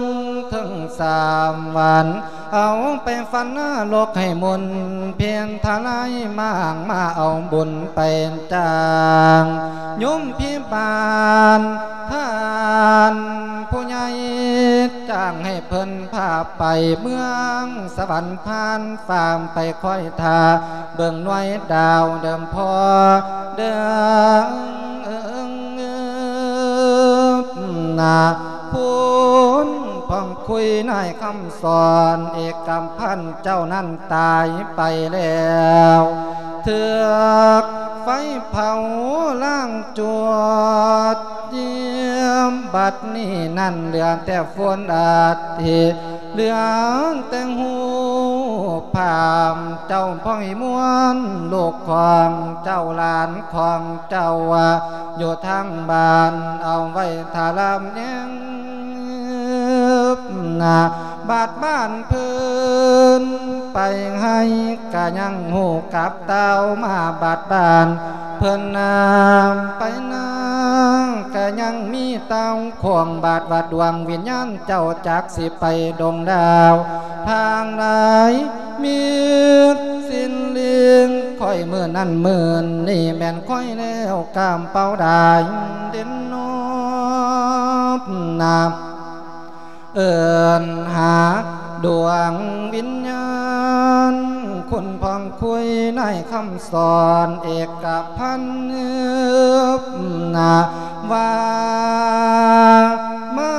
ເທິງສາມວັນ ເອົາໄປຝັນນະລົກໃຫ້ມົນເພັນທະລາຍມາງ ມາເອົາບຸນໄປຈ້າງໂຍມພິບານທ່ານຜູ້ໃຫຍ່ ຈ້າງໃຫ້ເພິ່ນພາໄປເມືອງສະຫວັນ ຜ່ານຟາມໄປຄອຍຖ້າເບິ່ງໜ່ວຍດາວເດີມພໍເດີມ ນະ ພຸ້ນ ພອງຄຸຍນາຍຄຳສອນເອກຳພັນເຈົ້ານັ້ນຕາຍໄປແລ້ວ ຖືກໄຟເຜົາລ້າງຈວດຢ້ຽມ ບັດນີ້ນັ້ນເຫຼືອແຕ່ຝຸ່ນອາທິ ເຫຼືອແຕ່ຮູບພາບເຈົ້າພອຍມ່ວນ ລູກຂອງເຈົ້າ ຫຼານຂອງເຈົ້າ ຢູ່ທາງບ້ານເອົາໄວ້ຖ້າລຳແຍງ ບາດບ້ານເພິ່ນໄປໃຫ້ ກະຍັງຮູ້ກັບເຕົ້າມາບາດບ້ານ ເພິ່ນນາໄປນາ ກະຍັງມີເຕົ້າຂວາງບາດວ່າ ດວງວິນຍານເຈົ້າຈັກຊິໄປດົງດາວທາງໃດ ມີດສິນລິງ ຂ້ອຍມື້ນັ້ນມື້ນີ້ແມ່ນຂ້ອຍແລ້ວ ກາມເປົ້າດາຍເດັ່ນນອບນາ ເອີ້ນຫາດວງວິນຍານ ຄຸນພອງຄຸຍນາຍຄຳສອນເອກະພັນນາ ວ່າມາ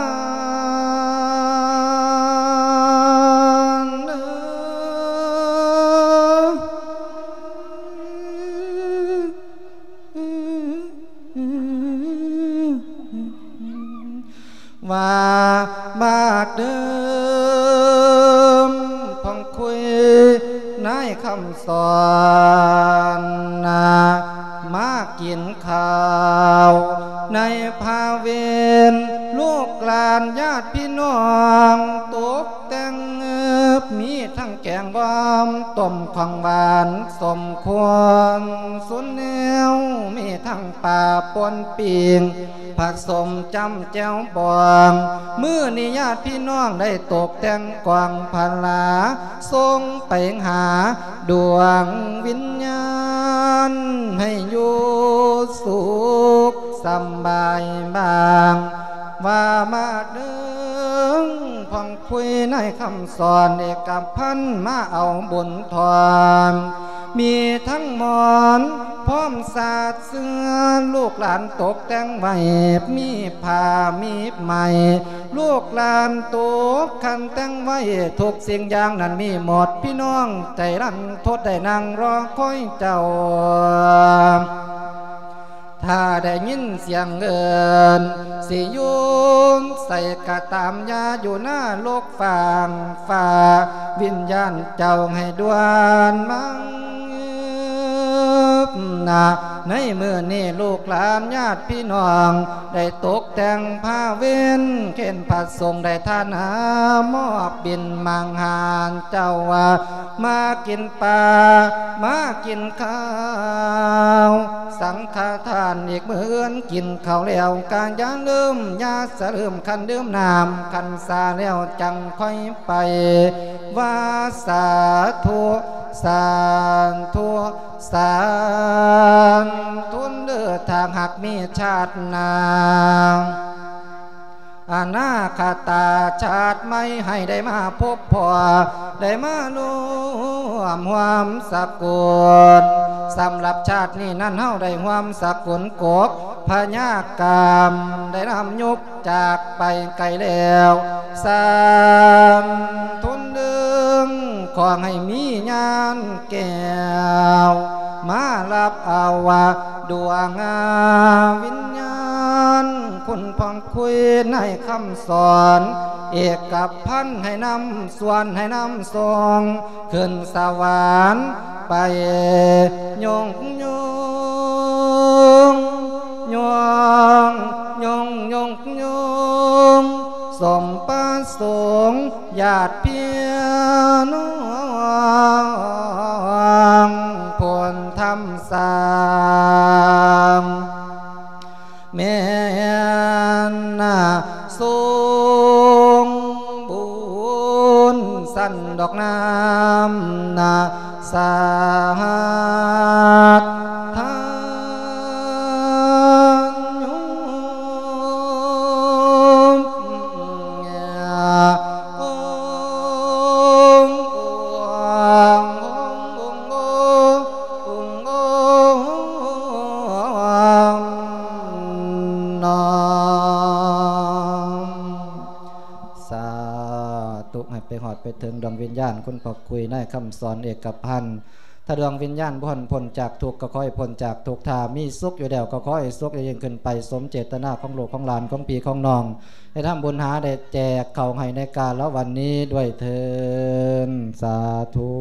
ເດີ ວ່າບາດເດີມ ພອງຄຸຍນາຍຄຳສອນນາ ມາກິນເຂົ້າໃນພາເວັນ ລູກຫຼານຍາດພີ່ນ້ອງຕົກແຕ່ງ ມີທັງແກງບອມ ຕົ້ມຂອງຫວານ ສົ້ມຄວນສຸນແນວ ມີທັງປາປົນປີ້ງ ຜະສົມຈ້ຳແຈ່ວບອງ. ມື້ນີ້ຍາດພີ່ນ້ອງໄດ້ຕົກແຕ່ງກອງພະລາ ສົ່ງໄປຫາດວງວິນຍານ ໃຫ້ຢູ່ສຸກສຳບາຍບາງ ວ່າມາເດີ ພອງຄຸຍນາຍຄຳສອນເອກະພັນ ມາເອົາບຸນທອນ ມີທັງໝອນພ້ອມສາດເສື່ອ ລູກຫຼານຕົກແຕ່ງໄວ້ ມີຜ້າມີໄມ້ ລູກຫຼານຕົກຄັນແຕ່ງໄວ້ ທຸກສິ່ງຢ່າງນັ້ນມີໝົດ ພີ່ນ້ອງໃຈລັນທົດ ໄດ້ນັ່ງລໍຄອຍເຈົ້າ ຖ້າໄດ້ຍິນສຽງເອີ້ນ ຊິຢູ່ໃສກະຕາມ ຢ່າຢູ່ນະລົກຟາງຟ້າ ວິນຍານເຈົ້າໃຫ້ດ່ວນມານະ. ໃນມື້ນີ້ລູກຫຼານຍາດພີ່ນ້ອງ ໄດ້ຕົກແຕ່ງພາເວັນ ເຂັນພະສົງໄດ້ທານາ ມອບບິນມັງຫານເຈົ້າວ່າ ມາກິນປາ ມາກິນເຂົ້າ ສັງຄະທານອີກມື້ອື່ນ ກິນເຂົ້າແລ້ວກະຢ່າລືມ ຢ່າສະລືມ ຄັນດື່ມນ້ຳຄັນຊາແລ້ວ ຈັ່ງຄ່ອຍໄປວ່າ ສາທຸ ສາທຸ ສາທຸ ເດີ ຖ້າຫາກມີຊາດໜ້າ ອະນາຄະຕາຊາດໃໝ່ ໃຫ້ໄດ້ມາພົບພໍ້ ໄດ້ມາລວມຮ່ວມສະກຸນ. ສຳລັບຊາດນີ້ນັ້ນ ເຮົາໄດ້ຮ່ວມສະກຸນກົກພະຍາກຳ ໄດ້ນຳຍຸບຈາກໄປໄກແລ້ວ ສາທຸນເດີງ ຂໍໃຫ້ມີຍານແກ້ວ ມາຮັບເອົາດວງວິນຍານ ຄຸນພອງຄຸຍນາຍຄຳສອນ ເອກະພັນ ໃຫ້ນຳສວນ ໃຫ້ນຳສົ່ງ ຂຶ້ນສະຫວັນໄປ ຍົງຍົງ ຍົງ ຍົງ ຍົງ ສົມປະສົງ ຍາດພີ່ນ້ອງ ພົນທຳສ້າງ ແມ່ນນະ ສົມບູນສັນດອກນ້ຳນະ ສາທານໂຍມ ສາທຸ ໃຫ້ໄປຮອດໄປເຖິງດວງວິນຍານ ຄຸນພໍ່ຄຸຍນາຍຄຳສອນເອກະພັນ. ຖ້າດວງວິນຍານບໍ່ທັນພົ້ນຈາກທຸກ ກໍຂໍໃຫ້ພົ້ນຈາກທຸກ, ຖ້າມີສຸກຢູ່ແລ້ວ ກໍຂໍໃຫ້ສຸກຍິ່ງຂຶ້ນໄປ ສົມເຈດຕະນາຂອງລູກຂອງຫຼານ ຂອງພີ່ຂອງນ້ອງ ໄດ້ທຳບຸນຫາໄດ້ແຈກເຂົ້າໃຫ້ໃນກາລະວັນນີ້ດ້ວຍເທີນ ສາທຸ.